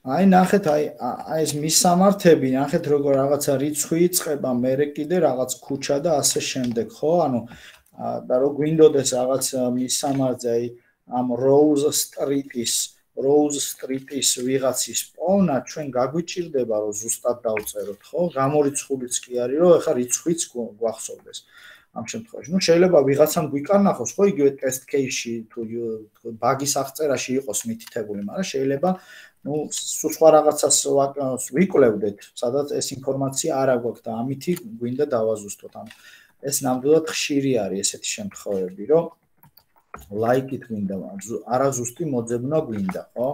აი ნახეთ, აი აი ეს მისამართები, ნახეთ როგორ რაღაცა რიცხვი იწყება, მერე კიდე რაღაც ქუჩა და ასე შემდეგ, ხო? ანუ და რო გვინდოდეს რაღაც მისამართზე, აი ამ Rose Street-ის, Rose Street-ის ვიღაცის პოვნა, ჩვენ გაგვიჭირდება რომ ზუსტად დავწეროთ, ხო? გამორიცხულიც კი არის, რომ ეხა რიცხვიც გვახსოვდეს. ამ შემთხვევაში, ну შეიძლება ვიღაცამ გვიკარნახოს, ხო, იგივე test case-ში თუ ბაგის აღწერაში იყოს მითითებული, მაგრამ შეიძლება ну სხვა რაღაცას ვიკვლევდეთ, სადაც ეს ინფორმაცია არ აგვაქვს და ამითი გვინდა დავაზუსტოთ. ანუ ეს ნამდვილად ხშირი არის ესეთი შემთხვევები, რომ like-ით გვინდა, არაზუსტი მოძებნა გვინდა, ხო?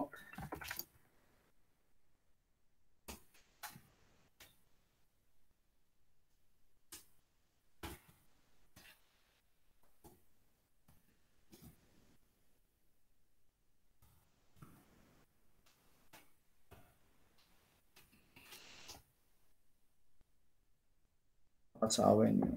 რაც avenue.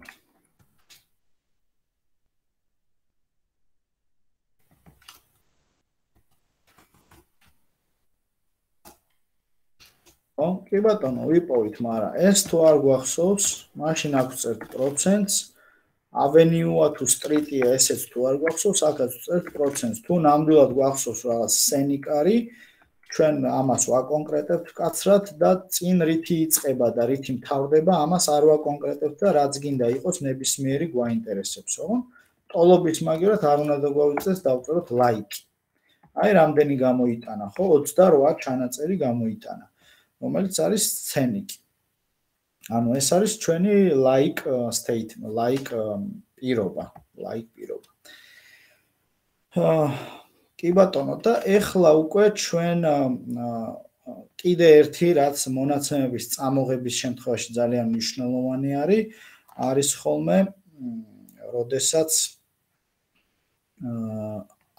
ო, კი ბატონო, ვიპოვით, მაგრამ ეს თუ არ გვახსოვს, მაშინ აქვს წერთ პროცენტს, avenue-ა თუ street-ია, ესეც თუ არ გვახსოვს, აქაც წერთ პროცენტს. თუ ნამდვილად გვახსოვს რაღაც სცენიკარი, ჩვენ ამას ვაკონკრეტებთ კაცრად და წინ რითი იწყება და რითი მთავრდება, ამას არ ვაკონკრეტებთ და რაც გინდა იყოს ნებისმიერი გვაინტერესებს, ხო? ტოლობის მაგერად არ უნდა დაგვავიწყდეს დავწეროთ like. აი რამდენი გამოიტანა, ხო? ოცდარვა ჩანაწერი გამოიტანა. რომელიც არის სცენიკი. ანუ ეს არის ჩვენი like statement, like პირობა, like პირობა. კი ბატონო და ეხლა უკვე ჩვენ კიდე ერთი რაც მონაცემების წამოღების შემთხვევაში ძალიან მნიშვნელოვანი არის, არის ხოლმე, როდესაც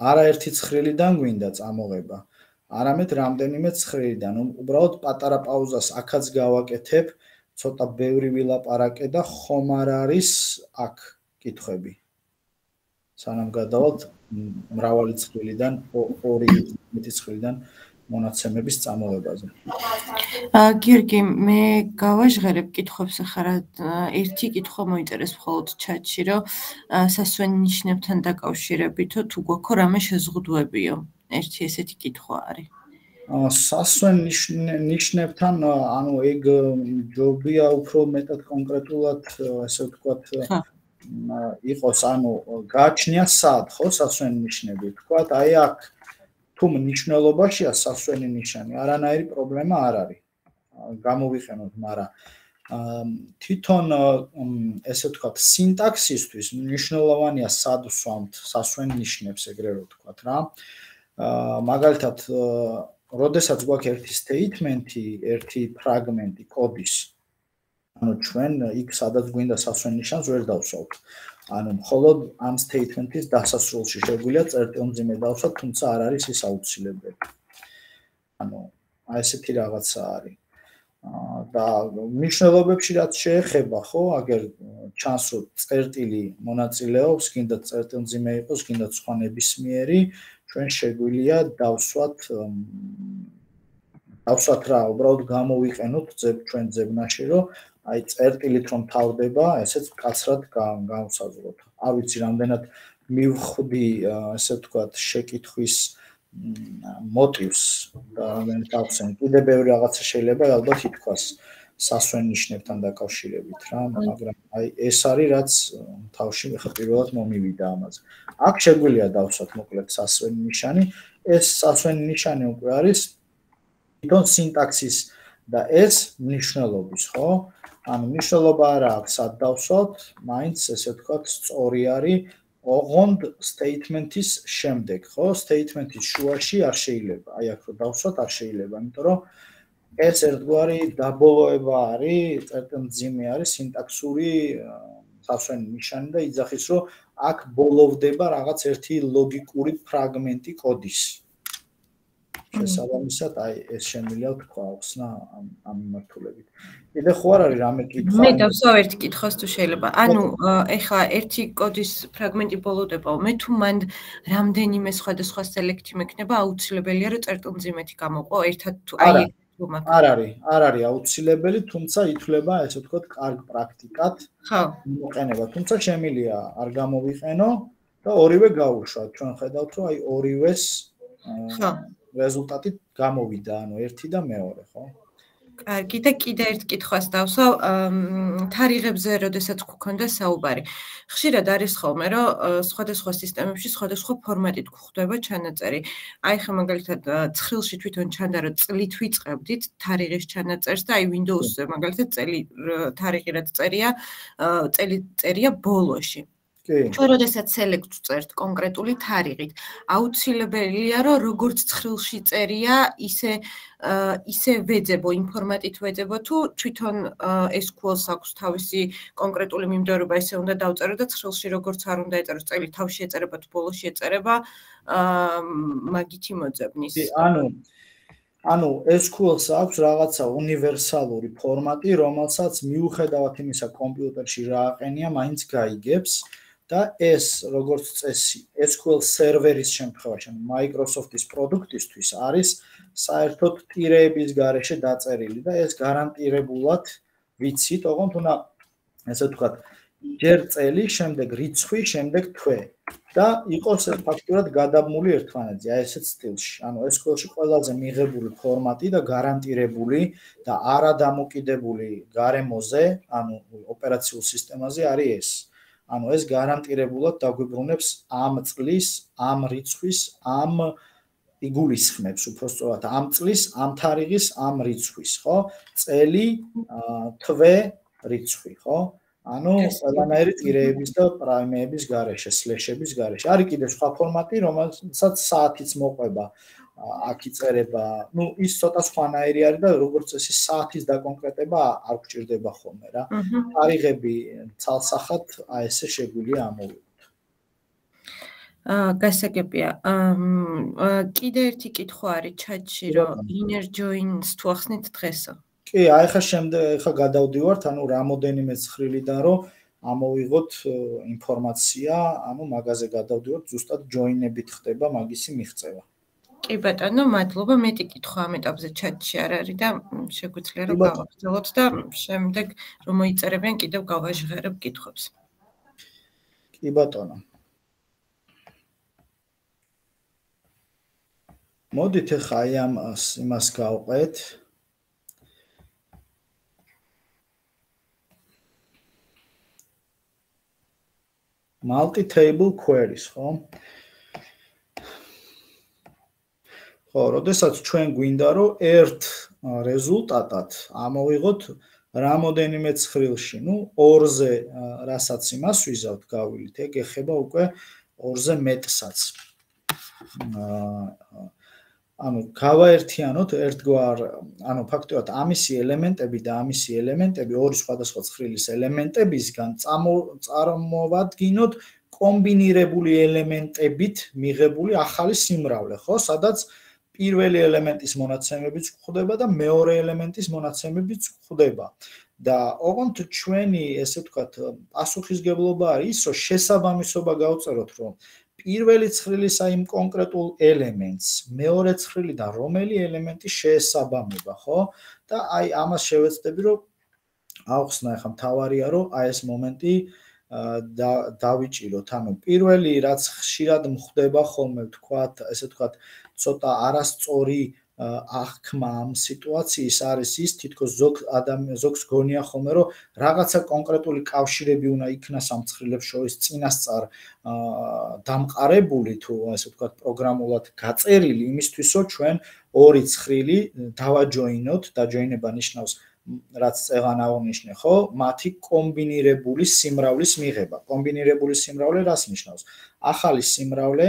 არაერთი ცხრილიდან გვინდა წამოღება. არამედ რამდენიმე ცხრილიდან. უბრალოდ პატარა პაუზას აქაც გავაკეთებ, ცოტა ბევრი ვილაპარაკე და ხომ არ არის აქ კითხვები. სანამ გადავალთ მრავალი ცხრილიდან, ორი მეტი ცხრილიდან მონაცემების წამოღებაზე. გიორგი, მე გავაჟღერებ კითხვებს ახლა რა ერთი კითხვა მოინტერესებს მხოლოდ ჩატში, რომ სასვენ ნიშნებთან დაკავშირებითო თუ გვაქვს რამე შეზღუდვებიო. ერთი ესეთი კითხვა არის. სასვენ ნიშნებთან, ანუ ეგ ჯობია უფრო მეტად კონკრეტულად, ესე ვთქვათ, იყოს, ანუ გააჩნია სად, ხო, სასვენ ნიშნები. ვთქვათ, აი აქ თუ მნიშვნელობაშია სასვენი ნიშანი, არანაირი პრობლემა არ არის. გამოვიყენოთ, მაგრამ თვითონ ესე ვთქვათ, სინტაქსისთვის მნიშვნელოვანია სად ვსვამთ სასვენ ნიშნებს, ეგრე რომ ვთქვათ რა. მაგალითად, როდესაც გვაქვს ერთი statement-ი, ერთი ფრაგმენტი კოდის, ანუ ჩვენ იქ სადაც გვინდა სასვენ ნიშანს ვერ დავსვავთ. ანუ მხოლოდ ამ statement-ის დასასრულში შეგვიძლია წერტილმძიმე დავსვათ, თუმცა არ არის ის აუცილებელი. ანუ აი ესეთი რაღაცა არის. და მნიშვნელობებში რაც შეეხება, ხო, აგერ ჩანს რომ წერტილი მონაწილეობს, გინდა წერტილმძიმე იყოს, გინდა სხვა ნებისმიერი, ჩვენ შეგვიძლია დავსვათ დავსვათ რა, უბრალოდ გამოვიყენოთ ჩვენ ძებნაში, რომ აი წერტილით რომ თავდება, ესეც კაცრად გავსაზღვროთ. არ ვიცი, რამდენად მივხვდი, ესე ვთქვათ, შეკითხვის მოტივს და რამდენად გავხსენ. კიდე ბევრი რაღაცა შეიძლება ალბათ ითქვას სასვენ ნიშნებთან დაკავშირებით რა, მაგრამ აი ეს არის რაც თავში ხა პირველად მომივიდა ამაზე. აქ შეგვიძლია დავსვათ მოკლედ სასვენ ნიშანი. ეს სასვენ ნიშანი უკვე არის თვითონ სინტაქსის და ეს მნიშვნელობის, ხო? ანუ მნიშვნელობა არა აქვს სად დავსვათ, მაინც ესე ვთქვათ, სწორი არის ოღონდ statement-ის შემდეგ, ხო? statement-ის შუაში არ შეიძლება. აი აქ რომ დავსვათ არ შეიძლება, იმიტომ რომ ეს ერთგვარი დაბოლოება არის, წერტილმძიმე არის სინტაქსური სასვენი ნიშანი და იძახის, რომ აქ ბოლოვდება რაღაც ერთი ლოგიკური ფრაგმენტი კოდის. შესაბამისად, აი ეს შემიძლია თქვა ხსნა ამ მიმართულებით. კიდე ხო არ არის რამე კითხვა? მე დავსვავ ერთ კითხვას თუ შეიძლება. ანუ ეხლა ერთი კოდის ფრაგმენტი ბოლოვდებაო, მე თუ მან რამდენიმე სხვადასხვა სელექტი მექნება, აუცილებელია რომ წერტილმძიმეთი გამოყო ერთად თუ აი არ არის, არ არის აუცილებელი, თუმცა ითვლება, ესე ვთქვათ, კარგ პრაქტიკად. ხო. მოყენება, თუმცა შემიძლია არ გამოვიყენო და ორივე გავუშვათ. ჩვენ ხედავთ, რომ აი ორივეს ხო. რეზულტატი გამოვიდა, ანუ ერთი და მეორე, ხო? კარგი და კიდე ერთ კითხვას დავსვავ, თარიღებზე, როდესაც გქონდა საუბარი. ხშირად არის ხოლმე, რომ სხვადასხვა სისტემებში სხვადასხვა ფორმატით გვხვდება ჩანაწერი. აი ხა მაგალითად ცხრილში თვითონ ჩანდა, რომ წლით ვიწყებდით თარიღის ჩანაწერს და აი Windows-ზე მაგალითად წელი თარიღი რაც წერია, წელი წერია ბოლოში. ჩვენ როდესაც select ვწერთ კონკრეტული თარიღით, აუცილებელია რომ როგორც ცხრილში წერია, ისე ისე ვეძებო, იმ ფორმატით ვეძებო თუ თვითონ ეს q ელს აქვს თავისი კონკრეტული მიმდევრობა, ესე უნდა დავწერო და ცხრილში როგორც არ უნდა ეწეროს, წელი თავში ეწერება თუ ბოლოში ეწერება, მაგითი მოძებნის. ანუ ანუ ეს კიუ ელს აქვს რაღაცა უნივერსალური ფორმატი, რომელსაც მიუხედავად იმისა, კომპიუტერში რა აყენია, მაინც გაიგებს და ეს როგორც წესი ეს კიუ ელ სერვერის შემთხვევაში, ანუ Microsoft-ის პროდუქტისთვის არის საერთოდ ტირეების გარეშე დაწერილი და ეს გარანტირებულად ვიცით, ოღონდ უნდა ესე ვთქვათ, ჯერ წელი, შემდეგ რიცხვი, შემდეგ თვე და იყოს ფაქტურად გადაბმული ერთმანეთზე, აი ესეთ სტილში. ანუ ეს კიუ ელ-ში ყველაზე მიღებული ფორმატი და გარანტირებული და არადამოკიდებული გარემოზე, ანუ ოპერაციულ სისტემაზე არის ეს. ანუ ეს გარანტირებულად დაგვიბრუნებს ამ წლის, ამ რიცხვის, ამ იგულისხმებს უпростоრად ამ წლის, ამ თარიღის, ამ რიცხვის, ხო? წელი, თვე, რიცხვი, ხო? ანუ ყველანაირი ტირეების და პრაიმების გარეშე, სლეშების გარეშე. არის კიდევ სხვა ფორმატი, რომელსაც საათიც მოყვება, აქ იწერება, ну, ის ცოტა სხვანაირი არის და როგორც წესი საათის დაკონკრეტება არ გვჭირდება ხოლმე რა. თარიღები ცალსახად აი ესე შეგვიძლია ამოვიღოთ. აა გასაგებია. აა კიდე ერთი კითხვა არის ჩატში, რომ inner joins თუ ახსნით დღესო. კი, აი ხა შემდეგ ხა გადავდივართ, ანუ რამოდენიმე ცხრილიდან რომ ამოვიღოთ ინფორმაცია, ანუ მაგაზე გადავდივართ, ზუსტად join-ებით ხდება მაგისი მიღწევა. კი ბატონო, მადლობა. მეტი კითხვა ამ ეტაპზე ჩატში არ არის და შეგვიძლია რომ გავაგრძელოთ და შემდეგ რომ მოიწერებიან კიდევ გავაჟღერებ კითხვებს. კი ბატონო. მოდით ახლა აი ამ იმას გავყეთ. multi-table queries, ხო? ხო, როდესაც ჩვენ გვინდა რომ ერთ რეზულტატად ამოვიღოთ რამოდენიმე ცხრილში, ну, ორზე რასაც იმას ვიზავთ გავილით, ეგ ეხება უკვე ორზე მეტსაც. ანუ გავაერთიანოთ ერთგვარ, ანუ ფაქტობრივად ამისი ელემენტები და ამისი ელემენტები ორი სხვადასხვა ცხრილის ელემენტებისგან წარმოვადგინოთ კომბინირებული ელემენტებით მიღებული ახალი სიმრავლე, ხო? სადაც პირველი ელემენტის მონაცემებიც გვხვდება და მეორე ელემენტის მონაცემებიც გვხვდება. და ოღონდ ჩვენი, ესე ვთქვათ, პასუხისგებლობა არის ის, რომ შესაბამისობა გავწეროთ, რომ პირველი ცხრილის აი იმ კონკრეტულ ელემენტს მეორე ცხრილიდან რომელი ელემენტი შეესაბამება, ხო? და აი ამას შევეცდები, რომ ავხსნა ახლა მთავარია, რომ აი ეს მომენტი და დავიჭიროთ. ანუ პირველი რაც ხშირად მხდება ხოლმე, ვთქვათ, ესე ვთქვათ, ცოტა არასწორი აღქმა ამ სიტუაციის არის ის, თითქოს ზოგ ადამიანს ზოგს გონია ხოლმე, რომ რაღაცა კონკრეტული კავშირები უნდა იქნას ამ ცხრილებს შორის წინასწარ დამყარებული თუ ასე ვთქვათ პროგრამულად გაწერილი იმისთვის, რომ ჩვენ ორი ცხრილი დავაჯოინოთ, დაჯოინება ნიშნავს რაც წეღან აღნიშნე, ხო? მათი კომბინირებული სიმრავლის მიღება. კომბინირებული სიმრავლე რას ნიშნავს? ახალი სიმრავლე,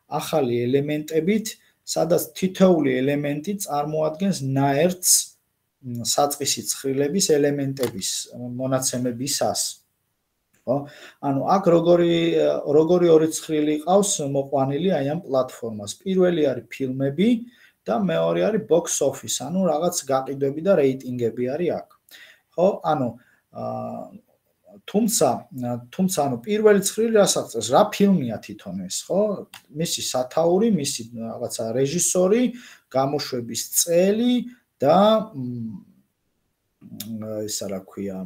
ახალი ელემენტებით სადაც თითოეული ელემენტი წარმოადგენს ნაერთს საწყისი ცხრილების ელემენტების მონაცემებისას. ხო? ანუ აქ როგორი როგორი ორი ცხრილი ყავს მოყვანილი აი ამ პლატფორმას. პირველი არის ფილმები და მეორე არის box office, ანუ რაღაც გაყიდვები და რეიტინგები არის აქ. ხო? ანუ თუმცა თუმცა ანუ პირველი ცხრილი რას აღწერს? რა ფილმია თვითონ ეს, ხო? მისი სათაური, მისი რაღაცა რეჟისორი, გამოშვების წელი და ისა რა ქვია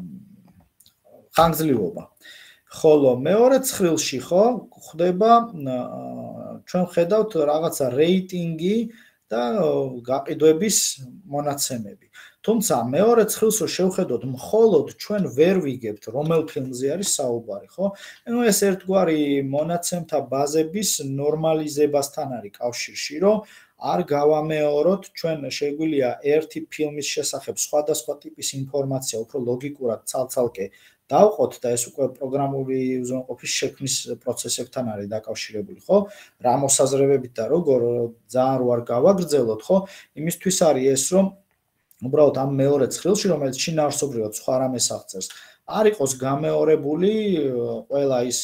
ხანგრძლივობა. ხოლო მეორე ცხრილში, ხო, ხდება ჩვენ ხედავთ რაღაცა რეიტინგი და გაყიდვების მონაცემები. თუმცა მეორე ცხრილს რო შევხედოთ, მხოლოდ ჩვენ ვერ ვიგებთ რომელ ფილმზე არის საუბარი, ხო? ანუ ეს ერთგვარი მონაცემთა ბაზების ნორმალიზებასთან არის კავშირში, რომ არ გავამეოროთ, ჩვენ შეგვიძლია ერთი ფილმის შესახებ სხვადასხვა ტიპის ინფორმაცია უფრო ლოგიკურად ცალ-ცალკე დავყოთ და ეს უკვე პროგრამული უზრუნველყოფის შექმნის პროცესებთან არის დაკავშირებული, ხო? რა მოსაზრებებით და როგორ ძალიან რო არ გავაგრძელოთ, ხო? იმისთვის არის ეს, რომ უბრალოდ ამ მეორე ცხრილში, რომელიც შინაარსობრივად სხვა რამეს აღწერს, არ იყოს გამეორებული ყველა ის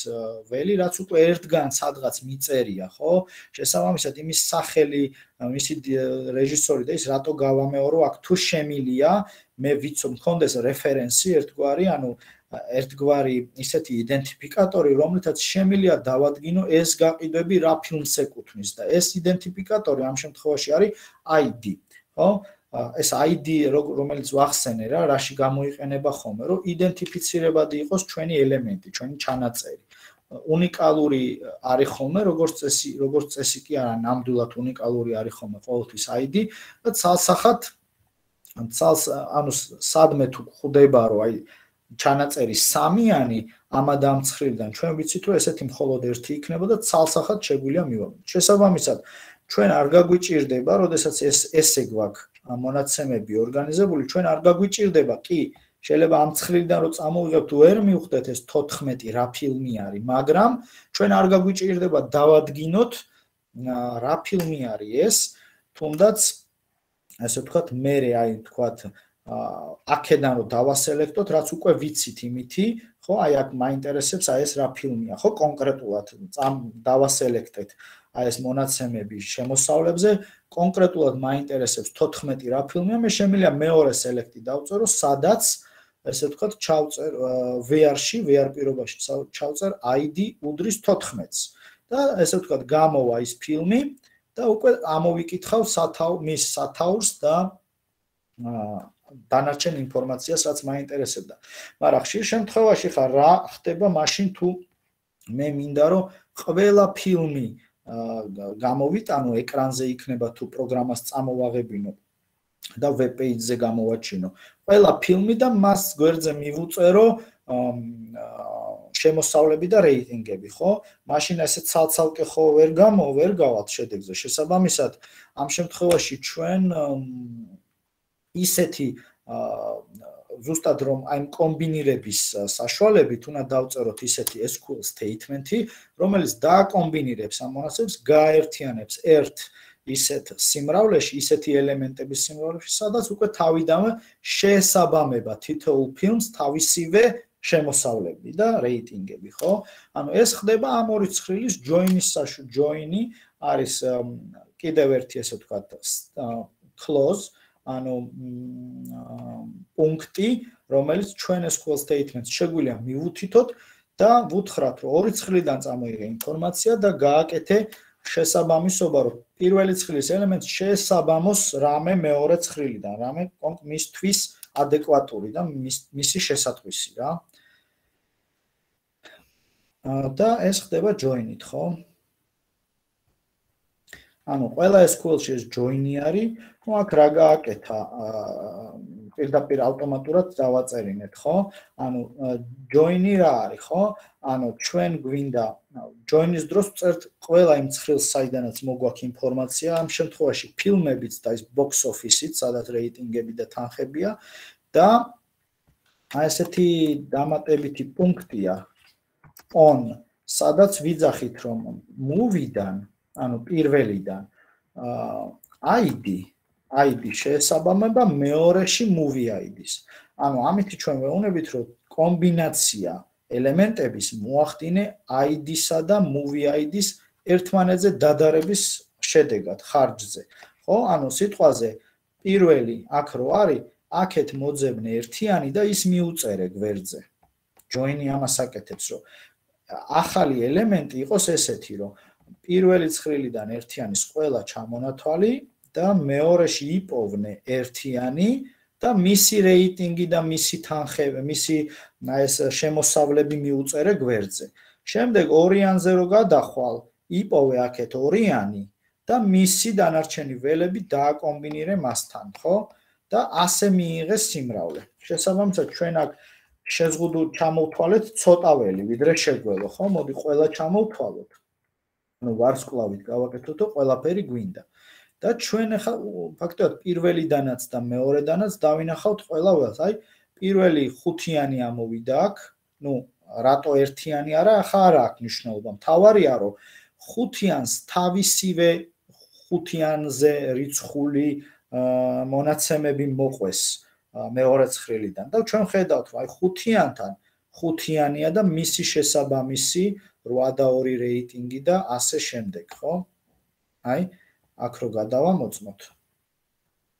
ველი, რაც უკვე ერთგან სადღაც მიწერია, ხო? შესაბამისად იმის სახელი, მისი რეჟისორი და ის რატო გავამეორო, აქ თუ შემილია, მე ვიცო მქონდეს რეფერენსი ერთგვარი, ანუ ერთგვარი ისეთი იდენტიფიკატორი, რომლითაც შემილია დავადგინო ეს გაყიდვები რა ფილმს ეკუთვნის და ეს იდენტიფიკატორი ამ შემთხვევაში არის I D, ხო? ეს I D რომელიც ვახსენე რა, რაში გამოიყენება ხოლმე, რომ იდენტიფიცირებადი იყოს ჩვენი ელემენტი, ჩვენი ჩანაწერი. უნიკალური არის ხოლმე, როგორც წესი, როგორც წესი კი არა, ნამდვილად უნიკალური არის ხოლმე ყოველთვის I D და ცალსახად ცალს ანუ სადმე თუ ხვდება, რომ აი ჩანაწერი სამიანი ამად ამ ცხრილიდან ჩვენ ვიცით რომ ესეთი მხოლოდ ერთი იქნება და ცალსახად შეგვიძლია მივამოწმოთ. შესაბამისად ჩვენ არ გაგვიჭირდება, როდესაც ეს ესე გვაქვს მონაცემები ორგანიზებული, ჩვენ არ გაგვიჭირდება, კი, შეიძლება ამ ცხრილიდან რომ წამოვიღებთ, ვერ მივხვდეთ ეს თოთხმეტი რა ფილმი არის, მაგრამ ჩვენ არ გაგვიჭირდება დავადგინოთ რა ფილმი არის ეს, თუნდაც ასე ვთქვათ, მე აი ვთქვათ აქედან რომ დავასელექტოთ, რაც უკვე ვიცით იმითი, ხო, აი აქ მაინტერესებს აი ეს რა ფილმია, ხო, კონკრეტულად დავასელექტეთ აი ეს მონაცემები შემოსავლებზე, კონკრეტულად მაინტერესებს თოთხმეტი რა ფილმია, მე შემიძლია მეორე სელექტი დავწერო, სადაც ესე ვთქვათ, ჩავწერ V R-ში, V R პირობაში ჩავწერ I D უდრის თოთხმეტს და ესე ვთქვათ, გამოვა ის ფილმი და უკვე ამოვიკითხავ სათავ მის სათაურს და დანარჩენ ინფორმაციას, რაც მაინტერესებდა. მაგრამ ხშირ შემთხვევაში ხარ რა ხდება მაშინ თუ მე მინდა რომ ყველა ფილმი გამოვიტანო ეკრანზე იქნება თუ პროგრამას წამოვაღებინო და ვებ პეიჯზე გამოვაჩინო. ყველა ფილმი და მას გვერდზე მივუწერო შემოსავლები და რეიტინგები, ხო? მაშინ ესე ცალ-ცალკე ხო ვერ გამო, ვერ გავალთ შედეგზე. შესაბამისად, ამ შემთხვევაში ჩვენ ისეთი ზუსტად რომ აი კომბინირების საშუალებით უნდა დავწეროთ ისეთი S Q L statement-ი, რომელიც დააკომბინირებს ამ მონაცემებს, გააერთიანებს ერთ ისეთ სიმრავლეში, ისეთი ელემენტების სიმრავლეში, სადაც უკვე თავიდანვე შეესაბამება თითოეულ ფილმს თავისივე შემოსავლები და რეიტინგები, ხო? ანუ ეს ხდება ამ ორი ცხრილის join-ის საშუ join-ი არის კიდევ ერთი ესე ვთქვათ clause ანუ პუნქტი, რომელიც ჩვენ S Q L statement-ს შეგვიძლია მივუთითოთ და ვუთხრათ, რომ ორი ცხრილიდან წამოიღე ინფორმაცია და გააკეთე შესაბამისობა, რომ პირველი ცხრილის ელემენტს შეესაბამოს რამე მეორე ცხრილიდან, რამე მისთვის ადეკვატური და მისი შესატყვისი რა. და ეს ხდება join-ით, ხო? ანუ ყველა S Q L-ში ეს join-ი არის, ну აქ რა გააკეთა, პირდაპირ ავტომატურად დავაწერინეთ, ხო? ანუ join-ი რა არის, ხო? ანუ ჩვენ გვინდა join-ის დროს წერთ ყველა იმ ცხრილს, საიდანაც მოგვაქვს ინფორმაცია, ამ შემთხვევაში ფილმებიც და ის box office-იც, სადაც რეიტინგები და თანხებია და აი ესეთი დამატებითი პუნქტია on, სადაც ვიძახით რომ movie-დან, ანუ პირველიდან I D I D შეესაბამება მეორეში movie I D-ს. ანუ ამით ჩვენ ვეუბნებით, რომ კომბინაცია ელემენტების მოახდინე I D-სა და movie I D-ს ერთმანეთზე დადარების შედეგად ხარჯზე. ხო? ანუ სიტყვაზე პირველი აქ რო არის, აქეთ მოძებნე ერთიანი და ის მიუწერე გვერდზე. join-ი ამას აკეთებს, რომ ახალი ელემენტი იყოს ესეთი, რომ პირველი ცხრილიდან ერთიანის ყველა ჩამონათვალი და მეორეში იპოვნე ერთიანი და მისი რეიტინგი და მისი თანხები, მისი ეს შემოსავლები მიუწერე გვერდზე. შემდეგ ორიანზე რო გადახვალ, იპოვე აქეთ ორიანი და მისი დანარჩენი ველები დააკომბინირე მასთან, ხო? და ასე მიიღე სიმრავლე. შესაბამისად, ჩვენ აქ შეზღუდულ ჩამოვთვალეთ ცოტა ველი, ვიდრე შეგველო, ხო? მოდი ყველა ჩამოვთვალოთ. ანუ ვარსკვლავით გავაკეთოთ და ყველაფერი გვინდა. და ჩვენ ახლა ფაქტობრივად პირველიდანაც და მეორედანაც დავინახავთ ყველა ველს. აი, პირველი ხუთიანი ამოვიდა აქ, ну, რატო ერთიანი არა, ახლა არა აქვს მნიშვნელობა. მთავარია, რომ ხუთიანს თავისივე ხუთიანზე რიცხული მონაცემები მოყვეს მეორე ცხრილიდან და ჩვენ ხედავთ, რომ აი ხუთიანთან ხუთიანია და მისი შესაბამისი რვა და ორი რეიტინგი და ასე შემდეგ, ხო? აი, აქ რო გადავამოწმოთ.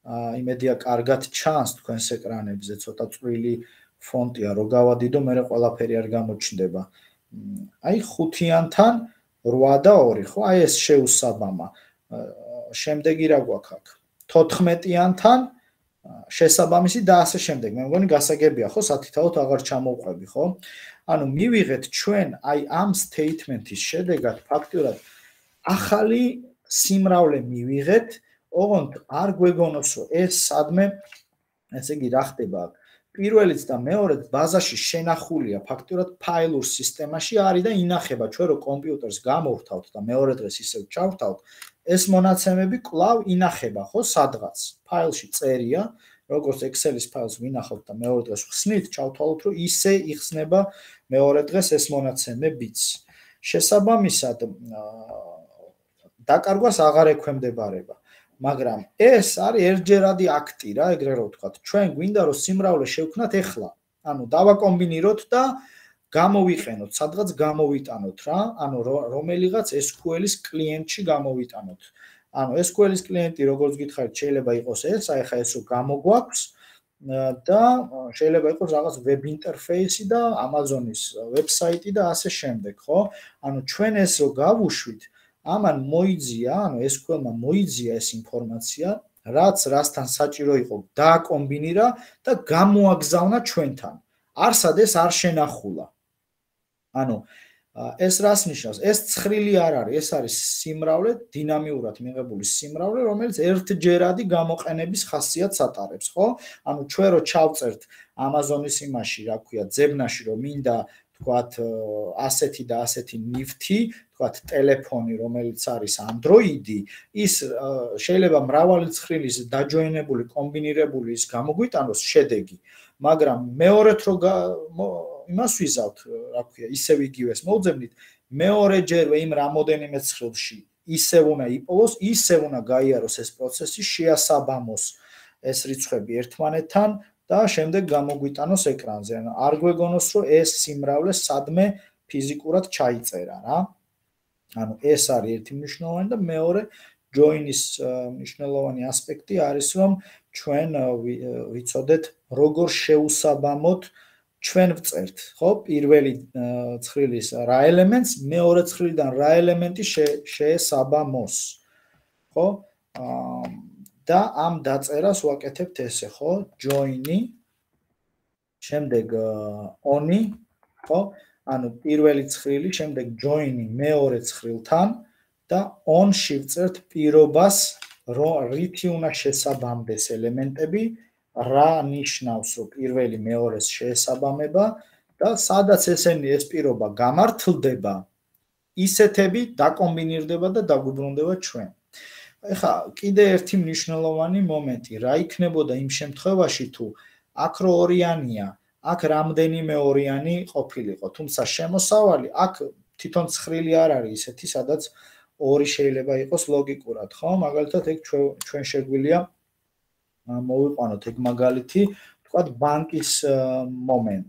აა იმედია კარგად ჩანს თქვენს ეკრანებზე, ცოტა წვრილი ფონტია, რო გავადიდო, მე ყველაფერი არ გამოჩნდება. აი ხუთიანთან რვა და ორი, ხო? აი ეს შეუსაბამა. შემდეგი რა გვაქვს აქ? თოთხმეტიანთან შესაბამისი და ასე შემდეგ. მე მგონი გასაგებია, ხო? სათითაოდ აღარ ჩამოვყვები, ხო? ანუ მივიღეთ ჩვენ აი ამ statement-ის შედეგად ფაქტურად ახალი სიმრავლე მივიღეთ, ოღონდ არ გვეგონოს, რომ ეს სადმე, ესე იგი რა ხდება აქ? პირველიც და მეორეც ბაზაში შენახულია ფაქტურად ფაილურ სისტემაში არის და ინახება ჩვენ რო კომპიუტერს გამოვთავთ და მეორე დღეს ისევ ჩავთავთ, ეს მონაცემები კვლავ ინახება, ხო, სადღაც. ფაილში წერია, როგორც Excel-ის ფაილს ვინახავთ და მეორე დღეს ხსნით, ჩავთვალოთ, რომ ისე იხსნება მეორე დღეს ეს მონაცემებიც. შესაბამისად, დაკარგვას აღარ ექვემდებარება. მაგრამ ეს არის ერთჯერადი აქტი რა, ეგრე რომ ვთქვათ. ჩვენ გვინდა რომ სიმრავლე შევქნათ ეხლა. ანუ დავაკომბინიროთ და გამოვიყენოთ, სადღაც გამოვიტანოთ რა, ანუ რომელიღაც ეს кю ელ-ის კლიენტში გამოვიტანოთ. ანუ ეს кю ელ-ის კლიენტი როგორც გითხარით, შეიძლება იყოს ეს, აი ხა ეს რო გამოგვაქვს და შეიძლება იყოს რაღაც ვებ ინტერფეისი და Amazon-ის ვებსაიტი და ასე შემდეგ, ხო? ანუ ჩვენ ეს რო გავუშვით, ამან მოიძია, ანუ ეს кю ელ-მა მოიძია ეს ინფორმაცია, რაც რასთან საჭირო იყო, დააკომბინირა და გამოაგზავნა ჩვენთან. არსად ეს არ შენახულა. ანუ ეს რას ნიშნავს? ეს ცხრილი არ არის, ეს არის სიმრავლე, დინამიურად მიღებული სიმრავლე, რომელიც ერთჯერადი გამოყენების ხასიათს ატარებს, ხო? ანუ ჩვენ რო ჩავწერთ Amazon-ის იმაში, რა ქვია, ძებნაში, რომ მინდა, თქვათ, ასეთი და ასეთი ნივთი, თქვათ, ტელეფონი, რომელიც არის Android-ი, ის შეიძლება მრავალი ცხრილის დაჯოინებული, კომბინირებული ის გამოგვიტანოს შედეგი, მაგრამ მეორედ რო იმას ვიზავთ, რა ქვია, ისევ იგივეს მოვძებნით, მეორეჯერვე იმ რამოდენიმე ცხრილში ისევ უნდა იპოვოს, ისევ უნდა გაიაროს ეს პროცესი, შეასაბამოს ეს რიცხვები ერთმანეთთან და შემდეგ გამოგვიტანოს ეკრანზე. ანუ არ გვეგონოს, რომ ეს სიმრავლე სადმე ფიზიკურად ჩაიწერა რა. ანუ ეს არის ერთი მნიშვნელოვანი და მეორე join-ის მნიშვნელოვანი ასპექტი არის, რომ ჩვენ ვიცოდეთ, როგორ შეუსაბამოთ ჩვენ ვწერთ, ხო? პირველი ცხრილის რა ელემენტს, მეორე ცხრილიდან რა ელემენტი შეესაბამოს, ხო? და ამ დაწერას ვაკეთებთ ესე, ხო? join-ი, შემდეგ on-ი, ხო? ანუ პირველი ცხრილი, შემდეგ join-ი მეორე ცხრილთან და on-ში ვწერთ პირობას, რომ რითი უნდა შესაბამდეს ელემენტები, რა ნიშნავს, რომ პირველი მეორეს შეესაბამება და სადაც ესენი ეს პირობა გამართლდება, ისეთები დაკომბინირდება და დაგვიბრუნდება ჩვენ. ეხლა კიდე ერთი მნიშვნელოვანი მომენტი, რა იქნებოდა იმ შემთხვევაში, თუ აქ რო ორიანია, აქ რამდენიმე ორიანი ყოფილიყო, თუმცა შემოსავალი აქ თვითონ ცხრილი არ არის ისეთი, სადაც ორი შეიძლება იყოს ლოგიკურად, ხო? მაგალითად, ეგ ჩვენ შეგვიძლია მოვიყვანოთ ეგ მაგალითი, თქვათ ბანკის მომენტ,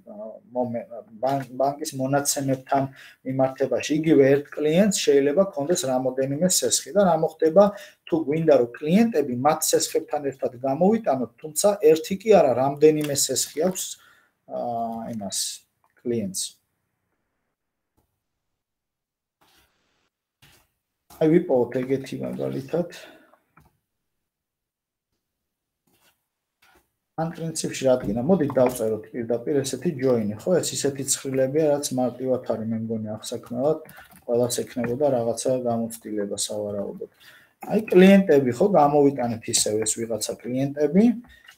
ბანკის მონაცემებთან მიმართებაში. იგივე ერთ კლიენტს შეიძლება ქონდეს რამოდენიმე სესხი და რა მოხდება, თუ გვინდა რომ კლიენტები მათ სესხებთან ერთად გამოვიტანოთ, თუმცა ერთი კი არა, რამდენიმე სესხი აქვს იმას კლიენტს. აი ვიპოვოთ ეგეთი მაგალითად. ან პრინციპში რადგან მოდით დავწეროთ პირდაპირ ესეთი join-ი, ხო? ეს ისეთი ცხრილებია, რაც მარტივად არის, მე მგონი ახსაქმნელად, ყველას ექნებოდა რაღაცა გამოცდილება სავარაუდოდ. აი კლიენტები, ხო, გამოვიტანეთ ისევ ეს ვიღაცა კლიენტები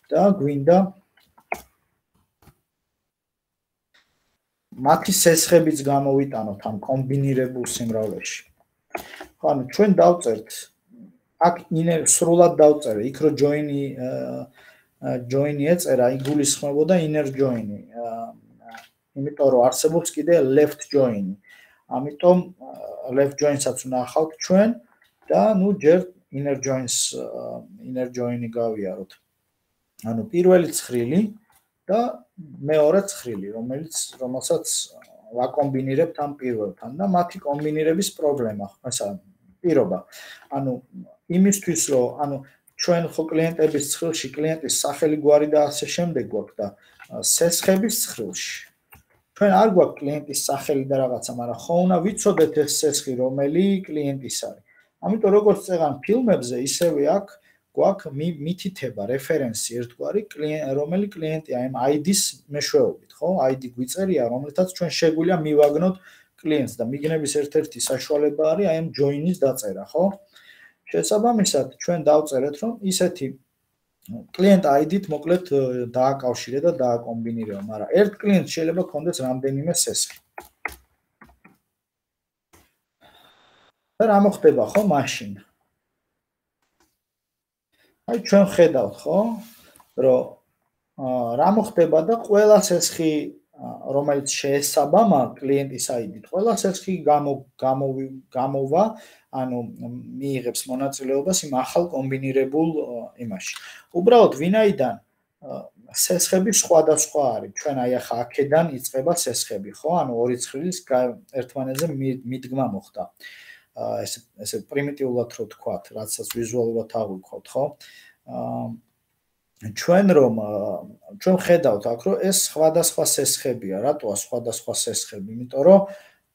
და გვინდა მათი სესხებიც გამოვიტანოთ ამ კომბინირებულ სიმრავლეში. ხო, ანუ ჩვენ დავწერთ აქ inner სრულად დავწერე, იქ რო join-ი join-ი ეწერა, იგულისხმებოდა inner join-ი. იმიტომ რომ არსებობს კიდე left join-ი. ამიტომ left join-საც ვნახავთ ჩვენ და ნუ ჯერ inner joins inner join-ი გავიაროთ. ანუ პირველი ცხრილი და მეორე ცხრილი, რომელიც რომელსაც ვაკომბინირებთ ამ პირველთან და მათი კომბინირების პრობლემა, ასე პირობა. ანუ იმისთვის რომ ანუ ჩვენ ხო კლიენტების ცხრილში კლიენტის სახელი გვარი და ასე შემდეგ გვაქვს და სესხების ცხრილში ჩვენ არ გვაქვს კლიენტის სახელი და რაღაცა, მაგრამ ხო უნდა ვიცოდეთ ეს სესხი რომელი კლიენტის არის. ამიტომ როგორც წეგან ფილმებზე ისევე აქ გვაქვს მითითება რეფერენსი ერთგვარი რომელი კლიენტია ამ აი დის მეშვეობით, ხო? აი დი გვიწერია, რომელთაც ჩვენ შეგვიძლია მივაგნოთ კლიენტს და მიგნების ერთ-ერთი საშუალება არის აი ამ join-ის დაწერა, ხო? შესაბამისად, ჩვენ დავწერეთ, რომ ისეთი კლიენტ აი დი-თ მოკლედ დააკავშირე და დააკომბინირება, მაგრამ ერთ კლიენტს შეიძლება ქონდეს რამდენიმე სესხი. და რა მოხდება, ხო, მაშინ? აი ჩვენ ხედავთ, ხო, რომ რა მოხდება და ყველა სესხი რომელიც შეესაბამა კლიენტის აი დი-თ, ყველა სესხი გამოვა, ანუ მიიღებს მონაწილეობას იმ ახალ კომბინირებულ იმაში. უბრალოდ ვინაიდან სესხები სხვადასხვა არის, ჩვენ აი ახლა აქედან იწყება სესხები, ხო? ანუ ორი ცხრილის ერთმანეთზე მიდგმა მოხდა. ესე ესე პრიმიტიულად რო თქვათ, რაცაც ვიზუალურად აღვიქვათ, ხო? ჩვენ რომ ჩვენ ხედავთ აქ რომ ეს სხვადასხვა სესხებია, რატოა სხვადასხვა სესხები? იმიტომ რომ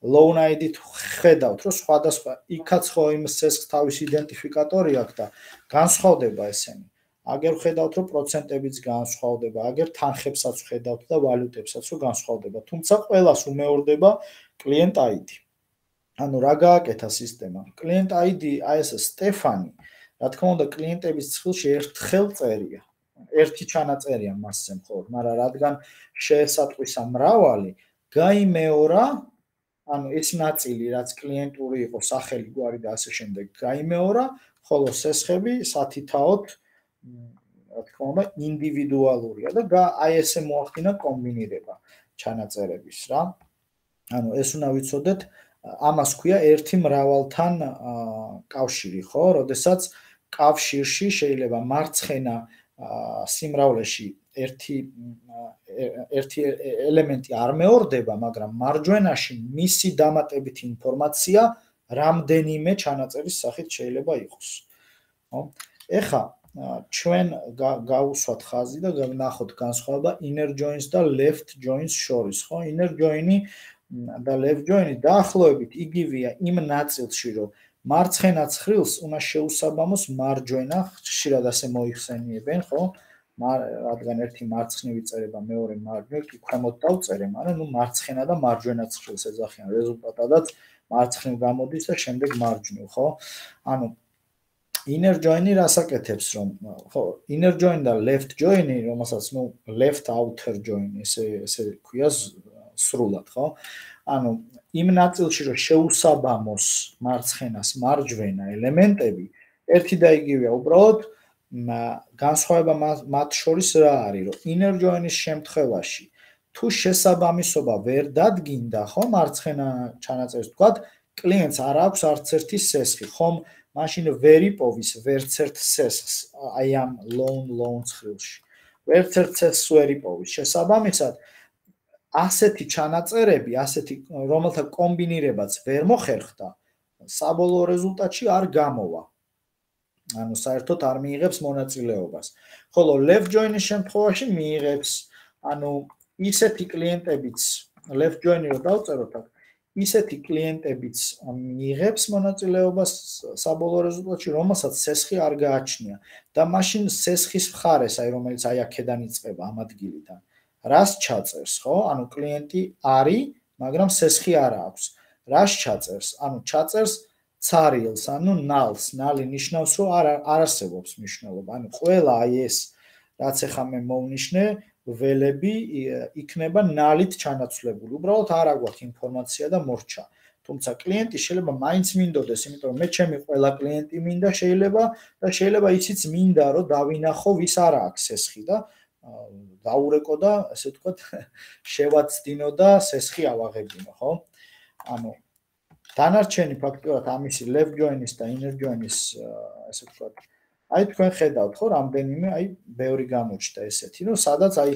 loan აი დი-თ ხედავთ რომ სხვადასხვა იქაც ხო იმ სესხს თავის იდენტიფიკატორი აქვს და განსხვავდება ესენი. აგერ ხედავთ რომ პროცენტებიც განსხვავდება, აგერ თანხებსაც ხედავთ და ვალუტებსაც რომ განსხვავდება, თუმცა ყველას უმეორდება client აი დი. ანუ რა გააკეთა სისტემა? client აი დი აი ეს სტეფანი, რა თქმა უნდა კლიენტების ცხრილში ერთხელ წერია. ერთი ჩანაწერია მასზე მხოლოდ, მაგრამ რადგან შეესატყვისა მრავალი, გაიმეორა, ანუ ეს ნაწილი, რაც კლიენტური იყო, სახელი, გვარი და ასე შემდეგ, გაიმეორა, ხოლო სესხები სათითაოდ, რა თქმა უნდა, ინდივიდუალურია და აი ესე მოახდინა კომბინირება ჩანაწერების, რა. ანუ ეს უნდა ვიცოდეთ, ამას ქვია ერთი მრავალთან კავშირი, ხო? როდესაც კავშირში შეიძლება მარცხენა სიმრავლეში ერთი ერთი ელემენტი არ მეორდება, მაგრამ მარჯვენაში მისი დამატებითი ინფორმაცია რამდენიმე ჩანაწერის სახით შეიძლება იყოს. ხო? ეხა ჩვენ გავუსვათ ხაზი და ვნახოთ განსხვავება inner joins და left joins შორის, ხო? inner join-ი და left join-ი დაახლოებით იგივეა იმ ნაწილში, რომ მარცხენა ცხრილს უნდა შეუსაბამოს მარჯვენა, ხშირად ასე მოიხსენიებენ, ხო? რადგან ერთი მარცხნივ იწერება, მეორე მარჯვნივ, კი ქვემოთ დავწერე, მაგრამ ნუ მარცხენა და მარჯვენა ცხრილს ეძახიან, რეზულტატადაც მარცხნივ გამოდის და შემდეგ მარჯვნივ, ხო? ანუ inner join-ი რას აკეთებს, რომ ხო, inner join და left join-ი, რომელსაც ნუ left outer join-ი ესე ესე ქვია სრულად, ხო? ანუ იმ ნაწილში რომ შეუსაბამოს მარცხენას მარჯვენა ელემენტები, ერთი და იგივეა, უბრალოდ განსხვავება მათ შორის რა არის, რომ inner join-ის შემთხვევაში თუ შესაბამისობა ვერ დადგინდა, ხო, მარცხენა ჩანაწერს თქვათ, კლიენტს არ აქვს არც ერთი სესხი, ხომ მაშინ ვერ იპოვის ვერც ერთ სესხს აი ამ loan loan ცხრილში. ვერც ერთ სესხს ვერ იპოვის. შესაბამისად ასეთი ჩანაწერები, ასეთი რომელთა კომბინირებაც ვერ მოხერხდა, საბოლოო რეზულტატში არ გამოვა. ანუ საერთოდ არ მიიღებს მონაწილეობას. ხოლო left join-ის შემთხვევაში მიიღებს, ანუ ისეთი კლიენტებიც left join-ი რო დავწეროთ აქ, ისეთი კლიენტებიც მიიღებს მონაწილეობას საბოლოო რეზულტატში, რომელსაც სესხი არ გააჩნია და მაშინ სესხის მხარეს, აი რომელიც აი აქედან იწყება ამ ადგილიდან, რას ჩაწერს, ხო? ანუ კლიენტი არის, მაგრამ სესხი არ აქვს. რას ჩაწერს? ანუ ჩაწერს ცარიელს, ანუ ნალს. ნალი ნიშნავს, რომ არ არ არსებობს მნიშვნელობა. ანუ ყველა აი ეს, რაც ახლა მე მოვნიშნე, ველები იქნება ნალით ჩანაცვლებული. უბრალოდ არ აგვაქვს ინფორმაცია და მორჩა. თუმცა კლიენტი შეიძლება მაინც მინდოდეს, იმიტომ რომ მე ჩემი ყველა კლიენტი მინდა შეიძლება და შეიძლება ისიც მინდა, რომ დავინახო, ვის არ აქვს სესხი და დაურეკო და ესე ვთქვათ, შევაცდინო და სესხი ავაღებინო, ხო? ანუ დანარჩენი ფაქტურად ამისი left join-ის და inner join-ის, ესე ვთქვათ, აი თქვენ ხედავთ ხო რამდენიმე აი ბევრი გამოჩნდა ესეთი რომ სადაც აი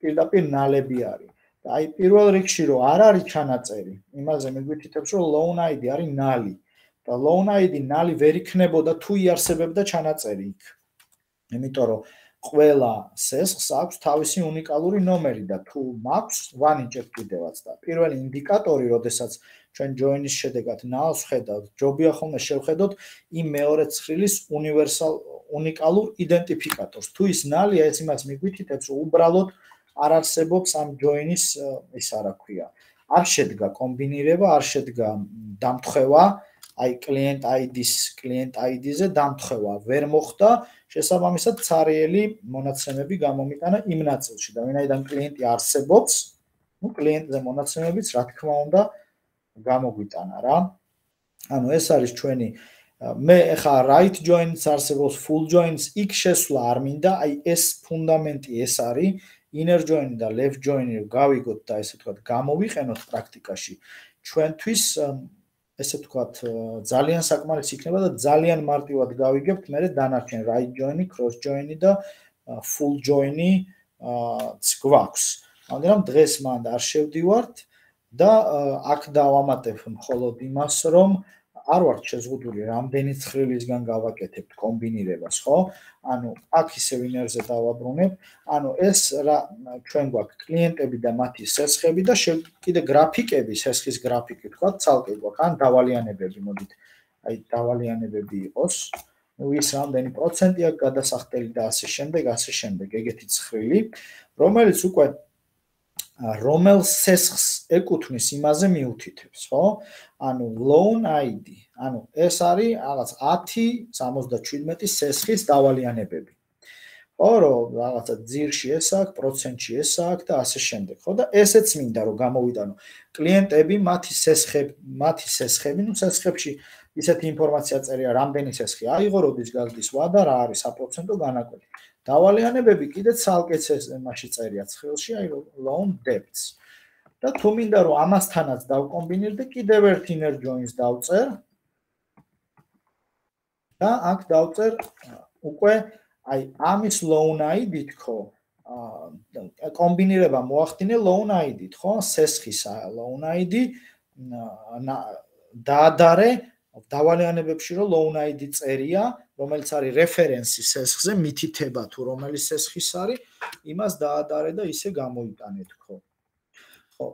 პირდაპირ ნალები არის და აი პირველ რიგში რომ არ არის ჩანაწერი იმაზე მიგვითითებს რომ loan I D არის ნალი და loan I D ნალი ვერ იქნებოდა თუ იარსებებდა ჩანაწერი იქ იმიტომ რომ ყველა სესხს აქვს თავისი უნიკალური ნომერი და თუ მაქვს ვანიჭებ კიდევაც და პირველი ინდიკატორი როდესაც ჩვენ join-ის შედეგად ნალს ხედავთ ჯობია ხოლმე შევხედოთ იმ მეორე ცხრილის უნივერსალ უნიკალურ იდენტიფიკატორს თუ ის ნალია ეს იმას მიგვითითებს რომ უბრალოდ არ არსებობს ამ join-ის ის რა ქვია არ შედგა კომბინირება არ შედგა დამთხევა აი client I D-ს client I D-ზე დამთხევა ვერ მოხდა შესაბამისად ცარიელი მონაცემები გამომიტანა იმ ნაწილში და ვინაიდან კლიენტი არსებობს ნუ კლიენტზე მონაცემებიც რა თქმა უნდა გამოგვიტანა რა ანუ ეს არის ჩვენი მე ახლა right joins არსებობს full joins იქ შესვლა არ მინდა აი ეს ფუნდამენტი ეს არის inner join და left join გავიგოთ და ესე ვთქვათ გამოვიყენოთ პრაქტიკაში ჩვენთვის ესე ვთქვათ ძალიან საკმარისი იქნება და ძალიან მარტივად გავიგებთ მე დანარჩენ right join, cross join და full join-ი გვაქვს. მაგრამ დღეს მანდ არ შევდივართ და აქ დავამატებ მხოლოდ იმას, რომ არ ვართ შეზღუდული რამდენი ცხრილისგან გავაკეთებთ კომბინირებას, ხო? ანუ აქ ისე ვინერზე დავაბრუნებ, ანუ ეს რა ჩვენ გვაქვს კლიენტები და მათი სესხები და კიდე გრაფიკები, სესხის გრაფიკი თქვა, ცალკე გვაქვს, ან დავალიანებები, მოდით, აი დავალიანებები იყოს. ნუ ის რამდენი პროცენტია გადასახდელი და ასე შემდეგ, ასე შემდეგ, ეგეთი ცხრილი, რომელიც უკვე რომელ სესხს ეკუთვნის იმაზე მიუთითებს, ხო? ანუ loan I D, ანუ ეს არის რაღაც ათი სამოცდაჩვიდმეტი სესხის დავალიანებები. ხო, რომ რაღაცა ძირში ეს აქვს, პროცენტში ეს აქვს და ასე შემდეგ, ხო? და ესეც მინდა რომ გამოვიტანო. კლიენტები მათი სესხები, მათი სესხები, ნუ სესხებში ისეთი ინფორმაცია წერია, რამდენი სესხი აიღო, როდის გაგდის ვადა, რა არის საპროცენტო განაკვეთი. დავალიანებები კიდე ცალკე მასში წერია ცხრილში, აი loan debts. და თუ მინდა რომ ამასთანაც დავკომბინირდე, კიდევ ერთ inner joins დავწერ. და აქ დავწერ უკვე აი ამის loan I D თქო, კომბინირება მოახდინე loan I D-თ, ხო? სესხის loan I D დაადარე დავალიანებებში რომ loan I D წერია, რომელიც არის რეფერენსი სესხზე, მითითება თუ რომელი სესხის არის, იმას დაადარე და ისე გამოიტანე თქო. ხო.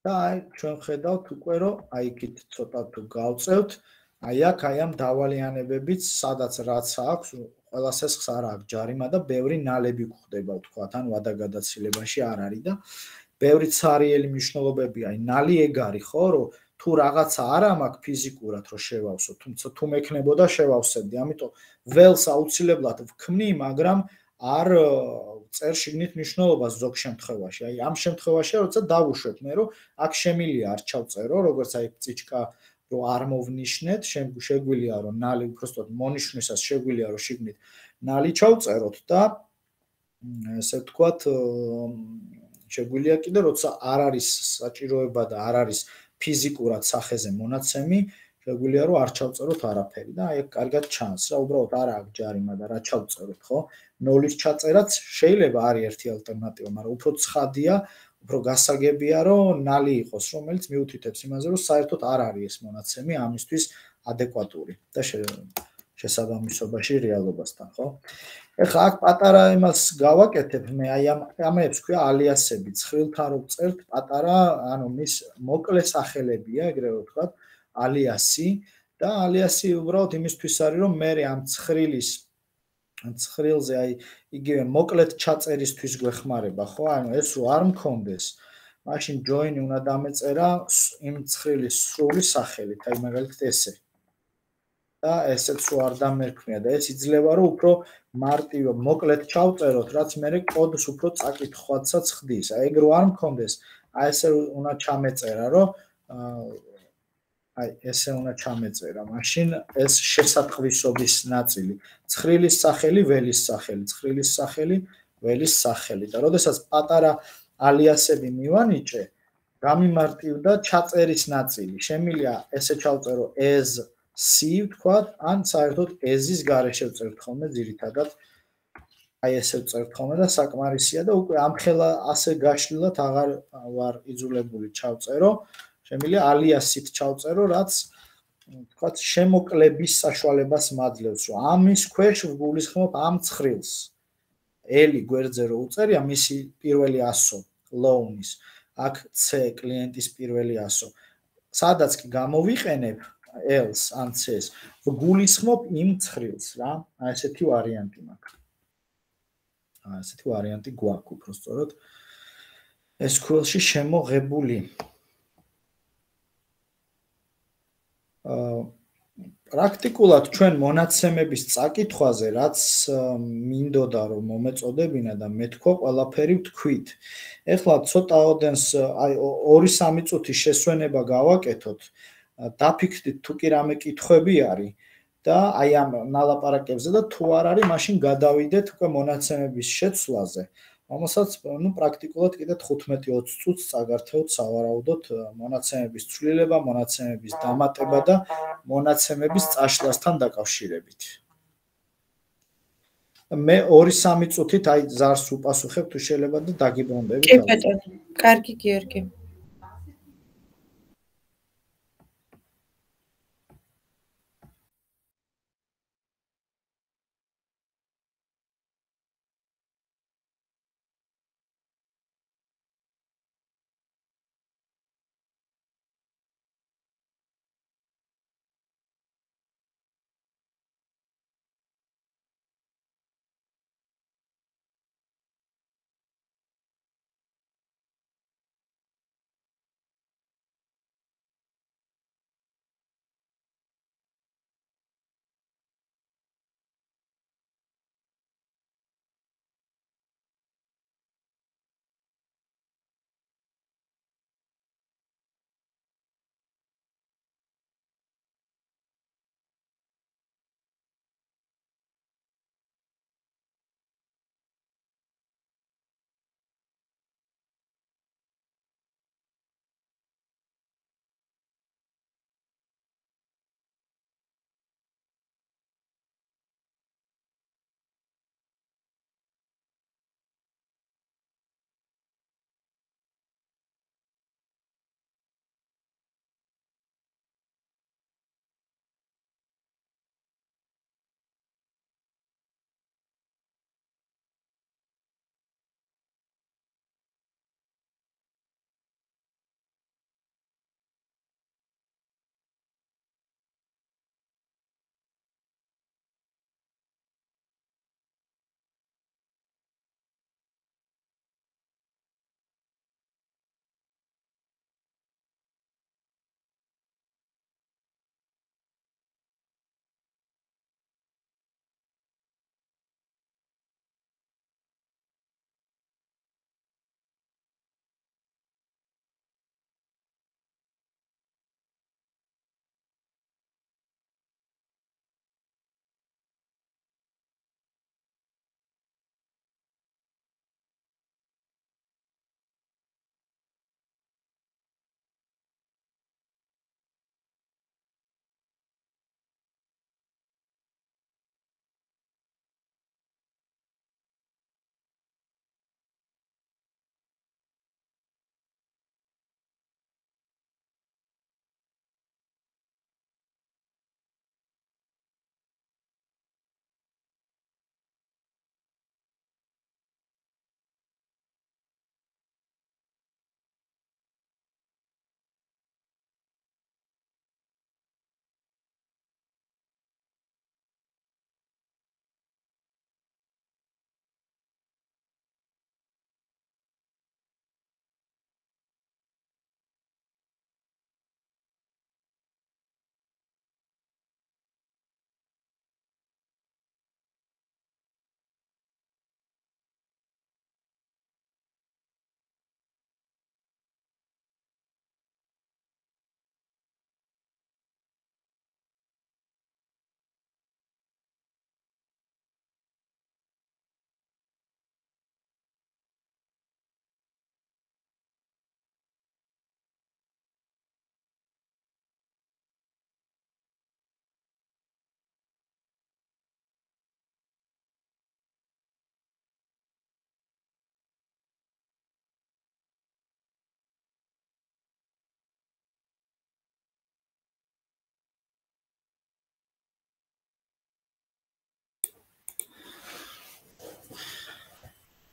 და აი ჩვენ ხედავთ უკვე რომ აი იქით ცოტა თუ გავწევთ, აი აქ აი ამ დავალიანებებიც, სადაც რაც აქვს, ყველა სესხს არ აქვს ჯარიმა და ბევრი ნალები გვხდება, ვთქვათ, ან ვადაგადაცილებაში არ არის და ბევრი ცარიელი მნიშვნელობები, აი ნალი ეგ არის, ხო, რომ თუ რაღაცა არა მაქვს ფიზიკურად რომ შევავსო, თუმცა თუ მექნებოდა შევავსებდი, ამიტომ ველს აუცილებლად ვქმნი, მაგრამ არ წერ შიგნით მნიშვნელობას ზოგ შემთხვევაში. აი ამ შემთხვევაში როცა დავუშვებ მე რომ აქ შემილია არ ჩავწერო, როგორც აი წიჩკა რომ არ მოვნიშნეთ, შეგვიძლია რომ ნალი უბრალოდ მონიშნვისას შეგვიძლია რომ შიგნით ნალი ჩავწეროთ და ესე ვთქვათ შეგვიძლია კიდე როცა არ არის საჭიროება და არ არის ფიზიკურად სახეზე მონაცემი, შეგვიძლია რომ არ ჩავწეროთ არაფერი და აი კარგად ჩანს რა, უბრალოდ არ აქვს ჯარიმა და რა ჩავწეროთ, ხო? ნოლის ჩაწერაც შეიძლება არის ერთი ალტერნატივა, მაგრამ უფრო ცხადია, უფრო გასაგებია რომ ნალი იყოს, რომელიც მიუთითებს იმაზე, რომ საერთოდ არ არის ეს მონაცემი ამისთვის ადეკვატური და შესაბამისობაში რეალობასთან, ხო? ეხლა აქ პატარა იმას გავაკეთებ მე, აი ამ ამებს ქვია ალიასები, ცხრილთან რო წერთ პატარა, ანუ მის მოკლე სახელებია, ეგრევე ვთქვათ, ალიასი და ალიასი უბრალოდ იმისთვის არის, რომ მე ამ ცხრილის ცხრილზე აი იგივე მოკლედ ჩაწერისთვის გვეხმარება, ხო? ანუ ეს რო არ მქონდეს, მაშინ join უნდა დამეწერა იმ ცხრილის სრული სახელით, აი მაგალითად ესე. და ესეც რო არ დამერქმია და ეს იძლევა რომ უფრო მარტივ მოკლედ ჩავწეროთ, რაც მე კოდს უფრო წაკითხვაცაც ხდის. აი ეგ რო არ მქონდეს, აი ესე უნდა ჩამეწერა, რომ აი ესე უნდა ჩამეწერა. მაშინ ეს შესატყვისობის ნაწილი. ცხრილის სახელი, ველის სახელი, ცხრილის სახელი, ველის სახელი. და როდესაც პატარა ალიასები მივანიჭე, გამიმარტივდა ჩაწერის ნაწილი. შემიძლია ესე ჩავწერო as C ვთქვათ, ან საერთოდ ezis გარეშე ვწერთ ხოლმე ძირითადად. აი ესე ვწერთ ხოლმე და საკმარისია და უკვე ამ ხელა ასე გაშლილად აღარ ვარ იძულებული ჩავწერო. შემიძლია alias-ით ჩავწერო, რაც ვთქვათ შემოკლების საშუალებას მაძლევს, რომ ამის ქვეშ ვგულისხმობ ამ ცხრილს. L გვერდზე რო უწერია მისი პირველი ასო loan-ის. აქ C კლიენტის პირველი ასო. სადაც კი გამოვიყენებ L-ს ან C-ს, ვგულისხმობ იმ ცხრილს რა. აი ესეთი ვარიანტი მაქვს. აი ესეთი ვარიანტი გვაქვს უბრალოდ ეს ес кю ელ-ში შემოღებული. აა პრაქტიკულად ჩვენ მონაცემების წაკითხვაზე, რაც მინდოდა რომ მომეწოდებინა და მე თქვა ყველაფერი ვთქვით. ეხლა ცოტა ოდენს აი ორი სამი წუთი შესვენება გავაკეთოთ. დაფიქრდით თუ კი რამე კითხვები არის და აი ამ ნალაპარაკებზე და თუ არ არის, მაშინ გადავიდეთ უკვე მონაცემების შეცვლაზე. რომელსაც ნუ პრაქტიკულად კიდე თხუთმეტი ოცი წუთს წაგართეოთ სავარაუდოდ მონაცემების ცვლილება, მონაცემების დამატება და მონაცემების წაშლასთან დაკავშირებით. მე ორი სამი წუთით აი ზარს უპასუხებ თუ შეიძლება და დაგიბრუნდებით. კი ბატონო, კარგი გიორგი.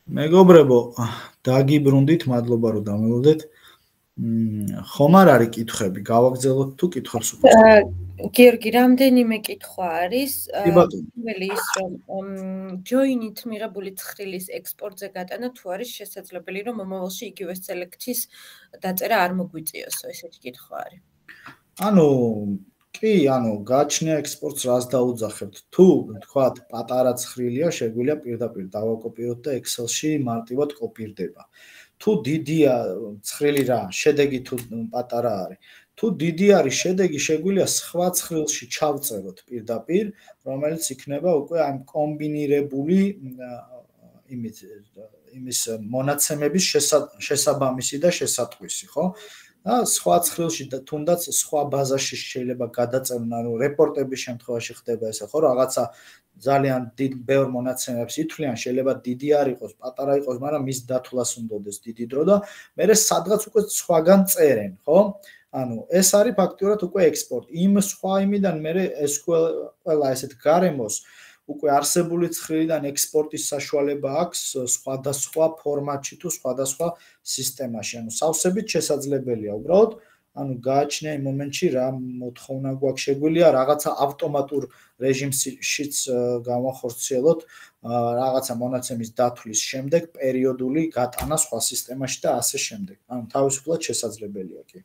მეგობრებო, დაგიბრუნდით, მადლობა რომ დამელოდეთ. ხომ არ არის კითხვები, გავაგზავნოთ თუ კითხვებს უკვე? გიორგი, რამდენიმე კითხვა არის. პირველი ის, რომ ჯოინით მიღებული ცხრილის ექსპორტზე გატანა თუ არის შესაძლებელი, რომ მომავალში იგივე სელექტის დაწერა არ მოგვიწიოსო, ესეთი კითხვა არის. ანუ კი, ანუ გააჩნია ექსპორტს რას დაუძახებთ. თუ თქვათ პატარა ცხრილია, შეგვიძლია პირდაპირ დავაკოპიროთ და Excel-ში მარტივად კოპირდება. თუ დიდია ცხრილი რა, შედეგი თუ პატარა არის. თუ დიდი არის შედეგი, შეგვიძლია სხვა ცხრილში ჩავწეროთ პირდაპირ, რომელიც იქნება უკვე ამ კომბინირებული იმით იმის მონაცემების შესაბამისი და შესატყვისი, ხო? და სხვა ცხრილში და თუნდაც სხვა ბაზაში შეიძლება გადაწერონ, ანუ რეპორტების შემთხვევაში ხდება ესე, ხო, რაღაცა ძალიან დიდ ბევრ მონაცემებს ითვლიან, შეიძლება დიდი არ იყოს, პატარა იყოს, მაგრამ მის დათვლას უნდადეს დიდი დრო და მერე სადღაც უკვე სხვაგან წერენ, ხო? ანუ ეს არის ფაქტიურად უკვე ექსპორტი. იმ სხვა იმიდან მერე ეს ყველა ესეთ გარემოს უკვე არსებული ცხრილიდან ექსპორტის საშუალება აქვს სხვადასხვა ფორმატში თუ სხვადასხვა სისტემაში. ანუ სავსებით შესაძლებელია უბრალოდ, ანუ გააჩნია იმ მომენტში რა მოთხოვნა გვაქვს, შეგვიძლია რაღაცა ავტომატურ რეჟიმშიც გავახორციელოთ რაღაცა მონაცემის დათვლის შემდეგ პერიოდული გატანა სხვა სისტემაში და ასე შემდეგ. ანუ თავისუფლად შესაძლებელია კი.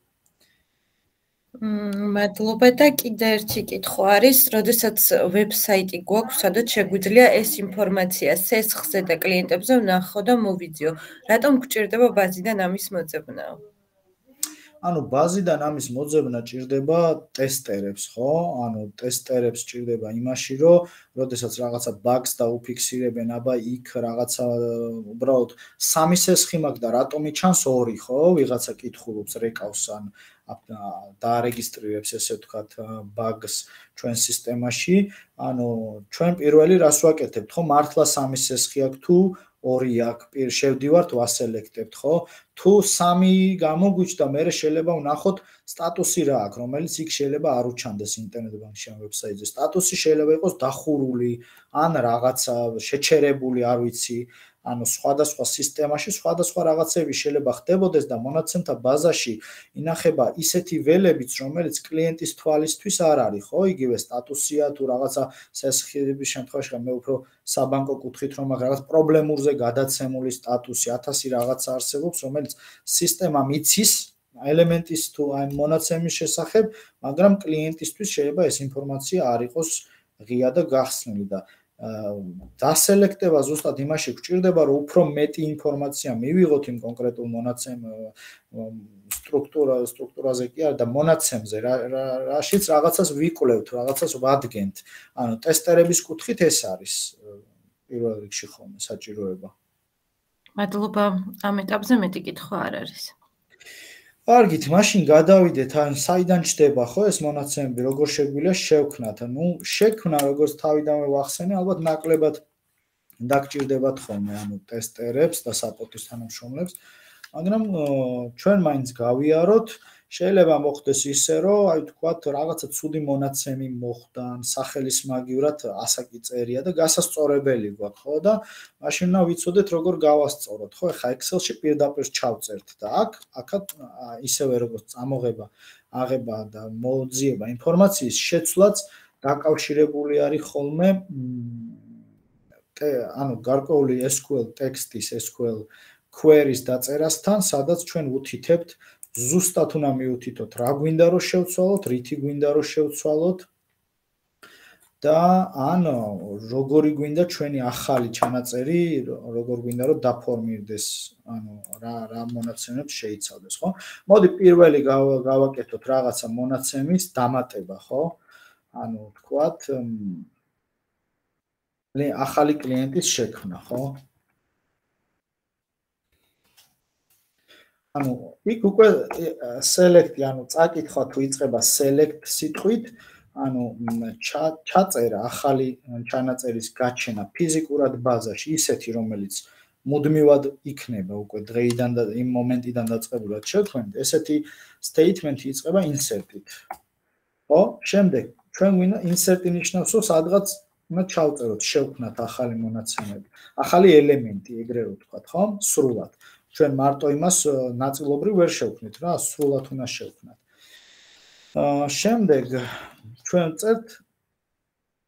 მადლობა და კიდე ერთი კითხვა არის, როდესაც ვებსაიტი გვაქვს, სადაც შეგვიძლია ეს ინფორმაცია სესხზე და კლიენტებზე ვნახო და მოვიძიო. რატომ გვჭირდება ბაზიდან ამის მოძებნა? ანუ ბაზიდან ამის მოძებნა ჭირდება ტესტერებს, ხო? ანუ ტესტერებს ჭირდება იმაში, რომ როდესაც რაღაცა ბაგს და უფიქსირებენ, აბა იქ რაღაცა უბრალოდ სამი სესხი მაქვს და რატომი ჩანს ორი, ხო? ვიღაცა კითხულობს რეკავს ან დაარეგისტრირებს ესე ვთქვათ ბაგს ჩვენ სისტემაში, ანუ ჩვენ პირველი რას ვაკეთებთ, ხო? მართლა სამი სესხი აქვს თუ ორი აქვს, პირ შევდივართ, ვასელექტებთ, ხო? თუ სამი გამოგვიჩნდა, მერე შეიძლება ვნახოთ სტატუსი რა აქვს, რომელიც იქ შეიძლება არ უჩანდეს ინტერნეტ ბანკში ამ ვებსაიტზე. სტატუსი შეიძლება იყოს დახურული, ან რაღაცა შეჩერებული, არ ვიცი. ანუ სხვადასხვა სისტემაში სხვადასხვა რაღაცები შეიძლება ხდებოდეს და მონაცემთა ბაზაში ინახება ისეთი ველებიც, რომელიც კლიენტის თვალისთვის არ არის, ხო? იგივე სტატუსია თუ რაღაცა სესხების შემთხვევაში, მე უფრო საბანკო კუთხით რომ მაგ რაღაც პრობლემურზე გადაცემული სტატუსი, ათასი რაღაცა არსებობს, რომელიც სისტემამ იცის ელემენტის თუ აი მონაცემის შესახებ, მაგრამ კლიენტისთვის შეიძლება ეს ინფორმაცია არ იყოს ღია და გახსნილი და დასელექტება ზუსტად იმაში გვჭირდება, რომ უფრო მეტი ინფორმაცია მივიღოთ იმ კონკრეტულ მონაცემ სტრუქტურა სტრუქტურაზე კი არა და მონაცემზე, რაშიც რაღაცას ვიკვლევთ, რაღაცას ვადგენთ. ანუ ტესტერების კუთხით ეს არის პირველ რიგში ხოლმე საჭიროება. მადლობა, ამ ეტაპზე მეტი კითხვა არ არის. კარგით, მაშინ გადავიდეთ, ან საიდან ჩდება ხო ეს მონაცემები, როგორ შეგვიძლია შევქნათ? ნუ შექმნა როგორც თავიდანვე ვახსენე, ალბათ ნაკლებად დაგჭირდებათ ხოლმე, ანუ ტესტერებს და საპორტის თანამშრომლებს, მაგრამ ჩვენ მაინც გავიაროთ, შეიძლება მოხდეს ისე, რომ აი თქვათ რაღაცა ცუდი მონაცემი მოხდა, სახელის მაგივრად ასაკი წერია და გასასწორებელი გვაქვს, ხო და მაშინ უნდა ვიცოდეთ როგორ გავასწოროთ, ხო? ეხა Excel-ში პირდაპირ ჩავწერთ და აქ აქაც ისევე როგორც წამოღება, აღება და მოძიება ინფორმაციის შეცვლაც დაკავშირებული არის ხოლმე ანუ გარკვეული ეს кю ელ ტექსტის, ეს кю ელ queries დაწერასთან, სადაც ჩვენ უთითებთ ზუსტად უნდა მიუთითოთ რა გვინდა რომ შევცვალოთ, რითი გვინდა რომ შევცვალოთ და ან როგორი გვინდა ჩვენი ახალი ჩანაწერი, როგორ გვინდა რომ დაფორმირდეს, ანუ რა რა მონაცემებს შეიცავდეს, ხო? მოდი პირველი გავაკეთოთ რაღაცა მონაცემის დამატება, ხო? ანუ თქვათ ახალი კლიენტის შექმნა, ხო? ანუ იქ უკვე select, ანუ წაკითხვა თუ იწყება select სიტყვით, ანუ ჩაწერა ახალი ჩანაწერის გაჩენა ფიზიკურად ბაზაში, ისეთი რომელიც მუდმივად იქნება უკვე დღეიდან და იმ მომენტიდან დაწყებულად შევქმნით, ესეთი statement-ი იწყება insert-ით. ხო? შემდეგ ჩვენ გვინდა insert-ი ნიშნავს, რომ სადღაც უნდა ჩავწეროთ, შევქმნათ ახალი მონაცემები, ახალი ელემენტი, ეგრე რო ვთქვათ, ხო? სრულად. ჩვენ მარტო იმას ნაწილობრივ ვერ შევქმნით რა, სრულად უნდა შევქმნათ. აა შემდეგ ჩვენ წერთ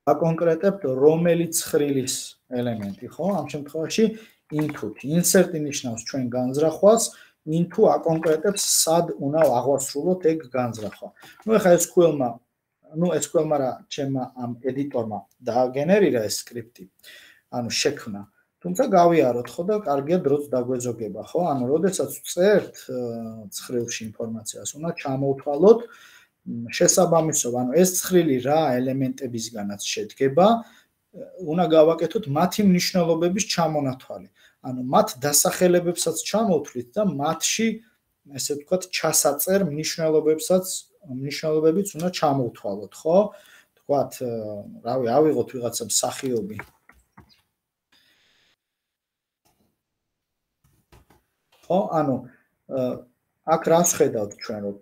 აკონკრეტებთ რომელი ცხრილის ელემენტი, ხო? ამ შემთხვევაში into-თ. Insert-ი ნიშნავს ჩვენ განზრახვას, into აკონკრეტებს სად უნდა აღვასრულოთ ეგ განზრახვა. ნუ ეხლა ეს SQL-მა, ნუ SQL-მა რა ჩემმა ამ ედიტორმა დააგენერირა ეს სკრიპტი, ანუ შექმნა. თუმცა გავიაროთ ხო და კარგია დროც დაგვეზოგება, ხო? ანუ როდესაც წერთ ცხრილში ინფორმაციას, უნდა ჩამოვთვალოთ შესაბამისობა, ანუ ეს ცხრილი რა ელემენტებისგანაც შედგება, უნდა გავაკეთოთ მათი მნიშვნელობების ჩამონათვალი. ანუ მათ დასახელებებსაც ჩამოვთვლით და მათში, ესე ვთქვათ, ჩასაწერ მნიშვნელობებსაც, მნიშვნელობებიც უნდა ჩამოვთვალოთ, ხო? ვთქვათ, რავი, ავიღოთ ვიღაცა მსახიობი. ხო, ანუ აქ რას ხედავთ ჩვენ, რომ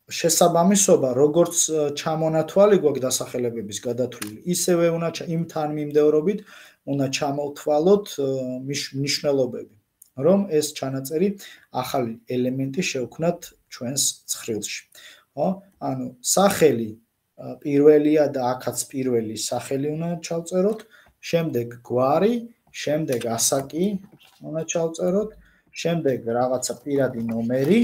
შესაბამისობა, როგორც ჩამონათვალი გვაქვს დასახელებების გადათვლილი, ისევე უნდა იმ თანმიმდევრობით უნდა ჩამოვთვალოთ მნიშვნელობები, რომ ეს ჩანაწერი ახალი ელემენტი შევქმნათ ჩვენს ცხრილში. ხო? ანუ სახელი პირველია და აქაც პირველი სახელი უნდა ჩავწეროთ, შემდეგ გვარი, შემდეგ ასაკი უნდა ჩავწეროთ, შემდეგ რაღაცა პირადი ნომერი.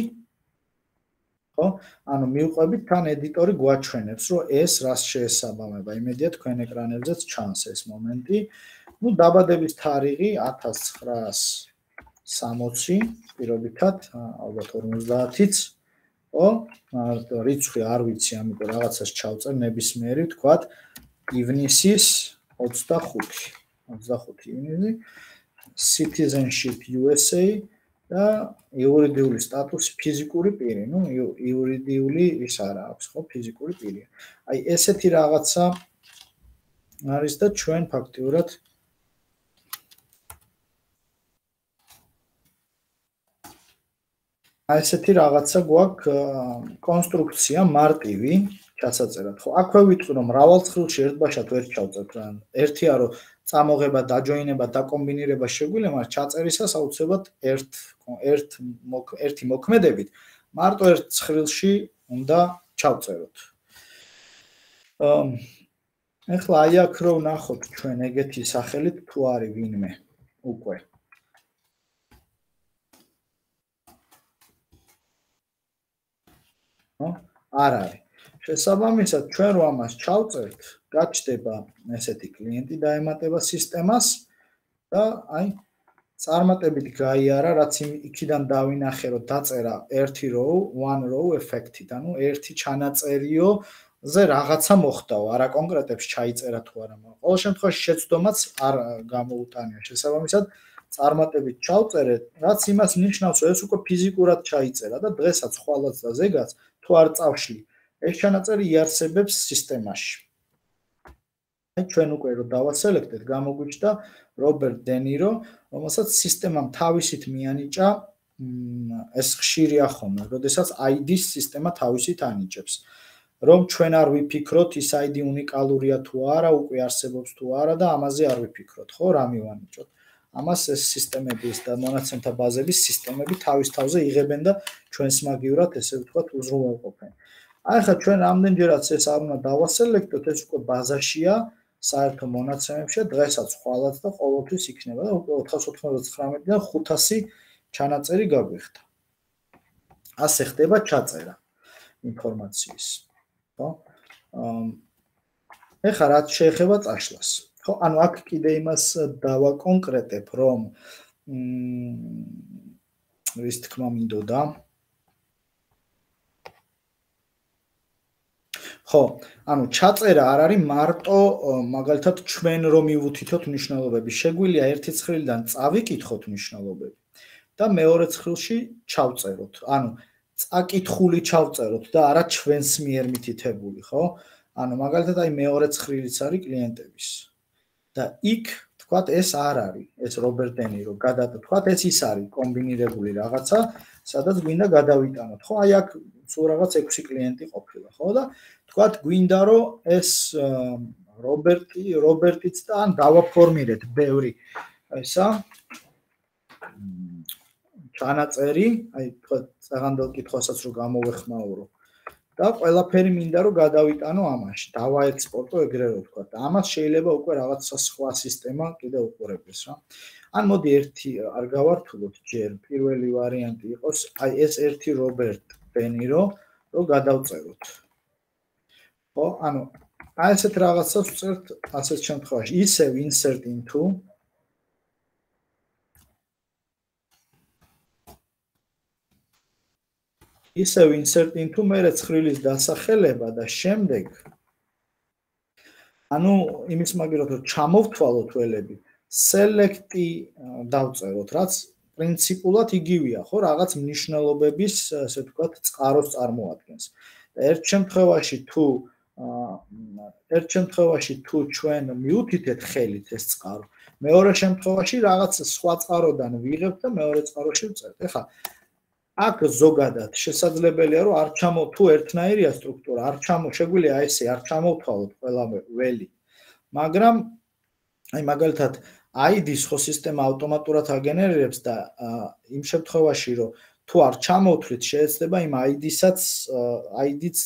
ხო? ანუ მივყვებით თან ედიტორი გვაჩვენებს, რომ ეს რას შეესაბამება. იმედია თქვენ ეკრანებზეც ჩანს ეს მომენტი. ნუ დაბადების თარიღი ათას ცხრაას სამოცი, პირობითად, ალბათ ორმოცდაათიც. ხო? რიცხვი არ ვიცი, ამიტომ რაღაცას ჩავწერ ნებისმიერი, ვთქვათ, ივნისის ოცდახუთი. ოცდახუთი ივნისი, citizenship U S A და იურიდიული სტატუსი ფიზიკური პირი, ნუ იურიდიული ის არა აქვს, ხო, ფიზიკური პირი. აი ესეთი რაღაცა არის და ჩვენ ფაქტიურად აი ესეთი რაღაცა გვაქვს კონსტრუქცია მარტივი ჩასაწერად, ხო? აქვე ვიტყვი რომ მრავალ ცხრილში ერთბაშად ვერ ჩავწერთ რა. ერთია რომ წამოღება, დაჯოინება, დაკომბინირება შეგვიძლია, მაგრამ ჩაწერისას აუცილებლად ერთ ერთ ერთი მოქმედებით მარტო ერთ ცხრილში უნდა ჩავწეროთ. ეხლა აი აქ რო ვნახოთ ჩვენ ეგეთი სახელით თუ არის ვინმე უკვე. არ არის. შესაბამისად, ჩვენ რო ამას ჩავწერთ, გაჩნდება ესეთი კლიენტი დაემატება სისტემას და აი წარმატებით გაიარა, რაც იქიდან დავინახე, რომ დაწერა ერთი row, one row effect-ით, ანუ ერთი ჩანაწერიო ზე რაღაცა მოხდაო, არა კონკრეტებს ჩაიწერა თუ არა, მაგრამ ყოველ შემთხვევაში შეცდომაც არ გამოუტანია. შესაბამისად, წარმატებით ჩავწერეთ, რაც იმას ნიშნავს, რომ ეს უკვე ფიზიკურად ჩაიწერა და დღესაც ხვალაც და ზეგაც თუ არ წავშლი, ეს ჩანაწერი იარსებებს სისტემაში. აი ჩვენ უკვე რო დავასელექტეთ, გამოგვიჩნდა რობერტ დენირო, რომელსაც სისტემამ თავისით მიანიჭა ეს ხშირია ხოლმე, როდესაც I D-ს სისტემა თავისით ანიჭებს. რომ ჩვენ არ ვიფიქროთ, ის I D უნიკალურია თუ არა, უკვე არსებობს თუ არა და ამაზე არ ვიფიქროთ, ხო, რა მივანიჭოთ. ამას ეს სისტემების და მონაცემთა ბაზების სისტემები თავის თავზე იღებენ და ჩვენს მაგივრად, ესე ვთქვათ, უზრუნველყოფენ. აი ხა ჩვენ რამდენჯერაც ეს არ უნდა დავასელექტოთ, ეს უკვე ბაზაშია, საერთო მონაცემებში, დღესაც ხვალაც და ყოველთვის იქნება და უკვე ოთხას ოთხმოცდათხრამეტიდან ხუთასი ჩანაწერი გაგვიხდა. ასე ხდება ჩაწერა ინფორმაციის. ხო? ეხლა რაც შეეხება წაშლას. ხო, ანუ აქ კიდე იმას დავაკონკრეტებ, რომ რის თქმა მინდოდა. ხო, ანუ ჩაწერა არ არის მარტო მაგალითად ჩვენ რომ მივუთითოთ მნიშვნელობები. შეგვიძლია ერთი ცხრილიდან წავიკითხოთ მნიშვნელობები და მეორე ცხრილში ჩავწეროთ. ანუ წაკითხული ჩავწეროთ და არა ჩვენს მიერ მითითებული, ხო? ანუ მაგალითად აი მეორე ცხრილიც არის კლიენტების. და იქ თქვათ ეს არ არის, ეს რობერტ დენირო გადადა, თქვათ ეს ის არის კომბინირებული რაღაცა, სადაც გვინდა გადავიტანოთ. ხო, აი აქ სულ რაღაც ექვსი კლიენტი ყოფილა, ხო და თქვათ გვინდა რომ ეს რობერტი, რობერტიც და ან დავაფორმირეთ ბევრი ესა ჩანაწერი, აი თქვა საღამო კითხვასაც რო გამოვეხმაურო. და ყველაფერი მინდა რომ გადავიტანო ამაში, დავაექსპორტო ეგრე რო ვთქვა. და ამას შეიძლება უკვე რაღაცა სხვა სისტემა კიდევ უყურებდეს რა. ან მოდი ერთი არ გავართულოთ ჯერ, პირველი ვარიანტი იყოს, აი ეს ერთი რობერტ დენირო რო გადავწეროთ. ხო, ანუ აი ესეთ რაღაცას ვწერთ ასეთ შემთხვევაში. ისევ insert into ისევ insert into მერე ცხრილის დასახელება და შემდეგ ანუ იმის მაგერად რომ ჩამოვთვალოთ ველები select-ი დავწეროთ, რაც პრინციპულად იგივეა, ხო, რაღაც მნიშვნელობების, ასე ვთქვათ, წყაროს წარმოადგენს. ერთ შემთხვევაში თუ ერთ შემთხვევაში თუ ჩვენ მივუთითეთ ხელით ეს წყარო, მეორე შემთხვევაში რაღაც სხვა წყაროდან ვიღებთ და მეორე წყაროში ვწერთ. ეხლა აქ ზოგადად შესაძლებელია რომ არ ჩამო თუ ერთნაირია სტრუქტურა, არ ჩამო შეგვიძლია ესე არ ჩამოვთვალოთ ყველა ველი. მაგრამ აი მაგალითად I D-ს ხო სისტემა ავტომატურად აგენერირებს და იმ შემთხვევაში რომ თუ არ ჩამოვთვლით შეიძლება იმ I D-საც I D-ც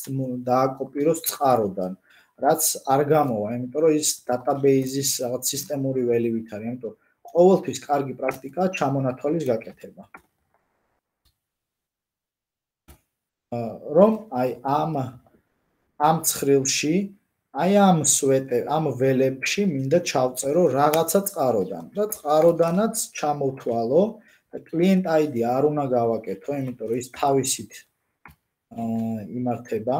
დააკოპიროს წყაროდან, რაც არ გამოვა, იმიტომ რომ ის დატაბეიზის რაღაც სისტემური ველივით არის, იმიტომ ყოველთვის კარგი პრაქტიკაა ჩამონათვალის გაკეთება. რომ აი ამ ამ ცხრილში აი ამ სვეტე ამ ველებში მინდა ჩავწერო რაღაცა წყაროდან და წყაროდანაც ჩამოვთვალო და client I D არ უნდა გავაკეთო, იმიტომ რომ ის თავისით იმართება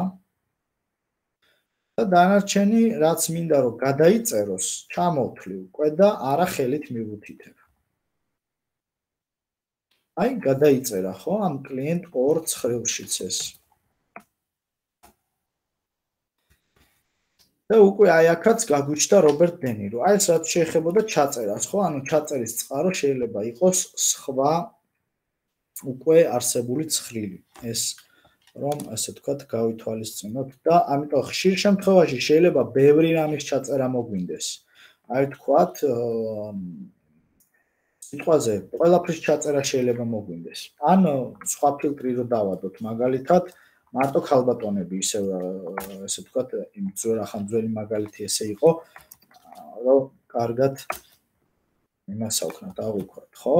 და დანარჩენი რაც მინდა რომ გადაიწეროს ჩამოვთვლი უკვე და არა ხელით მივუთითებ. აი გადაიწერა ხო ამ client ორ ცხრილშიც ეს. და უკვე აი აქაც გაგვიჩნდა რობერტ დენირო. აი ეს რაც შეეხებოდა ჩაწერას, ხო? ანუ ჩაწერის წყარო შეიძლება იყოს სხვა უკვე არსებული ცხრილი. ეს რომ ასე ვთქვათ, გავითვალისწინოთ და ამიტომ ხშირ შემთხვევაში შეიძლება ბევრი რამის ჩაწერა მოგვინდეს. აი ვთქვათ, სიტყვაზე ყველაფრის ჩაწერა შეიძლება მოგვინდეს. ან სხვა ფილტრი რო დავადოთ, მაგალითად მარტო ქალბატონები ისე ესე ვთქვათ, იმ ძველ ახან ძველი მაგალითი ესე იყო, რომ კარგად იმას აუქნათ, აღვიქვათ, ხო?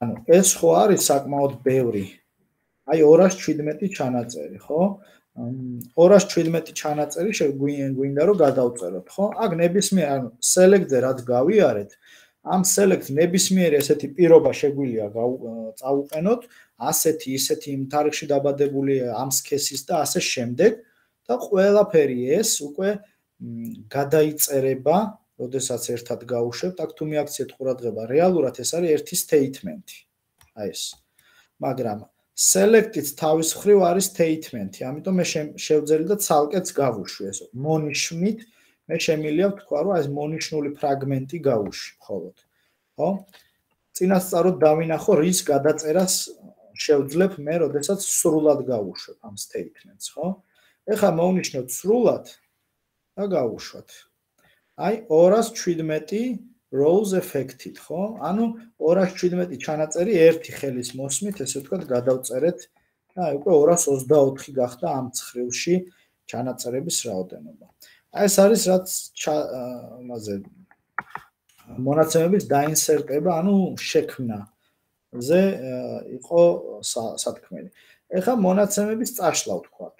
ანუ ეს ხო არის საკმაოდ ბევრი. აი ორას შვიდმეტი ჩანაწერი, ხო? ორას შვიდმეტი ჩანაწერი შეგვინდა რომ გადავწეროთ, ხო? აქ ნებისმიერ ანუ select-ზე რაც გავიარეთ, ამ select ნებისმიერი ესეთი პირობა შეგვიძლია წავუყენოთ, ასეთი, ისეთი იმ თარიღში დაბადებული ამ სქესის და ასე შემდეგ და ყველაფერი ეს უკვე გადაიწერება, როდესაც ერთად გავუშვებთ, აქ თუ მიაქციეთ ყურადღება, რეალურად ეს არის ერთი statement-ი. აი ეს. მაგრამ select-იც თავის მხრივ არის statement-ი, ამიტომ მე შევძელი და ცალკეც გავუშვი ეს. მონიშნით მე შემიძლია ვთქვა, რომ ეს მონიშნული ფრაგმენტი გავუშვი მხოლოდ. ხო? წინასწაროდ დავინახო რის გადაწერას შევძლებ მე, როდესაც სრულად გავუშვებ ამ statements, ხო? ეხლა მოვნიშნოთ სრულად და გავუშვათ. აი ორას შვიდმეტი rows effect-ით, ხო? ანუ ორას შვიდმეტი ჩანაწერი ერთი ხელის მოსმით, ესე ვთქვათ, გადავწერეთ და აი უკვე ორას ოცდაოთხი გახდა ამ ცხრილში ჩანაწერების რაოდენობა. აი ეს არის რაც მასე მონაცემების დაინსერტება, ანუ შექმნა. ზე იყო სათქმელი. ეხლა მონაცემების წაშლა ვთქვათ,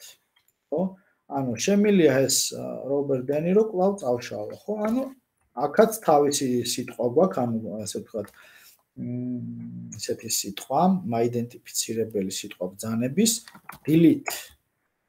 ხო? ანუ შემილია ეს რობერტ დენირო კვლავ წავშალო, ხო? ანუ აქაც თავისი სიტყვა გვაქვს, ანუ ასე ვთქვათ, ესეთი სიტყვა, მაიდენტიფიცირებელი სიტყვა ბრძანების delete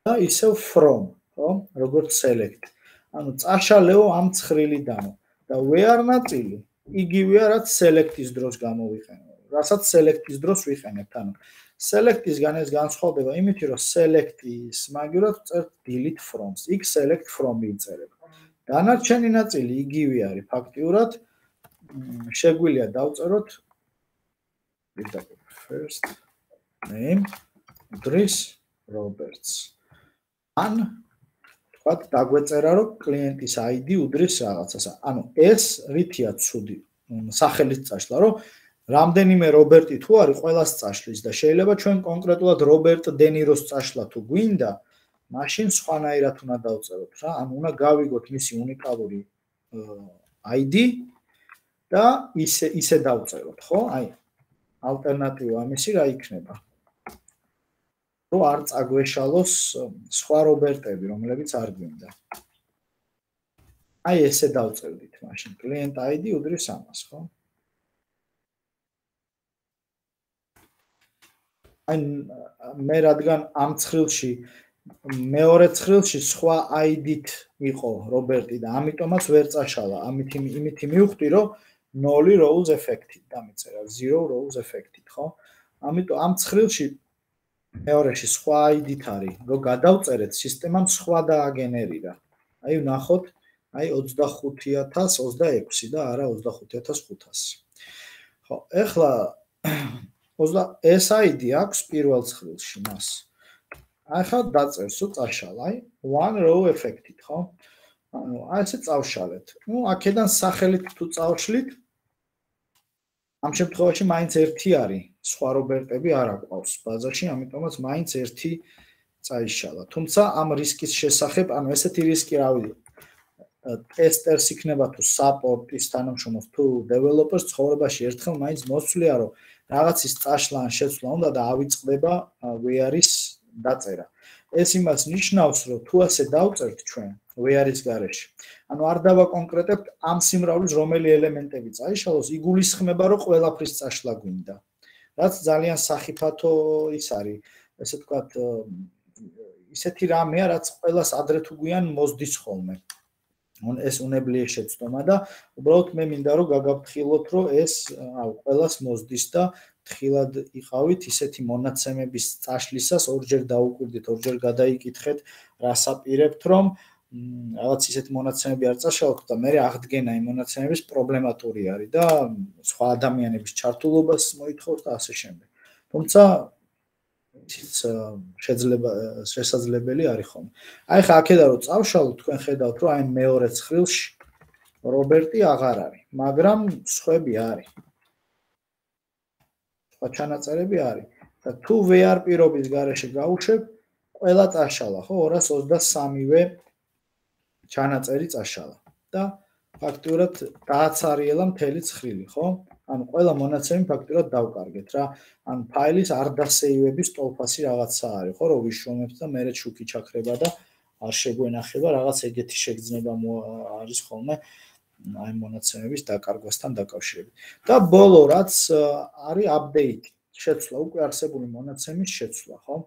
და ისევ from, ხო? როგორც select. ანუ წაშალეო ამ ცხრილიდანო და where ნაწილი იგივეა, რაც select-ის დროს გამოვიყენო. რასაც select-ის დროს ვიყენებთ, ანუ select-ისგან ეს განსხვავდება იმით, რომ select-ის მაგივრად წერთ delete from-ს, იქ select from-ი იწერება. დანარჩენი ნაწილი იგივე არის ფაქტიურად, შეგვიძლია დავწეროთ first name Dries Roberts. ან ვთქვათ, დაგვეწერა, რომ კლიენტის აი დი უდრის რაღაცას. ანუ ეს რითია ცუდი სახელით წაშლა, რომ რამდენიმე რობერტი თუ არის, ყველას წაშლის და შეიძლება ჩვენ კონკრეტულად რობერტ დენიროს წაშლა თუ გვინდა, მაშინ სხვანაირად უნდა დავწეროთ რა. ანუ უნდა გავიგოთ მისი უნიკალური აი დი და ისე ისე დავწეროთ, ხო? აი ალტერნატივა ამისი რა იქნება? რომ არ წაგვეშალოს სხვა რობერტები, რომლებიც არ გვინდა. აი ესე დავწერდით მაშინ. კლიენტ აი დი უდრის ამას, ხო? აი მე რადგან ამ ცხრილში მეორე ცხრილში სხვა აი დით იყო რობერტი და ამიტომაც ვერ წაშალა. ამით იმით მივხვდი, რომ ნოლი rows effect-ით დამეწერა, zero rows effect-ით, ხო? ამიტომ ამ ცხრილში მეორეში სხვა აი დით არის, რომ გადავწერეთ, სისტემამ სხვა დააგენერირა. აი ვნახოთ, აი ოცდახუთი ათას ოცდაექვსი და არა ოცდახუთი ათას ხუთასი. ხო, ეხლა ეს აი დი აქვს პირველ ცხრილში მას. ახლა დაწერს ու წაშალა, აი one row effect-ით, ხო? ანუ აი ესე წავშალეთ. ნუ აქედან სახელით თუ წავშლით, ამ შემთხვევაში მაინც ერთი არის, სხვა რობერტები არ აყვავს ბაზაში, ამიტომაც მაინც ერთი წაიშალა. თუმცა ამ რისკის შესახებ, ანუ ესეთი რისკი რავი, ტესტერს იქნება თუ საპორტის თანამშრომელს თუ დეველოპერს ცხოვრებაში ერთხელ მაინც მოსვლია, რომ რაღაცის წაშლა ან შეცვლა უნდა და ავიწყდება ვეარის დაწერა. ეს იმას ნიშნავს, რომ თუ ასე დავწერთ ჩვენ ვეარის გარეშე, ანუ არ დავაკონკრეტებთ ამ სიმრავლის რომელი ელემენტები წაიშალოს, იგულისხმება, რომ ყველაფრის წაშლა გვინდა. რაც ძალიან სახიფათო ის არის, ესე ვთქვათ, ისეთი რამეა, რაც ყველას ადრე თუ გვიან მოსდის ხოლმე. ეს უნებლიე შეცდომა და უბრალოდ მე მინდა რომ გაგაფრთხილოთ, რომ ეს ყველას მოსდის და თხილად იყავით ისეთი მონაცემების წაშლისას ორჯერ დაუკვირდით, ორჯერ გადაიკითხეთ, რას აპირებთ, რომ რაღაც ისეთი მონაცემები არ წაშალოთ და მე აღდგენა იმ მონაცემების პრობლემატური არის და სხვა ადამიანების ჩართულობას მოითხოვს და ასე შემდეგ. თუმცა ისიც შეიძლება შესაძლებელი არის ხოლმე. აი ხა აქედან რომ წავშალოთ, თქვენ ხედავთ, რომ აი მეორე ცხრილში რობერტი აღარ არის, მაგრამ სხვები არის. სხვა ჩანაწერები არის. და თუ ვეარ პირობის გარეშე გავუშვებ, ყველა წაშალა, ხო, ორას ოცდასამივე ჩანაწერი წაშალა. და ფაქტურად დააცარიელა მთელი ცხრილი, ხო? ანუ ყველა მონაცემი ფაქტურად დავკარგეთ რა. ან ფაილის არ დასეივების ტოლფასი რაღაცა არის, ხო, რომ ვიშრომებთ და მერე შუქი ჩაქრება და არ შეგვენახება რაღაც ეგეთი შეგრძნება არის ხოლმე აი მონაცემების დაკარგვასთან დაკავშირებით. და ბოლო რაც არის აპდეიტი, შეცვლა, უკვე არსებული მონაცემის შეცვლა, ხო?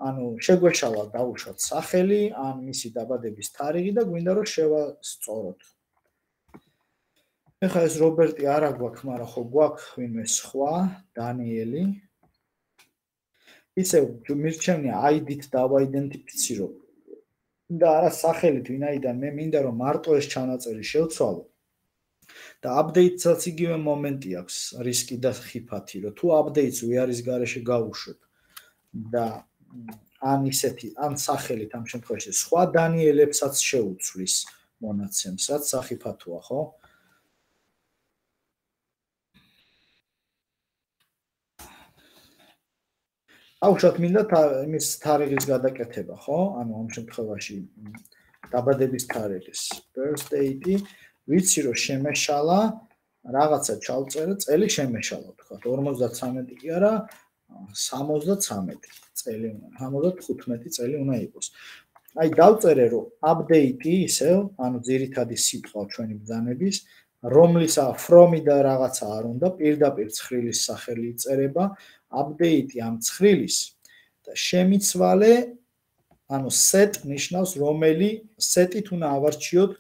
ანუ შეგვეშალა დავუშვათ სახელი, ან მისი დაბადების თარიღი და გვინდა რომ შევასწოროთ. ეხლა ეს რობერტი არა გვაქვს, მაგრამ ხო გვაქვს ვინმე სხვა, დანიელი. ისე მირჩევნია აი დით დავაიდენტიფიცირო. და არა სახელით, ვინაიდან მე მინდა რომ მარტო ეს ჩანაწერი შევცვალო. და აპდეიტსაც იგივე მომენტი აქვს, რისკი და ხიფათი, რომ თუ აპდეიტს ვეარის გარეშე გავუშვებ და ან ისეთი, ან სახელით ამ შემთხვევაში სხვა დანიელებსაც შეუცვლის მონაცემს, რაც სახიფათოა, ხო? აუშვათ მინდა იმის თარიღის გადაკეთება, ხო? ანუ ამ შემთხვევაში დაბადების თარიღის birth date-ი, ვიცი რომ შემეშალა, რაღაცა ჩავწერე, წელი შემეშალა, თქვა, ორმოცდათრამეტი კი არა, სამოცდათრამეტი წელი უნდა, სამოცდათხუთმეტი წელი უნდა იყოს. აი დავწერე რომ update-ი ისევ, ანუ ძირითადი სიტყვა ჩვენი ბრძანების, რომლის from-ი და რაღაცა არ უნდა, პირდაპირ ცხრილის სახელი იწერება, update-ი ამ ცხრილის და შემიცვალე, ანუ set ნიშნავს რომელი set-ით უნდა ავარჩიოთ,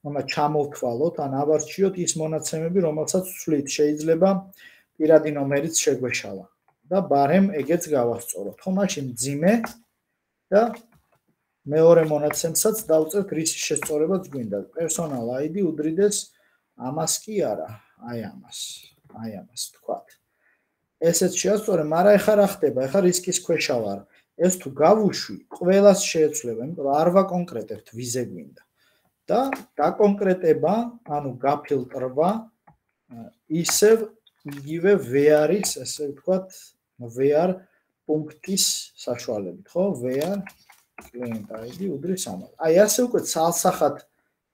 უნდა ჩამოვთვალოთ, ან ავარჩიოთ ის მონაცემები, რომელსაც ვცვლით, შეიძლება პირადი ნომერიც შეგვეშალა და ბარემ ეგეც გავასწოროთ. ხო, მაშინ მძიმე და მეორე მონაცემსაც დავწერთ რის შესწორებაც გვინდა. personal აი დი უდრიდეს ამას კი არა, აი ამას, აი ამას თქვათ. ესეც შეასწორე, მაგრამ ეხლა რა ხდება? ეხლა რისკის ქვეშა ვარ. ეს თუ გავუშვი, ყველას შეეცვლება, იმიტომ რომ არ ვაკონკრეტებთ ვიზე გვინდა. და დაკონკრეტება, ანუ გაფილტრვა ისევ იგივე where-ის, ესე ვთქვათ, where პუნქტის საშუალებით, ხო? where client I D უდრის ამას. აი ასე უკვე ცალსახად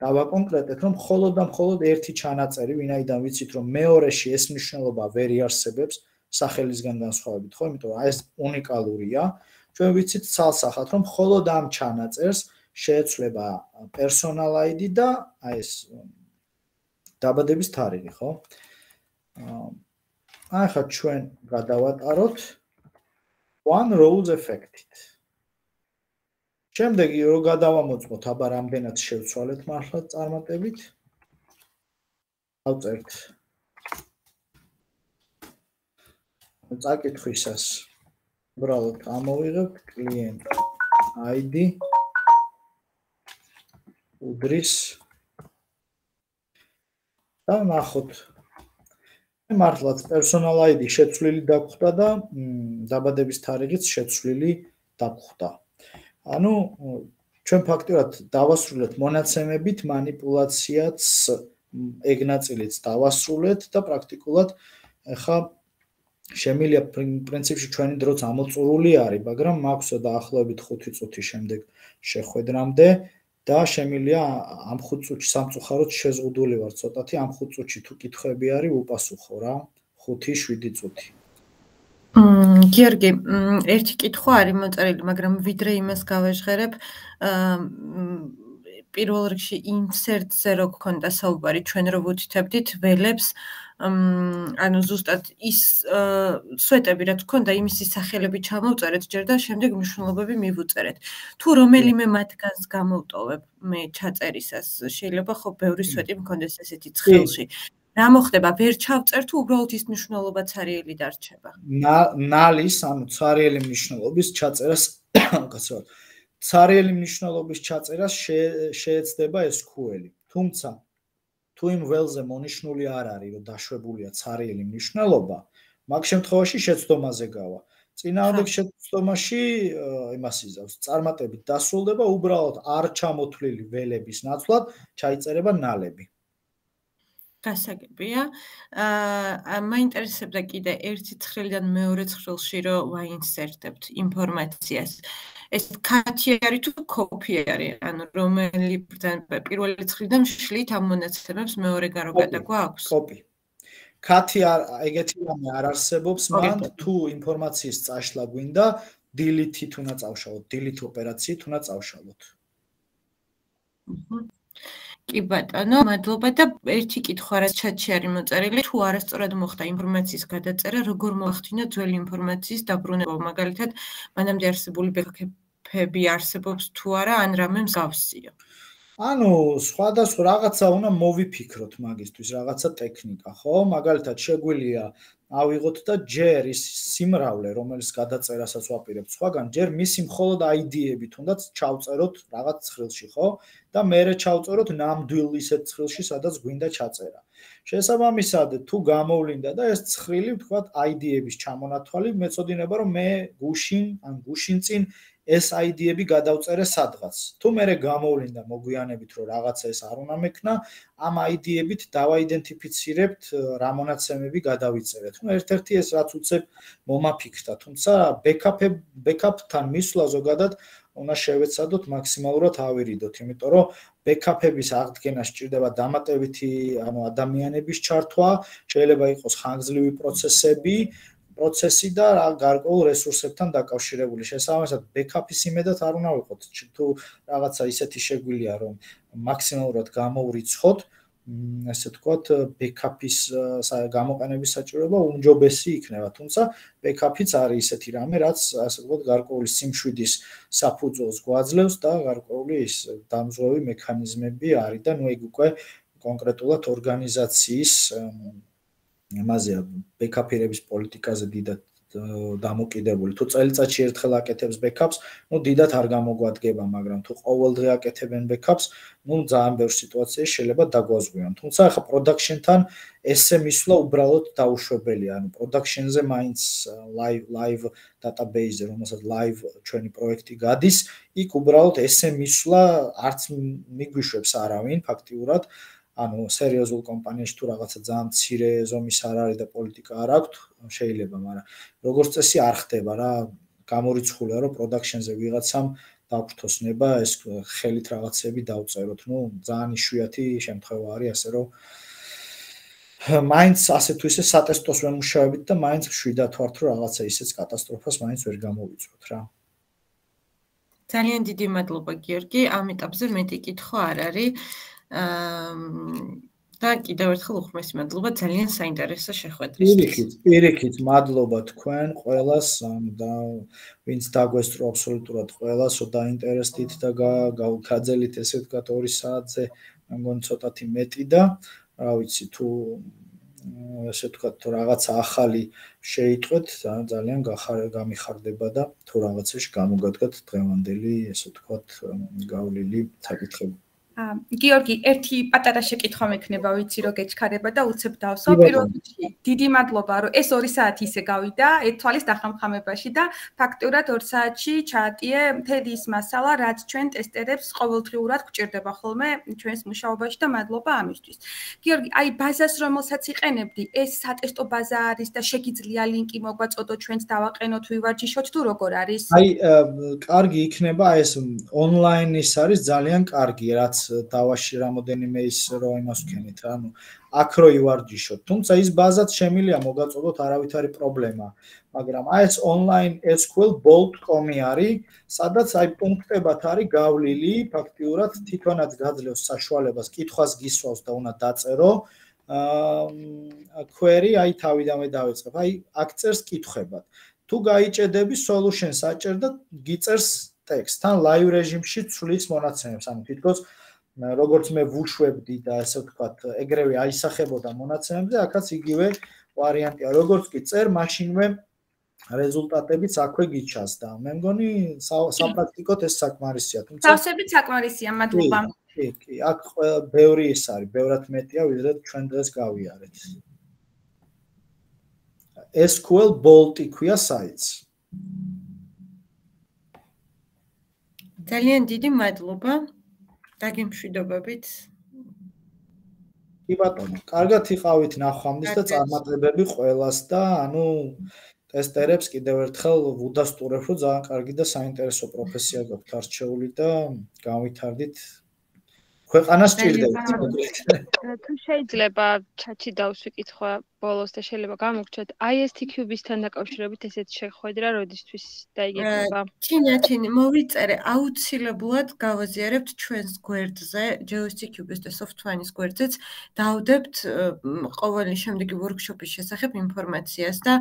დავაკონკრეტეთ, რომ მხოლოდ და მხოლოდ ერთი ჩანაწერი, ვინაიდან ვიცით, რომ მეორეში ეს მნიშვნელობა ვერ იარსებებს სახელისგან განსხვავებით, ხო? იმიტომ რომ ეს უნიკალურია. ჩვენ ვიცით ცალსახად, რომ მხოლოდ ამ ჩანაწერს შეეცვლება personal I D და აი ეს დაბადების თარიღი, ხო? აი ხა ჩვენ გადავატაროთ one rows affected. შემდეგი რო გადავამოწმოთ, აბა რამდენად შევცვალეთ მართლა წარმატებით. ავწერთ. წაკითხვისას უბრალოდ ამოვიღებთ client I D უდრის და ნახოთ. მართლაც personal I D შეცვლილი დაგხვდა და დაბადების თარიღიც შეცვლილი დაგხვდა. ანუ ჩვენ ფაქტურად დავასრულეთ მონაცემებით манипуляციაც ეგ ნაწილიც დავასრულეთ და პრაქტიკულად ახლა შემილია პრინციპში ჩვენი დროც ამოწურული არის, მაგრამ მაქვს დაახლოებით ხუთი წუთი შემდეგ შეხვედრამდე და შემილია ამ ხუთ წუთში სამწუხაროდ შეზღუდული ვარ ცოტათი, ამ ხუთ წუთში თუ კითხვები არის უპასუხო რა, ხუთი შვიდი წუთი. გიორგი, ერთი კითხვა არის მოწერილი, მაგრამ ვიდრე იმას გავეჟღერებ, პირველ რიგში insert-ზე რო გქონდა საუბარი, ჩვენ რო ვუთითებდით ველებს, ანუ ზუსტად ის სვეტები რაც გქონდა, იმისი სახელები ჩამოვწერეთ ჯერ და შემდეგ მნიშვნელობები მივუწერეთ. თუ რომელიმე მათგანს გამოვტოვებ მე ჩაწერისას, შეიძლება ხო ბევრი სვეტი მქონდეს ესეთი ცხელში. რა მოხდება, ვერ ჩავწერ თუ უბრალოდ ის მნიშვნელობა ცარიელი დარჩება? ნალის, ანუ ცარიელი მნიშვნელობის ჩაწერას, კაცო, ცარიელი მნიშვნელობის ჩაწერას შეეცდება ეს ес кю ელ-ი. თუმცა თუ იმ ველზე მონიშნული არ არის, რომ დაშვებულია ცარიელი მნიშვნელობა, მაგ შემთხვევაში შეცდომაზე გავა. წინააღმდეგ შეცდომაში იმას იზავს, წარმატებით დასრულდება, უბრალოდ არ ჩამოთვლილი ველების ნაცვლად ჩაიწერება ნალები. გასაგებია. აა მაინტერესებდა კიდე ერთი ცხრილიდან მეორე ცხრილში რო ვაინსერტებთ ინფორმაციას. ეს კათი არის თუ კოპი არის, ანუ რომელი პირველი ცხრილიდან შლით ამ მონაცემებს მეორე გაროგადა გვაქვს? კოპი. კათი ეგეთი რამე არ არსებობს, მან თუ ინფორმაციის წაშლა გვინდა, delete-ით უნდა წავშალოთ, delete ოპერაციით უნდა წავშალოთ. კი ბატონო, მადლობა და ერთი კითხვა რაც ჩატში არის მოწერილი, თუ არასწორად მოხდა ინფორმაციის გადაწერა, როგორ მოახდინა ძველი ინფორმაციის დაბრუნება, მაგალითად, მანამდე არსებული ბექაპები არსებობს თუ არა, ან რამე მსგავსია. ანუ სხვადასხვა რაღაცა უნდა მოვიფიქროთ მაგისთვის, რაღაცა ტექნიკა, ხო? მაგალითად, შეგვიძლია ავიღოთ და ჯერ ის სიმრავლე, რომელიც გადაწერასაც ვაპირებთ სხვაგან, ჯერ მისი მხოლოდ I D-ებით უნდაც ჩავწეროთ რაღაც ცხრილში, ხო? და მერე ჩავწეროთ ნამდვილ ისეთ ცხრილში, სადაც გვინდა ჩაწერა. შესაბამისად, თუ გამოვლინდა და ეს ცხრილი, ვთქვათ, I D-ების ჩამონათვალი, მეწოდინება, რომ მე გუშინ, ან გუშინ წინ ეს I D-ები გადავწერე სადღაც. თუ მერე გამოვლინდა მოგვიანებით, რომ რაღაცა ეს არ უნდა მექნა, ამ I D-ებით დავაიდენტიფიცირებთ რა მონაცემები გადავიწერეთ. ნუ ერთ-ერთი ეს რაც უცებ მომაფიქრდა, თუმცა ბექაპებ ბექაპთან მისვლა ზოგადად უნდა შევეცადოთ მაქსიმალურად ავირიდოთ, იმიტომ რომ ბექაპების აღდგენა სჭირდება დამატებითი, ანუ ადამიანების ჩართვა, შეიძლება იყოს ხანგრძლივი პროცესები, პროცესი და გარკვეულ რესურსებთან დაკავშირებული. შესაბამისად, ბექაპის იმედად არ უნდა ვიყოთ. თუ რაღაცა ისეთი შეგვიძლია, რომ მაქსიმალურად გამოვრიცხოთ, ესე ვთქვათ, ბექაპის გამოყენების საჭიროება უმჯობესი იქნება. თუმცა ბექაპიც არის ისეთი რამე, რაც ასე ვთქვათ, გარკვეული სიმშვიდის საფუძველს გვაძლევს და გარკვეული ის დამზღვევი მექანიზმები არის და ნუ ეგ უკვე კონკრეტულად ორგანიზაციის იმაზეა, ბექაპირების პოლიტიკაზე დიდად დამოკიდებული. თუ წელიწადში ერთხელ აკეთებს backups, ну დიდად არ გამოგვადგება, მაგრამ თუ ყოველდღე აკეთებენ backups, ну ძალიან ბევრ სიტუაციაში შეიძლება დაგვაზღვიონ. თუმცა ახლა production-თან ესე მისვლა უბრალოდ დაუშვებელია. ანუ production-ზე მაინც live live database-ზე, რომელსაც live ჩვენი პროექტი გადის, იქ უბრალოდ ესე მისვლა არც მიგვიშვებს არავინ ფაქტიურად. ანუ სერიოზულ კომპანიაში თუ რაღაცა ძალიან მცირე ზომის არ არის და პოლიტიკა არ აქვს, შეიძლება, მაგრამ როგორც წესი არ ხდება რა, გამორიცხულია რომ production-ზე ვიღაცამ დაგვთოს ნება ეს ხელით რაღაცები დავწეროთ. ნუ ძალიან იშვიათი შემთხვევა არის, ასე რომ მაინც ასე თუ ისე სატესტოს ვემუშავებით და მაინც შვიდათ ვართ რომ რაღაცა ისეც კატასტროფას მაინც ვერ გამოვიწვევთ რა. ძალიან დიდი მადლობა გიორგი, ამ ეტაპზე მეტი კითხვა არ არის. და კიდევ ერთხელ უხმესი მადლობა ძალიან საინტერესო შეხვედრისთვის. პირიქით, პირიქით მადლობა თქვენ ყველას და ვინც დაგვესწრო აბსოლუტურად ყველას, რომ დაინტერესდით და გავხაძელით ესე ვთქვათ ორი საათზე, მე მგონი ცოტათი მეტი და რა ვიცი თუ ესე ვთქვათ რაღაცა ახალი შეიტყვეთ, ძალიან გამიხარდება და თუ რაღაცაში გამოგადგათ დღევანდელი ესე ვთქვათ გავლილი საკითხები. გიორგი, ერთი პატარა შეკითხვა მექნება, ვიცი რომ გეჩქარება და უცებ დავსო. პირველ რიგში, დიდი მადლობა, რომ ეს ორი საათი ისე გავიდა, ეთვალის დახამხამებაში და ფაქტურად ორ საათში ჩაატიე მთელი ის მასალა, რაც ჩვენ ტესტერებს ყოველდღიურად გვჭირდება ხოლმე ჩვენს მუშაობაში და მადლობა ამისთვის. გიორგი, აი ბაზას რომელსაც იყენებდი, ეს სატესტო ბაზა არის და შეგიძლია ლინკი მოგვაწოდო ჩვენც დავაყენოთ, ვივარჯიშოთ თუ როგორ არის? აი, კარგი იქნება ეს ონლაინ ის არის ძალიან კარგი, რაც დავაში რამოდენიმე ის რო იმას ვქენით რა, ანუ აქ რო ივარჯიშოთ. თუმცა ის ბაზაც შემილია მოგაწოდოთ, არავით არის პრობლემა. მაგრამ აი ეს online S Q L bolt dot com არის, სადაც აი პუნქტებად არის გავლილი, ფაქტიურად თვითონაც გაძლევს საშუალებას, კითხვას გისვავს და უნდა დაწერო. აა query აი თავიდანვე დავიწყებ. აი აქ წერს კითხვებად. თუ გაიჭედები solution-ს აჭერ და გიწერს ტექსტს. თან live რეჟიმში ცვლის მონაცემებს, ანუ თითქოს როგორც მე ვუშვებდი და ასე ვთქვათ, ეგრევე აისახებოდა მონაცემებზე, აქაც იგივე ვარიანტია. როგორც კი წერ, მაშინვე რეზულტატებიც აქვე გიჩას და მე მგონი საპრაქტიკოდ ეს საკმარისია. თუმცა თავსებით საკმარისია, მადლობა. კი, კი, აქ ბევრი ის არის, ბევრად მეტია, ვიდრე ჩვენ დღეს გავიარეთ. S Q L bolt იქვია საიტს. ძალიან დიდი მადლობა. დაგემშვიდობებით. კი ბატონო, კარგად იყავით ნახვამდის და წარმატებები ყველას და ანუ ტესტერებს კიდევ ერთხელ ვუდასტურებ, რომ ძალიან კარგი და საინტერესო პროფესია გაქვთ არჩეული და განვითარდით. ქვეყანას სჭირდება. თუ შეიძლება ჩატში დავსვი კითხვა ბოლოს და შეიძლება გამოგჩათ I S T Cube-ისთან დაკავშირებით ესეთი შეხვედრა როდისთვის დაიგეგმება? ჩინათინი მოვიწერე, აუცილებლად გავაზიარებთ ჩვენს გვერდზე, J O S T Cube-ის და SoftWine-ის გვერდზეც, დავდებთ ყოველი შემდეგი workshop-ის შესახებ ინფორმაციას და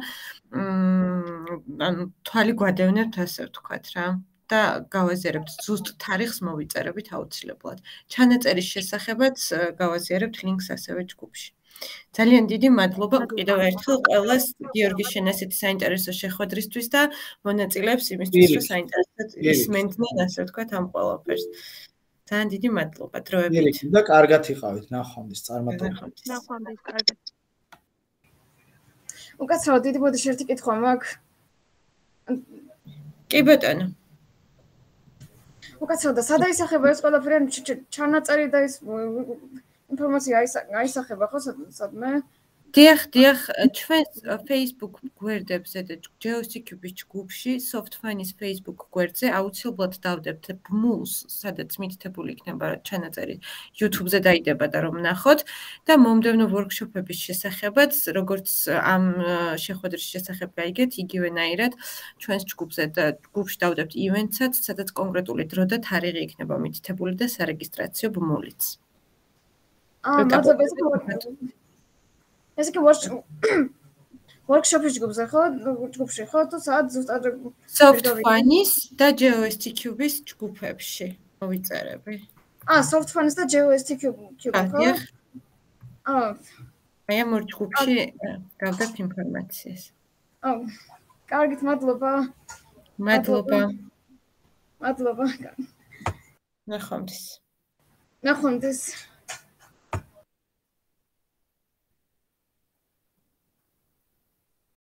ანუ თვალი გვადევნებთ ასე ვთქვათ რა. და გავაზიარებთ ზუსტ თარიღს მოვიწერებით აუცილებლად. ჩანაწერის შესახებაც გავაზიარებთ ლინკს ასევე ჯგუფში. ძალიან დიდი მადლობა კიდევ ერთხელ ყველას გიორგის შენ ასეთი საინტერესო შეხვედრისთვის და მონაწილეებს იმისთვის, რომ საინტერესოდ ისმენდნენ ასე ვთქვათ ამ ყველაფერს. ძალიან დიდი მადლობა დროებით. და კარგად იყავით, ნახვამდის, წარმატებებით. ნახვამდის, კარგად. უკაცრავად დიდი ბოდიში ერთი კითხვა მაქვს. კი ბატონო. უკაცრავად, სად აისახება ეს ყველაფერი ჩანაწერი და ეს ინფორმაცია აისახება ხო სადმე? დიახ, დიახ, ჩვენს Facebook გვერდებზე და J O S T Cube-ის ჯგუფში, SoftWine-ის Facebook გვერდზე აუცილებლად დავდებთ ბმულს, სადაც მითითებული იქნება ჩანაწერი YouTube-ზე დაიდება და რომ ნახოთ და მომდევნო workshop-ების შესახებაც, როგორც ამ შეხვედრის შესახებ გაიგეთ, იგივენაირად ჩვენს ჯგუფზე და ჯგუფში დავდებთ events-ად, სადაც კონკრეტული დრო და თარიღი იქნება მითითებული და სარეგისტრაციო ბმულიც. აა, მადლობა. ეს კი workshop-ის ჯგუფზე ხო? ჯგუფში ხო? თუ სად ზუსტად SoftWine-ის და J O S T Cube-ის ჯგუფებში მოვიწერები. აა, SoftWine-ის და J O S T Cube-ში ხო? აა, აი ამ ორ ჯგუფში გავდებთ ინფორმაციას. აა, კარგით, მადლობა. მადლობა. მადლობა. ნახვამდის. ნახვამდის.